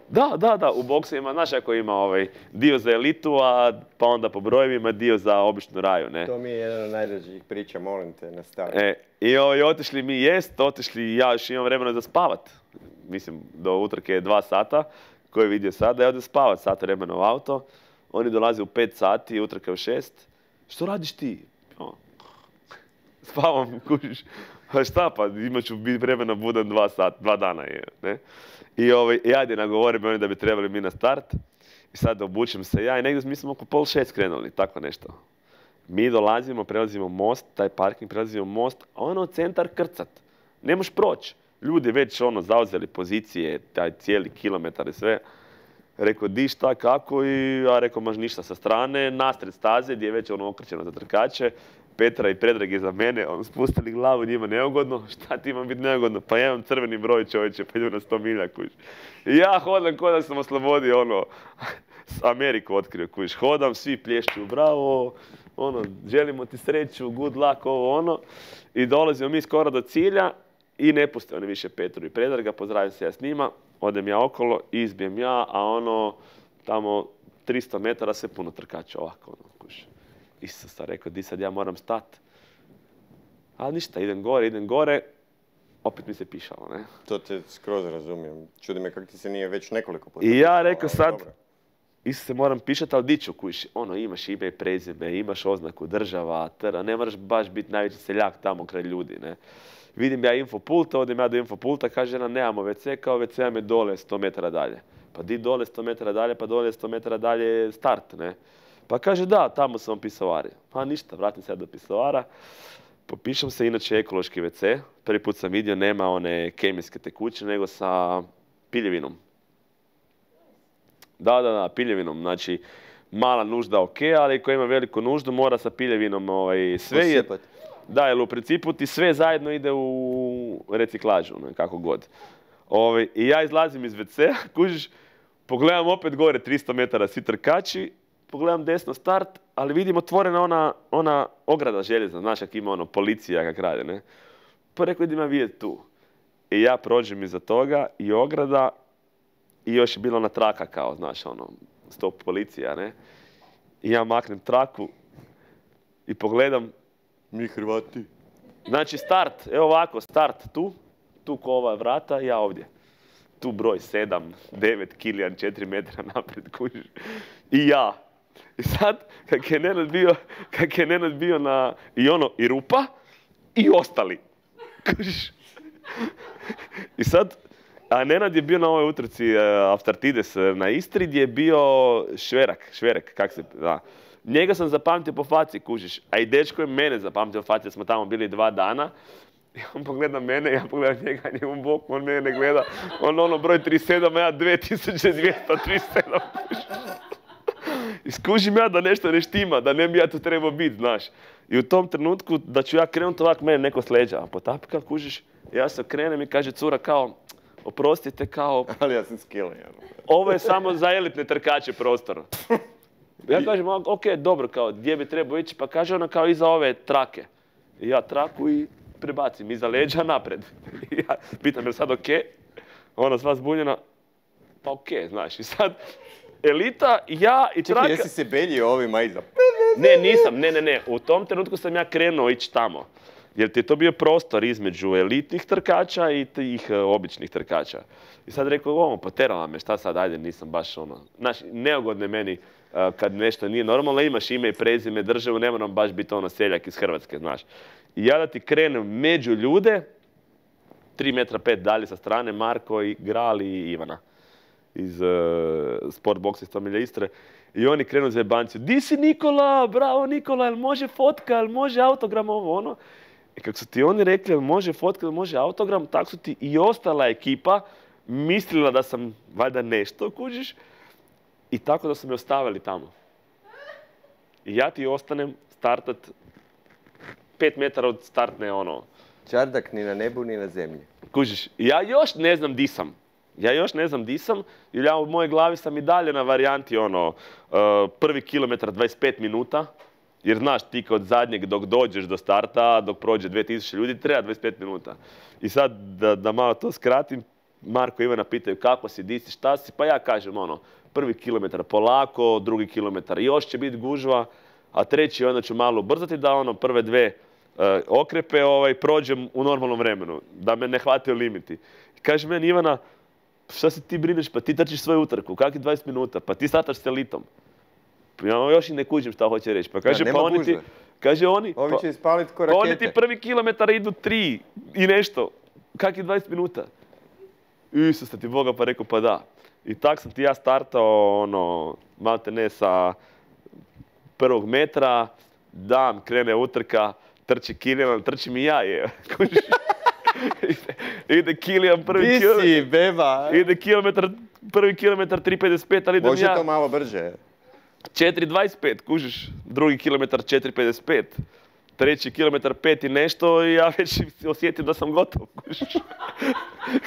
Da, da, da, u boksovima, znaš ako ima ovaj dio za elitu, a pa onda po brojevima dio za običnu raju, ne. To mi je jedan od najdražih priča, molim te, nastavi. E, i ovaj, otišli mi jest, otišli, ja još imam vremena za spavat. Mislim, do utrke je dva sata, ko je vidio sada, ja odem spavat, sat vremena u auto. Oni dolaze u pet sati, utrka u šest. Što radiš ti? O, spavam, kužiš. A šta pa, imat ću biti vremena budan dva sata, dva dana je, ne. I ovaj, ajde, nagovori me oni da bi trebali mi na start. I sad obučem se ja i negdje mi smo oko pol šest krenuli, tako nešto. Mi dolazimo, prelazimo most, taj parking, prelazimo most, a ono centar krcat. Ne možeš proći. Ljudi već ono zauzeli pozicije, taj cijeli kilometar i sve. Rekao, di šta, kako i ja rekao, maš ništa sa strane, nasred staze gdje je već ono okrećeno za trkače. Petra i Predrag je za mene, on spustili glavu, njima neugodno, šta ti ima biti neugodno? Pa ja imam crveni broj, čovječe, pa idu na sto milja, kuš. I ja hodam ko da sam oslobodio, ono, Ameriku otkrio, kuš. Hodam, svi plješću, bravo, ono, želimo ti sreću, good luck, ovo, ono. I dolazimo mi skoro do cilja i ne puste oni više Petru i Predraga, pozdravim se ja s njima, odem ja okolo, izbijem ja, a ono, tamo tristo metara sve puno trkača ovako, ono, kuš. Isusa, rekao, di sad ja moram stat. Ali ništa, idem gore, idem gore, opet mi se pišalo, ne. To te skroz razumijem. Čudi me kako ti se nije već nekoliko puta. I ja rekao sad, Isuse, moram pišati, ali di ću, kuš, ono, imaš ime i prezime, imaš oznaku država, tera, ne moraš baš biti najveći seljak tamo kraj ljudi, ne. Vidim ja infopulta, odem ja do infopulta, kaže ona, nemamo ve ce, kao ve ce vam je dole sto metara dalje. Pa di dole sto metara dalje, pa dole sto metara dalje je start, ne. Pa kaže, da, tamo su vam pisovari. Pa ništa, vratim se ja do pisovara. Popišem se, inače ekološki ve ce. Prvi put sam vidio, nema one kemijske tekućine, nego sa piljevinom. Da, da, da, piljevinom. Znači, mala nužda ok, ali ko ima veliku nuždu, mora sa piljevinom ovaj, sve je... Da, jer u principu ti sve zajedno ide u reciklažu, ne, kako god. Ovaj, i ja izlazim iz ve cea, kužiš, pogledam opet gore tristo metara svi trkači, pogledam desno start, ali vidim otvorena ona, ona ograda željezna, znaš kak ima ono policija kak radi, ne. Pa rekao, idem ja vidjeti tu. I ja prođem iza toga i ograda i još je bila ona traka kao, znaš, ono, stop policija, ne. I ja maknem traku i pogledam. Mi Hrvati. Znači start, evo ovako, start tu, tu ko ova vrata, ja ovdje. Tu broj sedam, devet, Kilijan, četiri metra naprijed, kužiš. I ja. I sad, kak je Nenad bio, kak je Nenad bio na, i ono, i rupa, i ostali. Kužiš. I sad, a Nenad je bio na ovoj utrci uh, Aftartides na Istri, gdje je bio Šverak, Šverek, kak se, da. Njega sam zapamtio po faci, kužiš, a i dečko je mene zapamtio po faci, jer smo tamo bili dva dana. I on pogleda mene, ja pogledam njega, njegom boku, on mene ne gleda. On ono broj trideset sedam, a ja dvije tisuće dvjesto trideset sedam, kužiš. I skužim ja da nešto ne štima, da ne bi ja tu trebao biti, znaš. I u tom trenutku da ću ja krenuti ovak, mene neko sleđa, a potapka, kužiš, ja se okrenem i kaže cura kao, oprostite, kao... Ali ja sam skillen, ovo je samo za elitne trkače prostor. Ja kažem, ok, dobro, kao, gdje bi trebao ići, pa kaže ona kao iza ove trake. I ja traku i prebacim iza leđa napred. I ja pitam, je sad ok? Ona sva zbunjena, pa ok, znaš, i sad elita, ja i traka... Čekaj, jesi se beljio ovima iza? Ne, nisam, ne, ne, ne, u tom trenutku sam ja krenuo ići tamo. Jer ti je to bio prostor između elitnih trkača i tih uh, običnih trkača. I sad rekao, ovo, poterala me, šta sad, ajde, nisam baš ono... Znaš, neugodno je meni uh, kad nešto nije normalno, imaš ime i prezime, državu, ne moram baš biti ono seljak iz Hrvatske, znaš. I ja da ti krenem među ljude, tri metra pet dalje sa strane, Marko i Gral i Ivana iz uh, sport boksa iz sto milja Istre. I oni krenu za jebanciju, di si Nikola, bravo Nikola, jel može fotka, jel može autogram, ovo ono. I kako su ti oni rekli, može fotka, može autogram, tako su ti i ostala ekipa mislila da sam valjda nešto, kužiš, i tako da su me ostavili tamo. I ja ti ostanem startat pet metara od startne, ono... Čardak ni na nebu, ni na zemlji. Kužiš, ja još ne znam di sam. Ja još ne znam di sam, jer ja u mojoj glavi sam i dalje na varijanti, ono, uh, prvi kilometar dvadeset pet minuta, jer znaš, ti kod zadnjeg dok dođeš do starta, dok prođe dvije tisuće ljudi, treba dvadeset pet minuta. I sad, da, da malo to skratim, Marko i Ivana pitaju kako si, di si, šta si, pa ja kažem, ono, prvi kilometar polako, drugi kilometar još će biti gužva, a treći onda ću malo ubrzati da, ono, prve dve uh, okrepe ovaj, prođem u normalnom vremenu, da me ne hvataju limiti. I kaže meni Ivana, šta se ti brineš, pa ti trčiš svoju utrku, kakvi dvadeset minuta, pa ti startaš s elitom. Ja još i ne kužim šta hoće reći. Pa kaže, ja, pa oni ti, kaže oni, Ovi će pa, ispalit ko pa rakete. oni ti prvi kilometar idu tri i nešto. Kakvi dvadeset minuta? Isusa ti Boga, pa rekao, pa da. I tak sam ti ja startao, ono, malte ne sa prvog metra, dam, krene utrka, trči Kilian, trčim i ja, je. ide, ide Kilian prvi Di kilometar. si, beba? Ide kilometar, prvi kilometar tri pedeset pet, ali idem Može ja to malo brže. četiri dvadeset pet, kužiš, drugi kilometar četiri pedeset pet, treći kilometar pet i nešto i ja već osjetim da sam gotov, kužiš.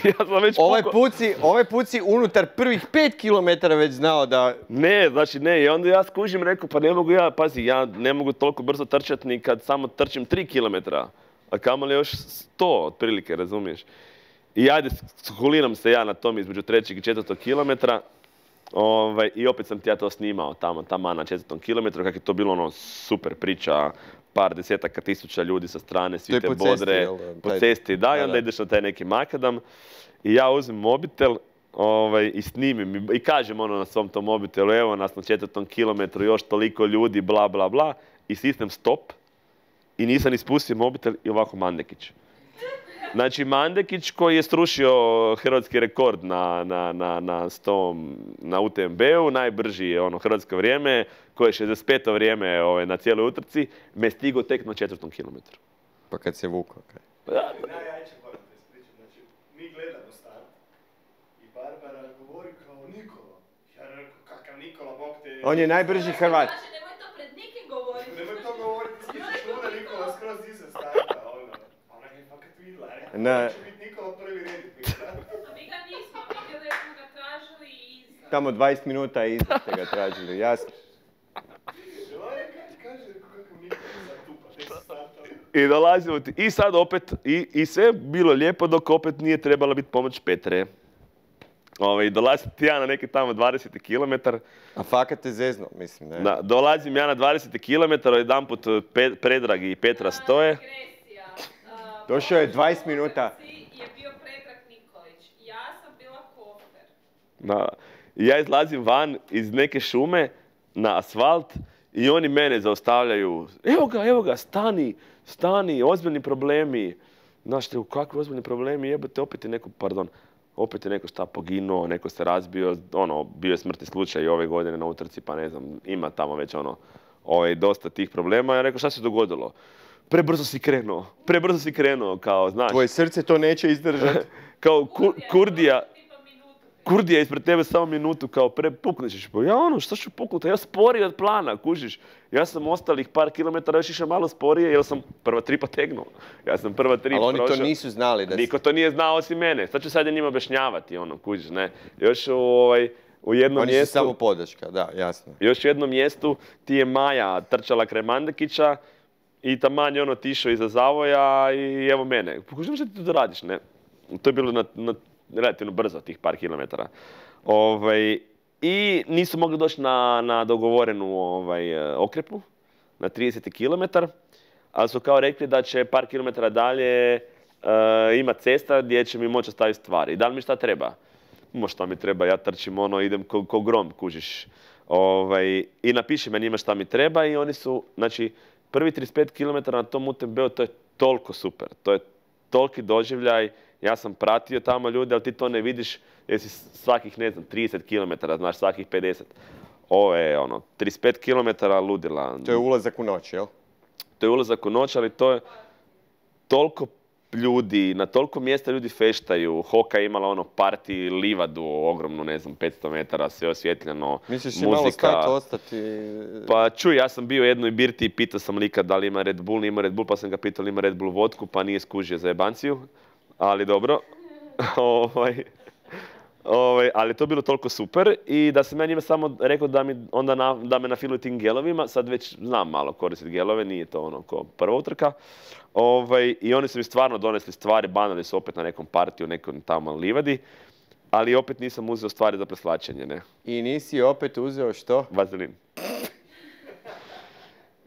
Ja sam već Ovaj pukao. put si, ovaj put si unutar prvih pet kilometara već znao da... Ne, znači ne, i onda ja skužim, rekao, pa ne mogu ja, pazi, ja ne mogu toliko brzo trčati ni kad samo trčim tri kilometra, a kamoli još sto, otprilike, razumiješ. I ajde, skuliram se ja na tom između trećeg i četvrtog kilometra. Ovaj, I opet sam ti ja to snimao tamo, tamo na četvrtom kilometru, kako je to bilo ono super priča, par desetaka tisuća ljudi sa strane, svi te po bodre, cesti, jel, po taj- cesti, da, i da, onda da. ideš na taj neki makadam i ja uzmem mobitel ovaj, i snimim i, i kažem ono na svom tom mobitelu, evo nas na četvrtom kilometru, još toliko ljudi, bla, bla, bla, i stisnem stop i nisam ispustio mobitel i ovako Mandekić. Znači, Mandekić koji je srušio hrvatski rekord na, na, na, na, sto, na U T M B-u, najbrži je ono hrvatsko vrijeme, koje je šezdeset peto vrijeme ovaj, na cijeloj utrci, me stigo tek na četvrtom kilometru. Pa kad se vukao. kaj. Najjače moram te ispričati, znači, mi gledamo start i Barbara govori kao Nikola. Ja rekao, kakav Nikola, bog te... On je najbrži Hrvat. Znači, nemoj to pred nikim govoriti. Nemoj to govoriti, stičeš luda Nikola skroz iza starta, ono. A ona je fakat vidjela, rekao, Ne. će biti Nikola prvi reditnik. A mi ga nismo vidjeli, smo ga tražili iza. Tamo dvadeset minuta iza ste ga tražili, jasno. Ona kaže, rekao, kakav Nikola, sad tupa, tek se startao. I dolazimo ti, i sad opet, i, i sve je bilo lijepo dok opet nije trebala biti pomoć Petre. Ovaj, dolazim ti ja na neki tamo dvadeseti kilometar. A fakat te zezno, mislim, ne? Da, dolazim ja na dvadeseti kilometar, jedanput Pe- Predrag i Petra stoje. Digresija. A, Došao je dvadeset minuta. u utrci je bio Predrag Nikolić. Ja sam bila Kofer. Da. I ja izlazim van iz neke šume na asfalt i oni mene zaustavljaju. Evo ga, evo ga, stani, stani, ozbiljni problemi. Znaš te, kakvi ozbiljni problemi, jebate, opet je neko, pardon, opet je neko šta poginuo, neko se razbio, ono, bio je smrtni slučaj i ove godine na utrci, pa ne znam, ima tamo već ono, ovaj, dosta tih problema. Ja rekao, šta se dogodilo? Prebrzo si krenuo, prebrzo si krenuo, kao, znaš, Tvoje srce to neće izdržati. kao ku, Kurdija, Tipa minutu. Kurdija ispred tebe samo minutu, kao pre pukneš ćeš. Pa ja ono, šta ću puknuti? Ja sporiji od plana, kužiš. Ja sam ostalih par kilometara još išao malo sporije, jer sam prva tri potegnuo. Ja sam prva tri Ali oni to prošao. nisu znali da si... Niko to nije znao osim mene. Sad ću sad ja njima objašnjavati, ono, kužiš, ne. Još u, ovaj, u jednom Oni su mjestu... samo podrška, da, jasno. Još u jednom mjestu ti je Maja trčala kraj Mandekića i taman je ono tišao iza zavoja i evo mene. Pokušam što ti to radiš, ne? To je bilo na, na relativno brzo, tih par kilometara. Ovaj, I nisu mogli doći na, na dogovorenu ovaj, okrepu, na trideseti kilometar, ali su kao rekli da će par kilometara dalje uh, ima cesta gdje će mi moći ostaviti stvari. I da li mi šta treba? Mo šta mi treba, ja trčim ono, idem ko, ko grom, kužiš. Ovaj, I napiši me njima šta mi treba i oni su, znači, prvi trideset pet kilometara na tom U T M B-u, to je toliko super. To je toliki doživljaj. Ja sam pratio tamo ljude, ali ti to ne vidiš jer si svakih, ne znam, trideset kilometara, znaš, svakih pedeset. Ovo je, ono, trideset pet kilometara ludila. To je ulazak u noć, jel? To je ulazak u noć, ali to je... toliko ljudi, na toliko mjesta ljudi feštaju. Hoka je imala ono party livadu, ogromnu, ne znam, petsto metara, sve osvjetljeno, Misliš muzika. malo stajati, ostati? Pa čuj, ja sam bio u jednoj birti i pitao sam lika da li ima Red Bull, nije ima Red Bull, pa sam ga pitao li ima Red Bull vodku, pa nije skužio za jebanciju, ali dobro. ovaj, ovaj, ali to je bilo toliko super i da sam ja njima samo rekao da, mi onda na, da me nafiluju tim gelovima, sad već znam malo koristiti gelove, nije to ono ko prva utrka. Ovaj, I oni su mi stvarno donesli stvari, banali su opet na nekom partiju, nekom tamo livadi, ali opet nisam uzeo stvari za preslačenje, ne. I nisi opet uzeo što? Vazelin.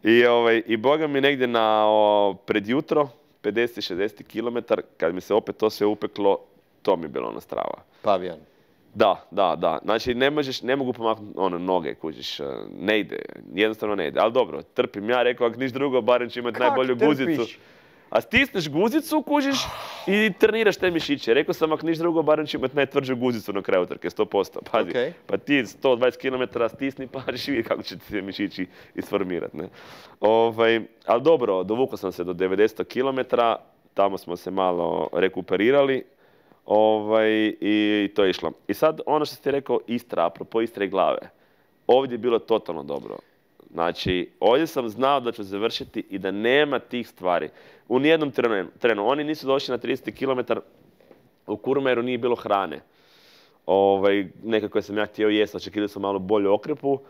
I, ovaj, I boga mi negdje na o, pred jutro, pedeset šezdeset kilometara, kad mi se opet to sve upeklo, to mi je bilo ono strava. Pavijan. Da, da, da. Znači, ne, možeš, ne mogu pomaknuti ono, noge, kužiš. Ne ide, jednostavno ne ide. Ali dobro, trpim ja, rekao, ako niš drugo, barem ću imati najbolju guzicu. A stisneš guzicu, kužiš, i treniraš te mišiće. Rekao sam, ako niš drugo, barem ću imati najtvrđu guzicu na kraju trke, sto posto. Pazi, okay. Pa ti sto dvadeset kilometara stisni, pa ćeš vidjeti kako će ti se mišići isformirati. Ne? Ovaj, ali dobro, dovukao sam se do devedeset kilometara, tamo smo se malo rekuperirali. Ovaj, i to je išlo. I sad, ono što ste rekao, Istra, apropo Istre i glave. Ovdje je bilo totalno dobro. Znači, ovdje sam znao da ću završiti i da nema tih stvari. U nijednom trenu, trenu. Oni nisu došli na trideset kilometara, u Kurmeru nije bilo hrane. Ovaj, nekako sam ja htio jesti, očekivali sam malo bolju okrepu. Uh,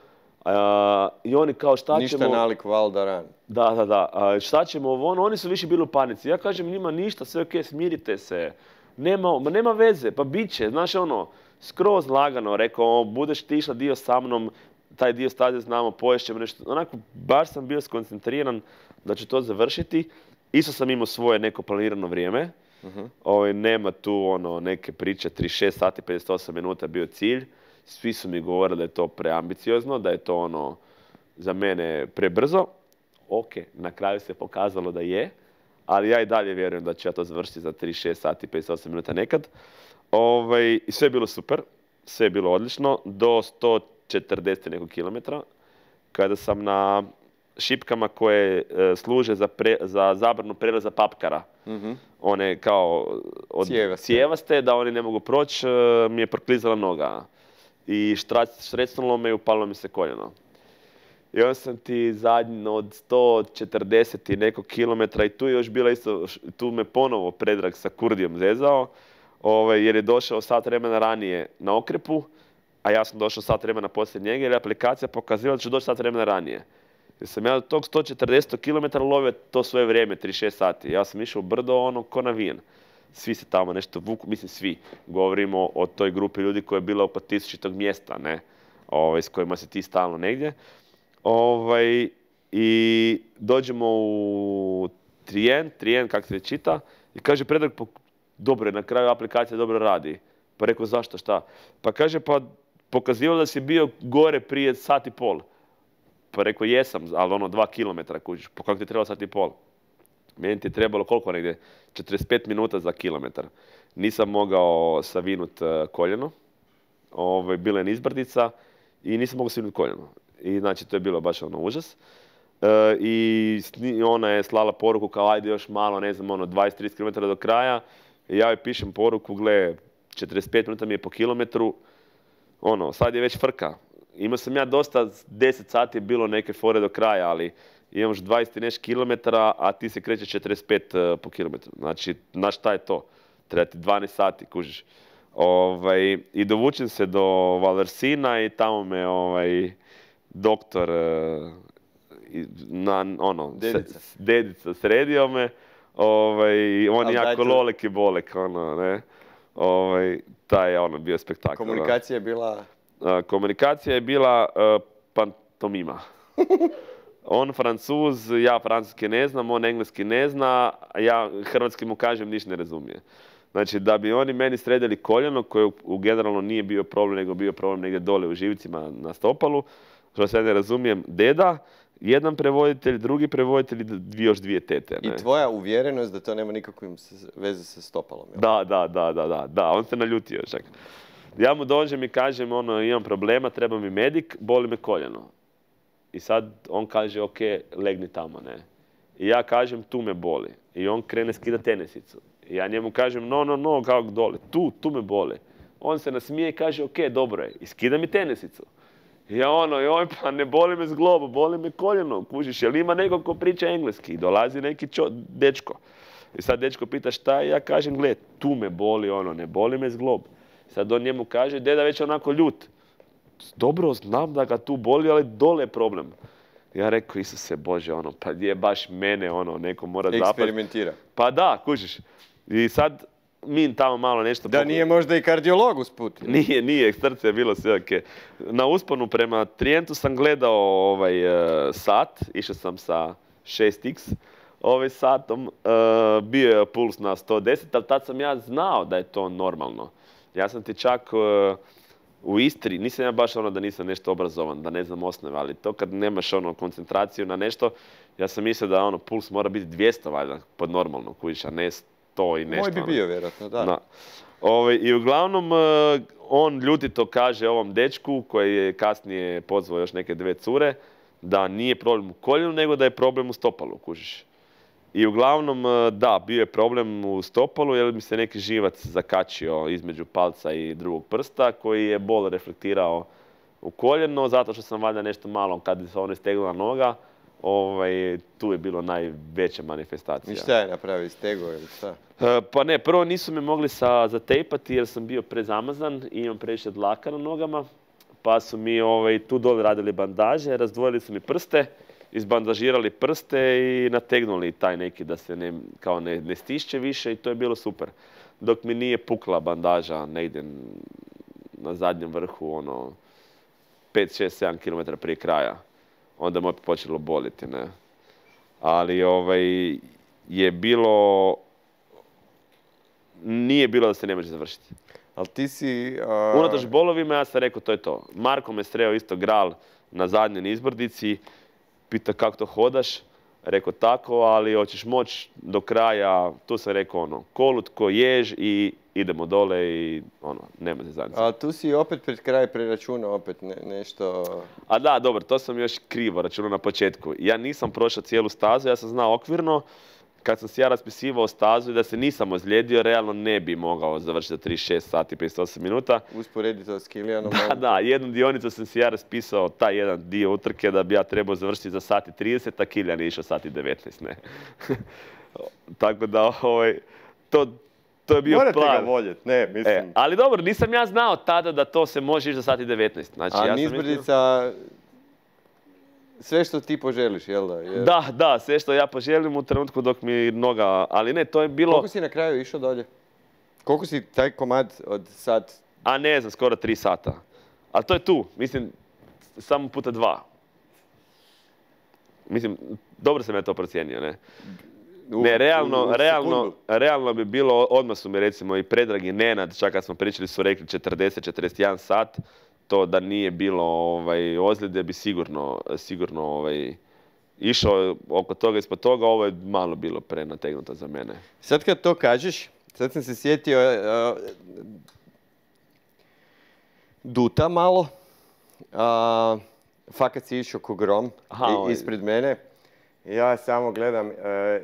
I oni kao šta Ništa ćemo... Ništa nalik Valdaran. Da, da, da. Uh, šta ćemo ovo? Oni su više bili u panici. Ja kažem njima ništa, sve ok, smirite se. Nema, nema veze, pa bit će, znaš ono, skroz lagano, rekao, budeš ti išla dio sa mnom, taj dio staze znamo, poješćemo nešto, onako, baš sam bio skoncentriran da ću to završiti. Isto sam imao svoje neko planirano vrijeme, uh-huh. Ovo, nema tu ono, neke priče, trideset šest sati, pedeset osam minuta bio cilj, svi su mi govorili da je to preambiciozno, da je to ono, za mene prebrzo. Ok, na kraju se pokazalo da je. Ali ja i dalje vjerujem da ću ja to završiti za trideset šest sati, pedeset osam minuta nekad. Ovaj, I sve je bilo super, sve je bilo odlično, do sto četrdeset nekog kilometra, kada sam na šipkama koje e, služe za, pre, za zabranu prelaza papkara. Mm-hmm. One kao od cijevaste. cijevaste, da oni ne mogu proći, e, mi je proklizala noga. I štrecnulo me i upalo mi se koljeno. I onda sam ti zadnji od sto četrdeset i nekog kilometra i tu je još bila isto, tu me ponovo Predrag sa Kurdijom zezao, ovaj, jer je došao sat vremena ranije na okrepu, a ja sam došao sat vremena poslije njega jer je aplikacija pokazivala da ću doći sat vremena ranije. Jer sam ja od tog sto četrdeset kilometara lovio to svoje vrijeme, trideset šest sati. Ja sam išao u brdo ono ko navijen. Svi se tamo nešto vuku, mislim svi. Govorimo o toj grupi ljudi koja je bila oko tisućitog mjesta, ne? Ovaj, s kojima se ti stalno negdje. Ovaj, I dođemo u Trijen, Trijen kako se čita, i kaže Predrag, dobro je, na kraju aplikacija dobro radi. Pa rekao, zašto, šta? Pa kaže, pa pokazivalo da si bio gore prije sat i pol. Pa rekao, jesam, ali ono dva kilometra kužiš, pa kako ti je trebalo sat i pol? Meni ti je trebalo koliko negdje? četrdeset pet minuta za kilometar. Nisam mogao savinut koljeno, ovaj, bila je nizbrdica i nisam mogao savinut koljeno. I znači to je bilo baš ono užas. E, I ona je slala poruku kao ajde još malo, ne znam, ono dvadeset do trideset kilometara do kraja. I ja joj pišem poruku, gle, četrdeset pet minuta mi je po kilometru. Ono, sad je već frka. Imao sam ja dosta, deset sati je bilo neke fore do kraja, ali imam još dvadeset i nešto kilometara, a ti se kreće četrdeset pet po kilometru. Znači, znaš šta je to? Treba ti dvanaest sati, kužiš. Ovaj, I dovučem se do Vallersina i tamo me ovaj, doktor, na, ono, dedica. S, dedica sredio me. Ovaj, on je jako tu... lolek i bolek, ono, ne. Ovaj, taj je ono bio spektakl. Komunikacija je bila... Uh, komunikacija je bila uh, pantomima. On Francuz, ja francuski ne znam, on engleski ne zna, a ja hrvatski mu kažem ništa ne razumije. Znači, da bi oni meni sredili koljeno, koje u generalno nije bio problem, nego bio problem negdje dole u živcima na stopalu, što se ja ne razumijem, deda, jedan prevoditelj, drugi prevoditelj i još dvije tete. Ne? I tvoja uvjerenost da to nema nikakve veze sa stopalom. Jel? Da, da, da, da, da, da, on se naljutio čak. Ja mu dođem i kažem, ono, imam problema, treba mi medik, boli me koljeno. I sad on kaže, ok, legni tamo, ne. I ja kažem, tu me boli. I on krene skidati tenisicu. I ja njemu kažem, no, no, no, kako dole, tu, tu me boli. On se nasmije i kaže, ok, dobro je, i skida mi tenisicu. I ja ono, joj, pa ne boli me zglob, boli me koljeno, kužiš, jel ima neko ko priča engleski? I dolazi neki čo, dečko. I sad dečko pita šta je, ja kažem, gled, tu me boli, ono, ne boli me zglob. Sad on njemu kaže, deda već onako ljut. Dobro, znam da ga tu boli, ali dole je problem. Ja rekao, Isuse Bože, ono, pa je baš mene, ono, neko mora zapad. Eksperimentira. Pa da, kužiš. I sad mi tamo malo nešto... Da nije možda i kardiolog usput. Nije, nije, srce je bilo sve ok. Na usponu prema Trijentu sam gledao ovaj uh, sat, išao sam sa šest iks ovaj satom, uh, bio je puls na sto deset, ali tad sam ja znao da je to normalno. Ja sam ti čak uh, u Istri, nisam ja baš ono da nisam nešto obrazovan, da ne znam osnove, ali to kad nemaš ono koncentraciju na nešto, ja sam mislio da ono puls mora biti dvjesto valjda pod normalno, kužiš, a ne sto i nešto. Moj bi bio vjerojatno, da. da. Ove, I uglavnom, uh, on ljutito kaže ovom dečku, koji je kasnije pozvao još neke dve cure, da nije problem u koljenu, nego da je problem u stopalu, kužiš. I uglavnom, da, bio je problem u stopalu jer mi se neki živac zakačio između palca i drugog prsta koji je bol reflektirao u koljeno, zato što sam valjda nešto malo, kad se ono stegnula noga, ovaj, tu je bilo najveća manifestacija. I šta je napravio, stego ili šta? E, pa ne, prvo nisu me mogli sa, zatejpati jer sam bio prezamazan i imam previše dlaka na nogama, pa su mi ovaj, tu dole radili bandaže, razdvojili su mi prste, izbandažirali prste i nategnuli taj neki da se ne, kao ne, ne stišće više i to je bilo super. Dok mi nije pukla bandaža negdje na zadnjem vrhu, ono, pet, šest, sedam kilometara prije kraja. Onda me opet počelo boliti, ne. Ali ovaj, je bilo, nije bilo da se ne može završiti. Ali ti si... Uh... Unatoč bolovima ja sam rekao to je to. Marko me sreo isto gral na zadnjoj nizbrdici. Pita kako to hodaš, rekao tako, ali hoćeš moći do kraja, tu sam rekao ono, kolut ko jež i idemo dole i ono, nema se zajednice. A tu si opet pred kraj preračunao opet ne, nešto... A da, dobro, to sam još krivo računao na početku. Ja nisam prošao cijelu stazu, ja sam znao okvirno, kad sam si ja raspisivao stazu i da se nisam ozlijedio, realno ne bi mogao završiti za trideset šest sati i pedeset osam minuta. Usporedi to s Kilijanom. Da, da, jednu dionicu sam si ja raspisao, taj jedan dio utrke da bi ja trebao završiti za sat i trideset, a Kilijan je išao sat i devetnaest, ne. Tako da, ovaj, to, to je bio Morate plan. Morate ga voljeti, ne, mislim. E, ali dobro, nisam ja znao tada da to se može ići za sat i devetnaest. Znači, a ja nizbrdica... Mislio... Sve što ti poželiš, jel da? Jer... Da, da, sve što ja poželim u trenutku dok mi noga... Ali ne, to je bilo... Koliko si na kraju išao dolje? Koliko si taj komad od sat? A ne znam, skoro tri sata. Ali to je tu, mislim, samo puta dva. Mislim, dobro sam ja to procijenio, ne? U, ne, realno, u, u realno, realno bi bilo, odmah su mi recimo i Predrag i Nenad, čak kad smo pričali su rekli četrdeset do četrdeset jedan sat, to da nije bilo ovaj, ozljede bi sigurno, sigurno ovaj, išao oko toga ispod toga, ovo je malo bilo prenategnuto za mene. Sad kad to kažeš, sad sam se sjetio uh, Duta malo, uh, fakat si išao ko grom Aha, i, ispred mene. Ja samo gledam, uh,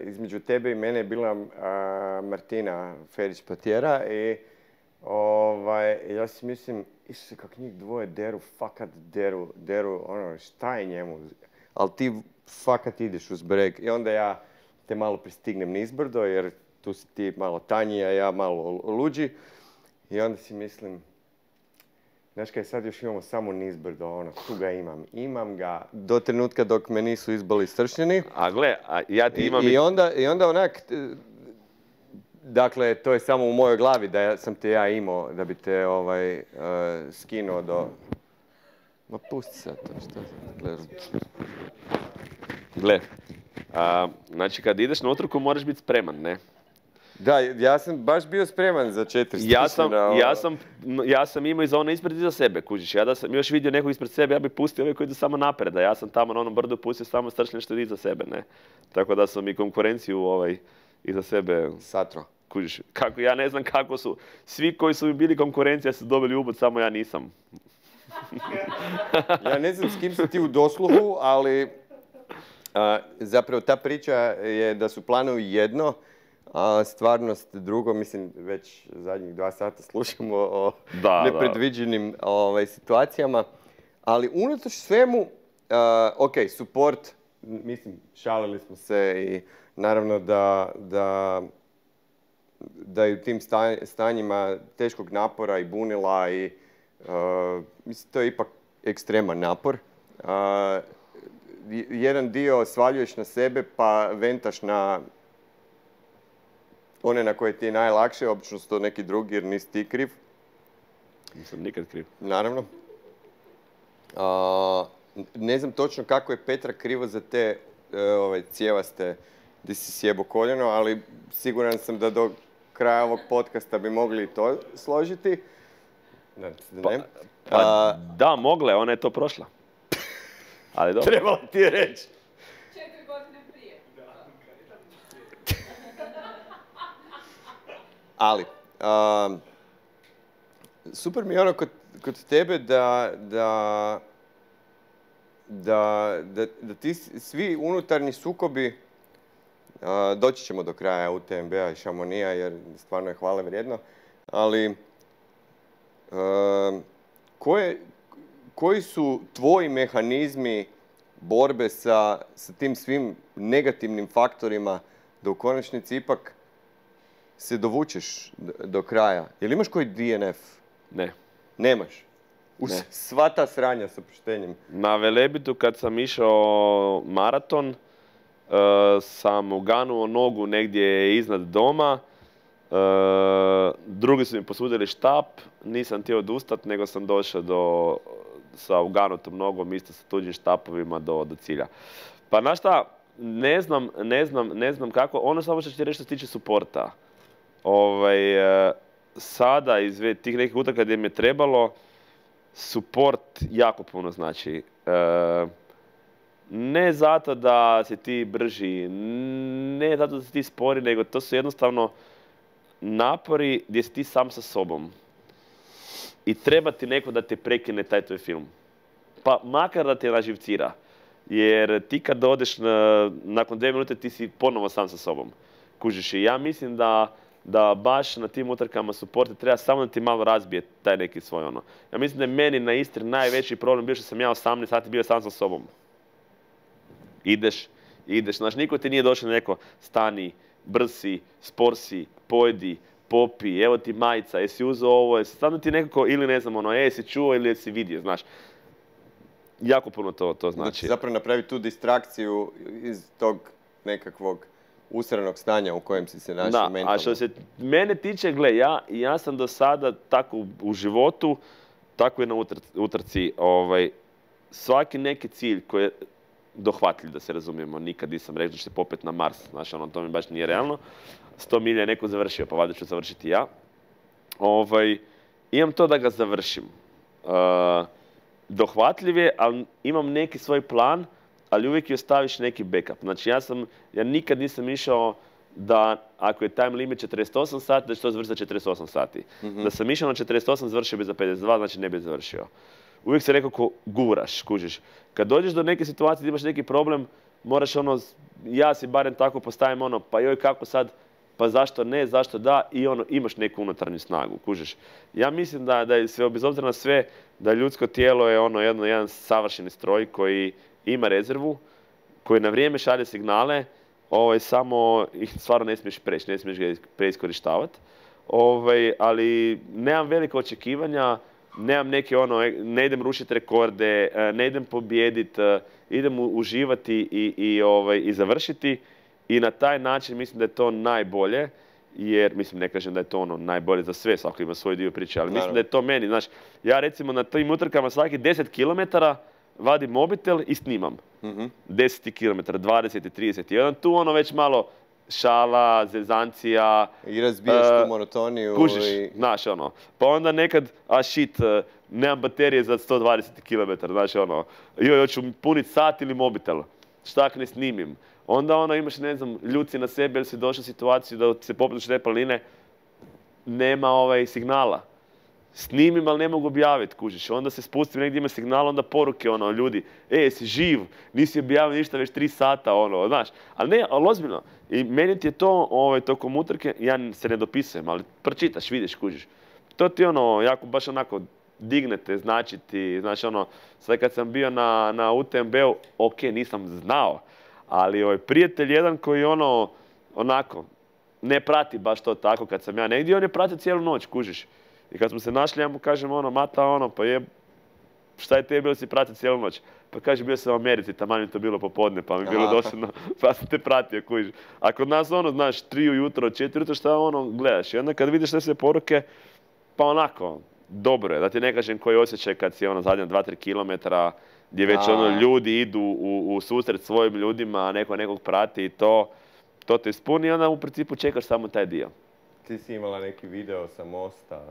između tebe i mene je bila uh, Martina Ferić-Patjera i ovaj, ja si mislim, Isuse, kak njih dvoje deru, fakat deru, deru, ono, šta je njemu? Ali ti fakat ideš uz breg i onda ja te malo pristignem nizbrdo jer tu si ti malo tanji, a ja malo luđi. I onda si mislim, znaš kaj, sad još imamo samo nizbrdo, ono, tu ga imam. Imam ga do trenutka dok me nisu izbali stršnjeni. A gle, a ja ti imam... I, i, onda, i onda onak... Dakle, to je samo u mojoj glavi da sam te ja imao, da bi te ovaj, uh, skinuo do... Ma pusti sad to, što gledam. Gle, a, znači kad ideš na utrku moraš biti spreman, ne? Da, ja sam baš bio spreman za četiri ja sam, ja sam, ja sam imao i za ono ispred i za sebe, kužiš. Ja da sam još vidio nekog ispred sebe, ja bih pustio ove koji idu samo napred, a ja sam tamo na onom brdu pustio samo stršljen što iza sebe, ne? Tako da sam i konkurenciju ovaj, iza sebe... Satro. Kužiš, kako, ja ne znam kako su, svi koji su bili konkurencija su dobili ubod, samo ja nisam. Ja ne znam s kim si ti u dosluhu, ali A, zapravo ta priča je da su planovi jedno, a stvarnost drugo. Mislim, već zadnjih dva sata slušamo o Da, nepredviđenim ovaj, situacijama. Ali unatoč svemu, a, ok, support, mislim, šalili smo se i naravno da, da, da je u tim stanjima teškog napora i bunila i a, mislim, to je ipak ekstreman napor. A, jedan dio svaljuješ na sebe pa ventaš na one na koje ti je najlakše, obično su to neki drugi jer nisi ti kriv. Nisam nikad kriv. Naravno. A, ne znam točno kako je Petra krivo za te e, ovaj, cijevaste gdje si sjebo koljeno, ali siguran sam da do kraja ovog podcasta bi mogli i to složiti. Da, Pa, ne. pa A, da, mogle, ona je to prošla. Ali dobro. trebalo ti je reći. Četiri godine prije. Ali, um, super mi je ono kod, kod tebe da, da, da, da, da ti svi unutarnji sukobi, uh, doći ćemo do kraja U T M B-a i Šamonija jer stvarno je hvale vrijedno, ali uh, koje, koji su tvoji mehanizmi borbe sa, sa tim svim negativnim faktorima da u konačnici ipak se dovučeš do kraja? Jel imaš koji D N F? Ne. Nemaš? Uz Ne. sva ta sranja sa oproštenjem. Na Velebitu kad sam išao maraton, uh, sam uganuo nogu negdje iznad doma. Uh, drugi su mi posudili štap, nisam htio odustat, nego sam došao do, sa uganutom nogom, isto sa tuđim štapovima do, do cilja. Pa znaš šta, ne znam, ne znam, ne znam kako, ono samo što ću ti reći što se tiče suporta. Ovaj, uh, sada iz tih nekih utrka gdje mi je trebalo, suport jako puno znači. Uh, ne zato da si ti brži, ne zato da si ti spori, nego to su jednostavno napori gdje si ti sam sa sobom. I treba ti neko da te prekine taj tvoj film. Pa makar da te naživcira. Jer ti kad odeš na, nakon dvije minute ti si ponovo sam sa sobom. Kužiš i ja mislim da, da baš na tim utrkama suporta treba samo da ti malo razbije taj neki svoj ono. Ja mislim da je meni na Istri najveći problem bio što sam ja osamnaest sati bio sam sa sobom. Ideš, ideš. Znaš, niko ti nije došao neko stani, brzi, sporsi, pojedi, popi, evo ti majica, jesi uzeo ovo, jesi stvarno ti nekako, ili ne znam, ono, e, jesi čuo ili jesi vidio, znaš. Jako puno to, to znači. Znači, zapravo napravi tu distrakciju iz tog nekakvog usranog stanja u kojem si se našao Da, mentalno. a što se mene tiče, gle, ja, ja sam do sada tako u, u životu, tako i na utr, utrci, ovaj, svaki neki cilj koji je dohvatljiv, da se razumijemo, nikad nisam rekao da ću se popet na Mars, znaš, ono, to mi baš nije realno. sto milja je neko završio, pa valjda ću završiti ja. Ovaj, imam to da ga završim. Uh, dohvatljiv je, ali imam neki svoj plan, ali uvijek joj staviš neki backup. Znači, ja sam, ja nikad nisam išao da, ako je time limit četrdeset osam sati, da ću to završiti za četrdeset osam sati. Mm-hmm. Da sam išao na četrdeset osam, završio bi za pedeset dva, znači ne bi završio. Uvijek se nekako guraš, kužiš. Kad dođeš do neke situacije da imaš neki problem, moraš ono, ja si barem tako postavim ono, pa joj kako sad, pa zašto ne, zašto da, i ono, imaš neku unutarnju snagu, kužiš. Ja mislim da, da je sve, bez obzira na sve, da ljudsko tijelo je ono jedno, jedan savršeni stroj koji ima rezervu, koji na vrijeme šalje signale, ovaj, samo ih stvarno ne smiješ preći, ne smiješ ga preiskorištavati. Ovaj, ali nemam velike očekivanja, nemam neke ono, ne idem rušiti rekorde, ne idem pobijediti, idem uživati i, i, ovaj, i završiti. I na taj način mislim da je to najbolje, jer, mislim, ne kažem da je to ono najbolje za sve, svako ima svoj dio priče, ali mislim da je to meni, znaš, ja recimo na tim utrkama svaki deset kilometara vadim mobitel i snimam. Mm-hmm. deset kilometara, dvadeset, trideset, jedan tu ono već malo šala, zezancija. I razbijaš uh, tu monotoniju. Kužiš, i... znaš ono. Pa onda nekad, a shit, uh, nemam baterije za sto dvadeset kilometara, znaš ono. Joj, hoću puniti sat ili mobitel. Šta ako ne snimim? Onda ono imaš, ne znam, ljuci na sebe ili si došao u situaciju da se popneš te planine, nema ovaj signala. snimim, ali ne mogu objaviti, kužiš. Onda se spustim negdje ima signal, onda poruke, ono, ljudi, e, jesi živ, nisi objavio ništa već tri sata, ono, znaš. Ali ne, ali ozbiljno. I meni ti je to, ovaj, tokom utrke, ja se ne dopisujem, ali pročitaš, vidiš, kužiš. To ti, ono, jako, baš onako, dignete, znači ti, znači, ono, sad kad sam bio na, na U T M B-u, ok, nisam znao, ali ovaj, prijatelj jedan koji, ono, onako, ne prati baš to tako kad sam ja negdje, on je pratio cijelu noć, kužiš. I kad smo se našli, ja mu kažem, ono, Mata, ono, pa je, šta je tebi bilo si pratio cijelu noć? Pa kaže, bio sam u Americi, taman mi to bilo popodne, pa mi je bilo dosadno, pa sam te pratio, kužiš. A kod nas, ono, znaš, tri ujutro, četiri ujutro, šta ono, gledaš. I onda kad vidiš sve sve poruke, pa onako, dobro je, da ti ne kažem koji osjećaj kad si, ono, zadnja dva tri kilometra, gdje već, ono, ljudi idu u, u susret svojim ljudima, neko nekog prati i to, to te ispuni i onda u principu čekaš samo taj dio. Ti si imala neki video sa mosta,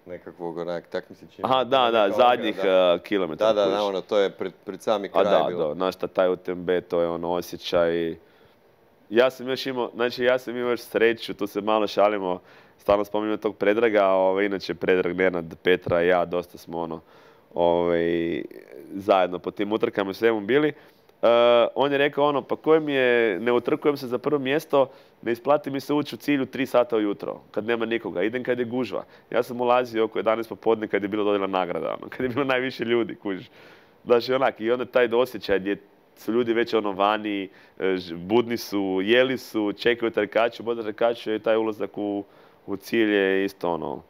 nekakvog onak, tak mi se čini. Aha, da, da, zadnjih uh, kilometara. Da, da, da, ono, to je pred, pred sami kraj A da, bilo. da, znaš šta, taj U T M B, to je ono osjećaj. Ja sam još imao, znači ja sam imao još sreću, tu se malo šalimo, stalno spominjamo tog Predraga, ovaj, inače Predrag, Nenad, Petra i ja, dosta smo ono, ovaj, zajedno po tim utrkama i svemu bili. Uh, on je rekao ono, pa koje mi je, ne utrkujem se za prvo mjesto, ne isplati mi se ući u cilju tri sata ujutro, kad nema nikoga, idem kad je gužva. Ja sam ulazio oko jedanaest popodne kad je bilo dodjela nagrada, ono, kad je bilo najviše ljudi, kužiš. Znači onak, i onda taj osjećaj gdje su ljudi već ono vani, budni su, jeli su, čekaju trkaču, boda trkaču i taj ulazak u, u cilj je isto ono.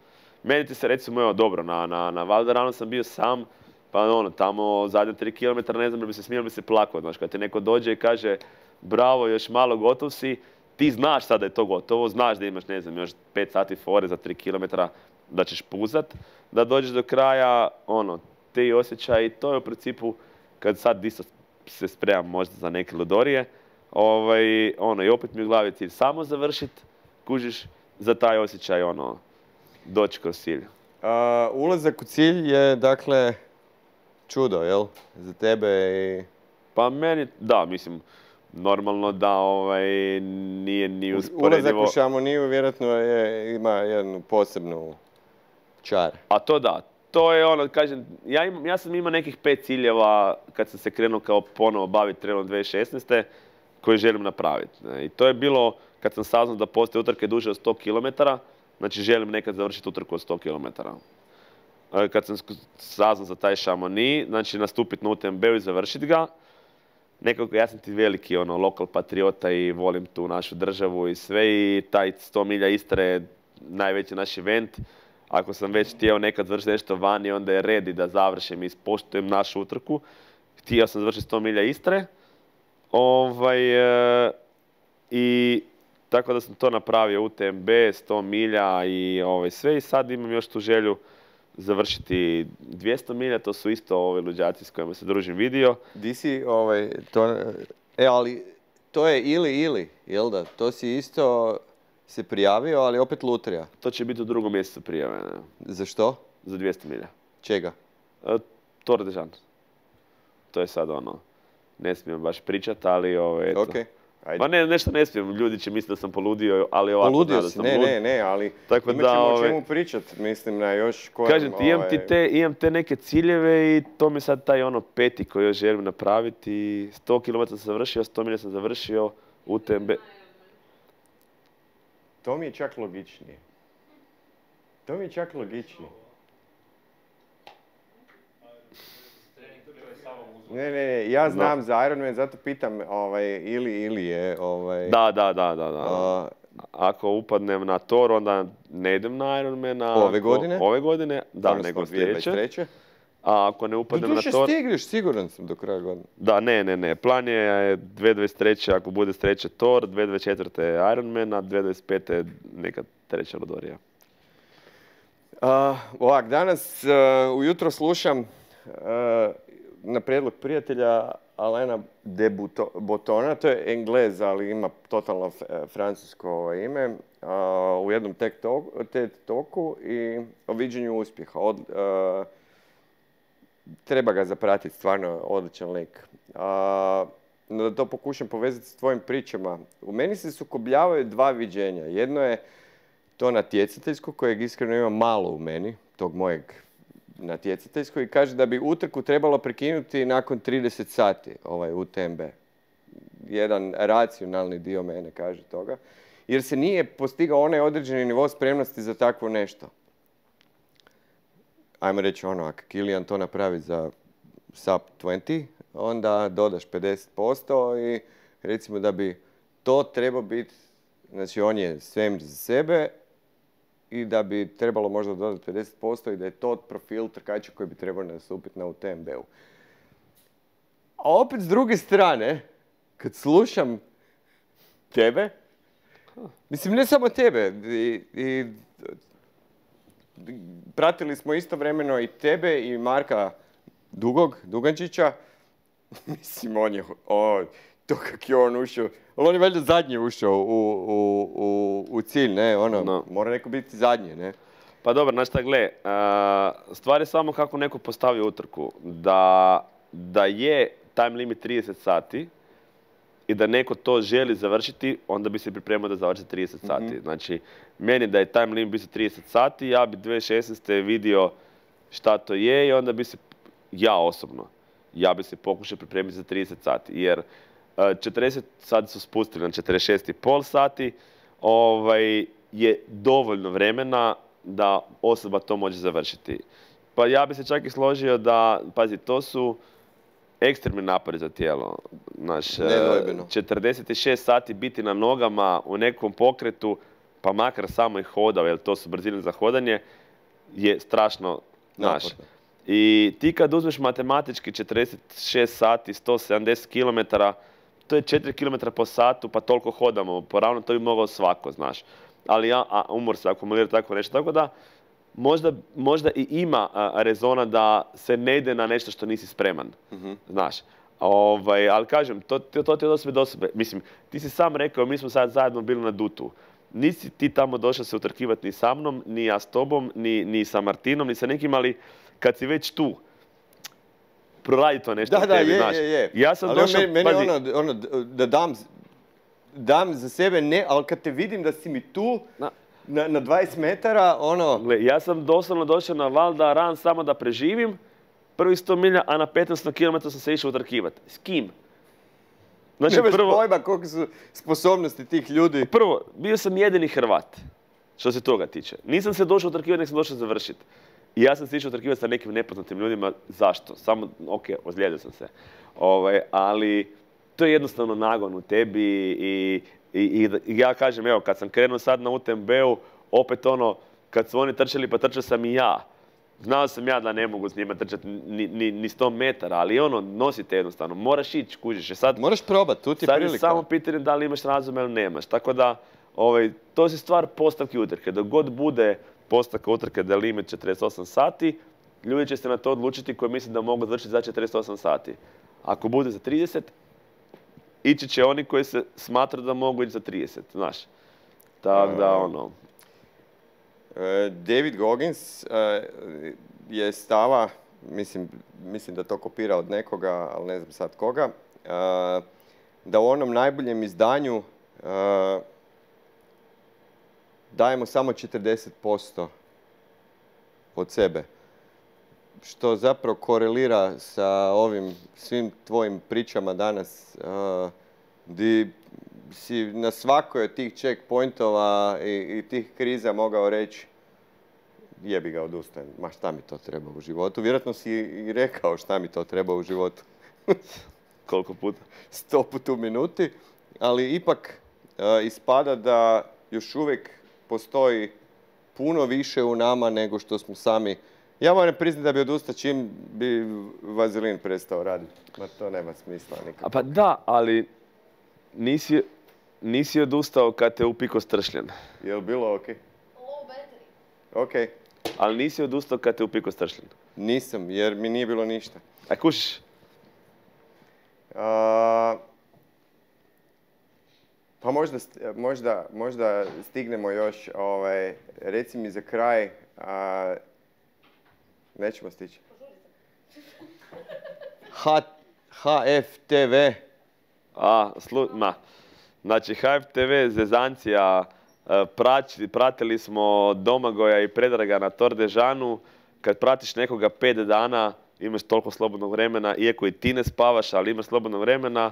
Meni ti se recimo, evo, dobro, na, na, na Valderanu sam bio sam, pa ono, tamo zadnje tri kilometra, ne znam, bi se smio, bi se plakao, znaš, kad ti neko dođe i kaže bravo, još malo gotov si, ti znaš sad da je to gotovo, znaš da imaš, ne znam, još pet sati fore za tri kilometra, da ćeš puzat, da dođeš do kraja, ono, te osjećaj i to je u principu, kad sad isto se spremam možda za neke ludorije, ovaj, ono, i opet mi u glavi cilj samo završit, kužiš, za taj osjećaj, ono, doći kroz cilj. Uh, ulazak u cilj je, dakle, čudo, jel? Za tebe i... Pa meni, da, mislim, normalno da ovaj, nije ni usporedivo... Ulazak u Šamoniju vjerojatno je, ima jednu posebnu čar. A to da, to je ono, kažem, ja, im, ja sam imao nekih pet ciljeva kad sam se krenuo kao ponovo baviti trenom dvije tisuće šesnaeste koje želim napraviti. I to je bilo kad sam saznao da postoje utrke duže od sto kilometara, znači želim nekad završiti utrku od sto kilometara. Kad sam saznao za taj Chamonix, znači nastupiti na U T M B-u i završiti ga, nekako ja sam ti veliki ono, lokal patriota i volim tu našu državu i sve i taj sto milja Istre je najveći naš event. Ako sam već htio nekad završiti nešto vani, onda je red i da završim i ispoštujem našu utrku. Htio sam završiti sto milja Istre. Ovaj, e, I tako da sam to napravio U T M B, sto milja i ovaj, sve. I sad imam još tu želju završiti dvjesto milja, to su isto ove luđaci s kojima se družim vidio. Di si, ovaj, to, e, ali to je ili ili, jel da? To si isto se prijavio, ali opet lutrija. To će biti u drugom mjesecu prijave. Ne? Za što? Za dvjesto milja. Čega? E, Tour de Jean. To je sad ono, ne smijem baš pričati, ali ovo, eto. Okay. Ajde. Ma ne, nešto ne smijem, ljudi će misliti da sam poludio, ali ovako poludio da si, sam ne, lud. ne, ne, ali tako imat da, ćemo ove, o čemu pričat, mislim, na još kojem... Kažem ti, imam, ovaj... ti te, imam te neke ciljeve i to mi sad taj ono peti koji još želim napraviti. sto kilometara sam završio, sto milja sam završio, U T M B. To mi je čak logičnije. To mi je čak logičnije. Ne, ne, ne, ja znam no. za Ironman, zato pitam ovaj, ili ili je. Ovaj, da, da, da, da. da. A, ako upadnem na Tor, onda ne idem na Ironman. Ove godine? Ove godine, da, nego sljedeće. A ako ne upadnem na Tor... stigneš, siguran sam do kraja godine. Da, ne, ne, ne. Plan je dvije tisuće dvadeset treće ako bude sreće Tor, dvije tisuće dvadeset četvrte Ironman, a dvije tisuće dvadeset pete neka treća ludorija. Uh, ovak, danas uh, ujutro slušam uh, na prijedlog prijatelja Alena de Botona, to je Englez, ali ima totalno francusko ime, uh, u jednom TED Talku i o viđenju uspjeha. Od, uh, treba ga zapratiti, stvarno odličan lik. Uh, no da to pokušam povezati s tvojim pričama. U meni se sukobljavaju dva viđenja. Jedno je to natjecateljsko, kojeg iskreno ima malo u meni. tog mojeg natjecateljskog i kaže da bi utrku trebalo prekinuti nakon trideset sati, ovaj U T M B. Jedan racionalni dio mene kaže toga, jer se nije postigao onaj određeni nivo spremnosti za takvo nešto. Ajmo reći ono, ako Kilian to napravi za sub dvadeset, onda dodaš pedeset posto i recimo da bi to trebao biti, znači on je svemir za sebe i da bi trebalo možda dodati pedeset posto i da je to profil trkača koji bi trebao nastupiti na U T M B-u. A opet s druge strane, kad slušam tebe, mislim ne samo tebe, i, i pratili smo istovremeno i tebe i Marka Dugog, Dugančića, mislim on je, o, to kak je on ušao, ali on je valjda zadnji ušao u, u, u, u cilj, ne, ono, no. Mora neko biti zadnji, ne. Pa dobro, znaš šta, gle, stvar je samo kako neko postavi utrku, da, da je time limit trideset sati, i da neko to želi završiti, onda bi se pripremao da završi trideset sati. Mm-hmm. Znači, meni da je time limit bio trideset sati, ja bi dvije tisuće šesnaeste vidio šta to je i onda bi se, ja osobno, ja bi se pokušao pripremiti za trideset sati. Jer četrdeset sati su spustili na četrdeset šest i pol sati, ovaj, je dovoljno vremena da osoba to može završiti. Pa ja bi se čak i složio da, pazi, to su ekstremni napori za tijelo. Naš, četrdeset šest sati biti na nogama u nekom pokretu, pa makar samo i hodao, jer to su brzine za hodanje, je strašno naš. I ti kad uzmeš matematički četrdeset šest sati, sto sedamdeset kilometara, to je četiri kilometra po satu, pa toliko hodamo. Poravno to bi mogao svako, znaš. Ali ja, a, umor se akumulira tako nešto. Tako da, možda, možda i ima a, rezona da se ne ide na nešto što nisi spreman, mm-hmm. znaš. Ovaj, ali kažem, to, to, to ti je od osobe do osobe. Mislim, ti si sam rekao, mi smo sad zajedno bili na Dutu. Nisi ti tamo došao se utrkivati ni sa mnom, ni ja s tobom, ni, ni sa Martinom, ni sa nekim, ali kad si već tu, proradi to nešto da, u tebi, da, je, znaš. Je, je. Ja sam ali došao, meni, meni pazi, ono, ono, da dam, dam za sebe, ne, ali kad te vidim da si mi tu, na, na, na dvadeset metara, ono... Gle, ja sam doslovno došao na Val d'Aran samo da preživim, prvi sto milja, a na petnaest kilometara sam se išao utrkivati. S kim? Znači, nemaš prvo, pojma koliko su sposobnosti tih ljudi. Prvo, bio sam jedini Hrvat, što se toga tiče. Nisam se došao utrkivati, nek sam došao završiti. I ja sam se išao utrkivati sa nekim nepoznatim ljudima. Zašto? Samo, ok, ozlijedio sam se. Ovaj, ali to je jednostavno nagon u tebi i, i, i, i ja kažem, evo, kad sam krenuo sad na U T M B-u, opet ono, kad su oni trčali, pa trčao sam i ja. Znao sam ja da ne mogu s njima trčati ni, ni, ni sto metara, ali ono, nosite jednostavno, moraš ići, kužiš. Sad, moraš probati, tu ti je prilika. Sad je samo pitanje da li imaš razume ili nemaš. Tako da, ovaj, to je stvar postavke utrke. Dok god bude postavka utrke da je limit četrdeset osam sati, ljudi će se na to odlučiti koji misle da mogu završiti za četrdeset osam sati. Ako bude za trideset, ići će oni koji se smatraju da mogu ići za trideset, znaš. Tako da, ono... David Goggins je stava, mislim, mislim da to kopira od nekoga, ali ne znam sad koga, da u onom najboljem izdanju dajemo samo četrdeset posto od sebe. Što zapravo korelira sa ovim svim tvojim pričama danas, di si na svakoj od tih checkpointova i, i tih kriza mogao reći jebi ga, odustajem, ma šta mi to treba u životu. Vjerojatno si i rekao šta mi to treba u životu. Koliko puta? Sto puta u minuti, ali ipak uh, ispada da još uvijek postoji puno više u nama nego što smo sami. Ja moram priznati da bi odustao čim bi vazelin prestao raditi. Ma to nema smisla nikako. A pa da, ali nisi, nisi odustao kad te upiko stršljen. Je li bilo ok? Low battery. Ok. Ali nisi odustao kad te upiko stršljen. Nisam, jer mi nije bilo ništa. A kušiš? A, pa možda, možda, možda stignemo još, ovaj, reci mi za kraj, a, nećemo stići. H F T V. A, slu, ma. Znači, H F T V, zezancija, Praći, pratili smo Domagoja i Predraga na Tor de Jeanu. Kad pratiš nekoga pet dana, imaš toliko slobodnog vremena, iako i ti ne spavaš, ali imaš slobodnog vremena.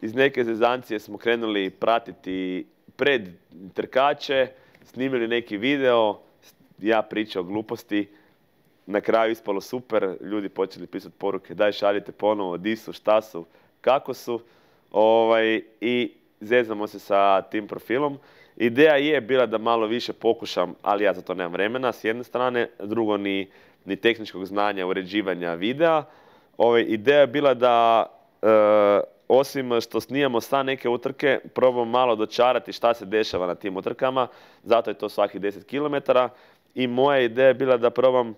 Iz neke zezancije smo krenuli pratiti pred trkače, snimili neki video, ja pričao gluposti. Na kraju ispalo super, ljudi počeli pisati poruke, daj šaljite ponovo, di su, šta su, kako su. Ovaj, I zezamo se sa tim profilom. Ideja je bila da malo više pokušam, ali ja za to nemam vremena, s jedne strane. Drugo, ni, ni tehničkog znanja, uređivanja videa. Ovaj, ideja je bila da, e, osim što snimamo sa neke utrke, probam malo dočarati šta se dešava na tim utrkama. Zato je to svakih deset kilometara. I moja ideja je bila da probam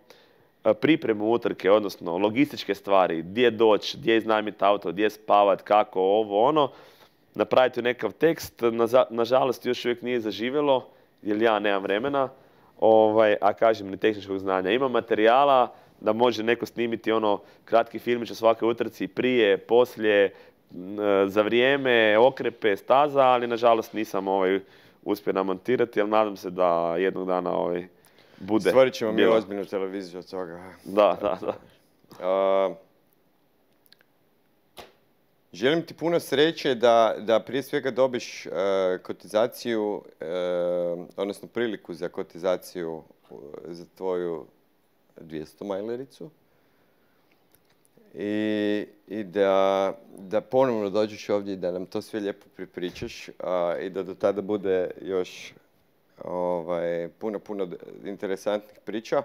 pripremu utrke, odnosno logističke stvari, gdje doći, gdje iznajmiti auto, gdje spavat, kako, ovo, ono. Napraviti nekakav tekst, nažalost još uvijek nije zaživjelo, jer ja nemam vremena, ovaj, a kažem ni tehničkog znanja. Ima materijala da može neko snimiti ono kratki filmić o svakoj utrci, prije, poslije, za vrijeme, okrepe, staza, ali nažalost nisam ovaj, uspio namontirati, ali nadam se da jednog dana ovaj, bude. Stvorit ćemo mi ozbiljnu televiziju od toga. Da, da, da. Uh, želim ti puno sreće da, da prije svega dobiš uh, kotizaciju, uh, odnosno priliku za kotizaciju uh, za tvoju dvjesto majlericu. I, i da, da ponovno dođeš ovdje i da nam to sve lijepo pripričaš uh, i da do tada bude još ovaj, puno, puno interesantnih priča.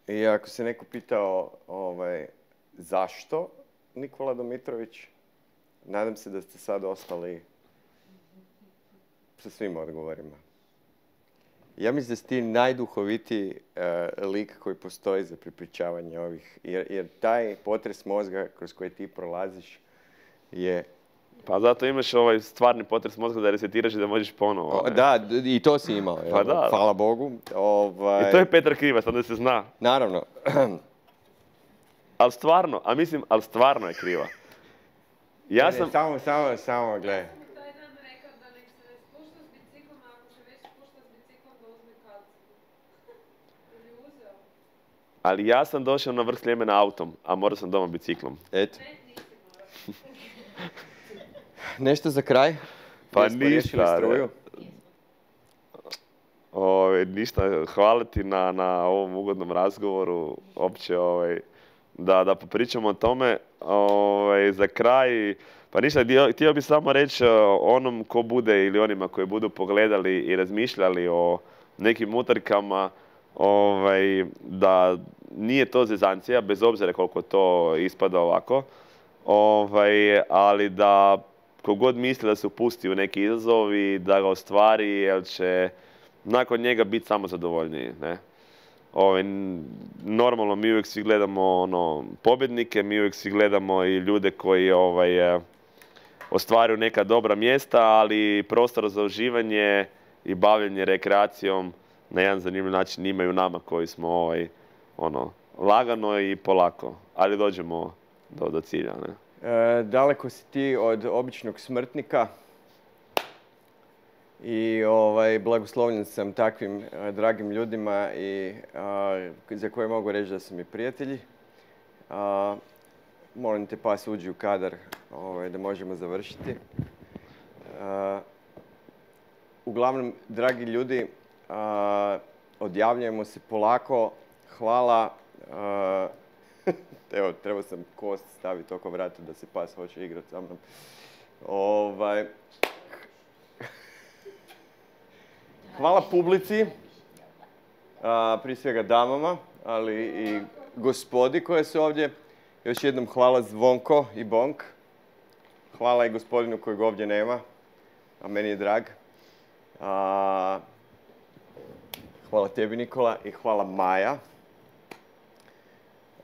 I ako se neko pitao ovaj, zašto Nikola Domitrović, nadam se da ste sad ostali sa svim odgovorima. Ja mislim da si ti najduhovitiji uh, lik koji postoji za pripričavanje ovih, jer, jer taj potres mozga kroz koji ti prolaziš je... Pa zato imaš ovaj stvarni potres mozga da resetiraš i da možeš ponovo. O, da, i to si imao. Pa da, hvala Bogu. Ovaj... I to je Petar Krivac, onda se zna. Naravno. Ali stvarno, a mislim, ali stvarno je kriva. Ja ne, sam... Ne, samo, samo, samo, gledaj. Taj dan rekao da nek se ne spušta s biciklom, a ako se već spušta s biciklom da uzme kacigu. Ili uzeo? Ali ja sam došao na vrh Sljemena autom, a morao sam doma biciklom. Eto. Ne, nisi morao. Nešto za kraj? Pa Jesmo riješili ništa. struju? Ove, ništa, hvala ti na, na ovom ugodnom razgovoru, opće ovaj, da, da popričamo o tome. Ovaj, za kraj, pa ništa, htio bih samo reći onom ko bude ili onima koji budu pogledali i razmišljali o nekim utrkama, ovaj, da nije to zezancija, bez obzira koliko to ispada ovako, ovaj, ali da kogod misli da se upusti u neki izazov i da ga ostvari, jer će nakon njega biti samo zadovoljniji. Ne? Ove, normalno mi uvijek svi gledamo ono, pobjednike, mi uvijek svi gledamo i ljude koji ovaj, ostvaruju neka dobra mjesta, ali prostor za uživanje i bavljenje rekreacijom na jedan zanimljiv način imaju nama koji smo ovaj, ono, lagano i polako, ali dođemo do, do cilja. Ne? E, daleko si ti od običnog smrtnika i ovaj, blagoslovljen sam takvim a, dragim ljudima i, a, za koje mogu reći da su mi prijatelji. A, molim te, pas uđi u kadar ovaj, da možemo završiti. A, uglavnom, dragi ljudi, a, odjavljujemo se polako. Hvala. A, evo, trebao sam kost staviti oko vrata da se pas hoće igrati sa mnom. Ovaj, hvala publici, a, prije svega damama, ali i gospodi koje su ovdje. Još jednom hvala Zvonko i Bonk. Hvala i gospodinu kojeg ovdje nema, a meni je drag. A, hvala tebi, Nikola, i hvala Maja,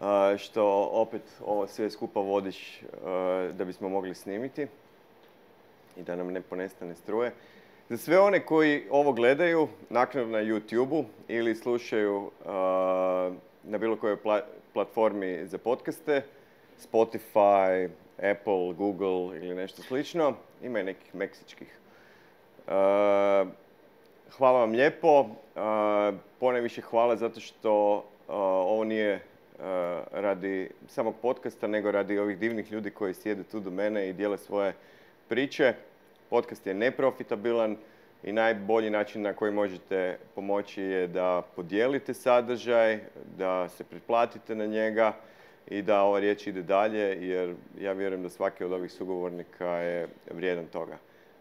a, što opet ovo sve skupa vodiš a, da bismo mogli snimiti i da nam ne ponestane struje. Za sve one koji ovo gledaju naknadno na YouTube-u ili slušaju uh, na bilo kojoj pla platformi za podcaste, Spotify, Apple, Google ili nešto slično, ima i nekih meksičkih hvala vam lijepo. Ponajviše hvala zato što ovo nije radi samog podcasta, nego radi ovih divnih ljudi koji sjede tu do mene i dijele svoje priče. Podcast je neprofitabilan i najbolji način na koji možete pomoći je da podijelite sadržaj, da se pretplatite na njega i da ova riječ ide dalje, jer ja vjerujem da svaki od ovih sugovornika je vrijedan toga.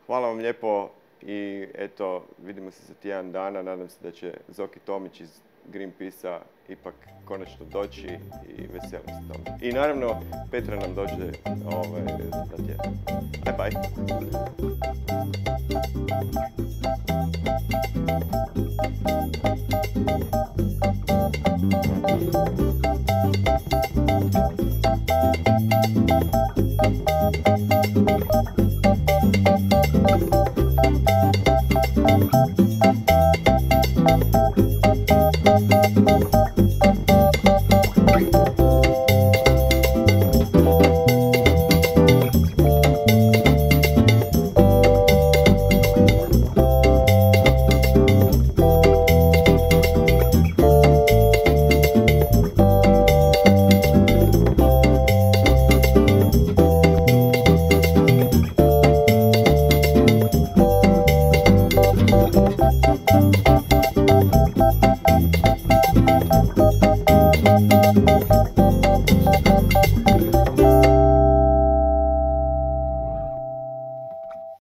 Hvala vam lijepo i eto, vidimo se za tjedan dana. Nadam se da će Zoki Tomić iz Greenpeace-a ipak konačno doći i veselim se tome. I naravno, Petra nam dođe ovaj, za tjedan. Bye bye.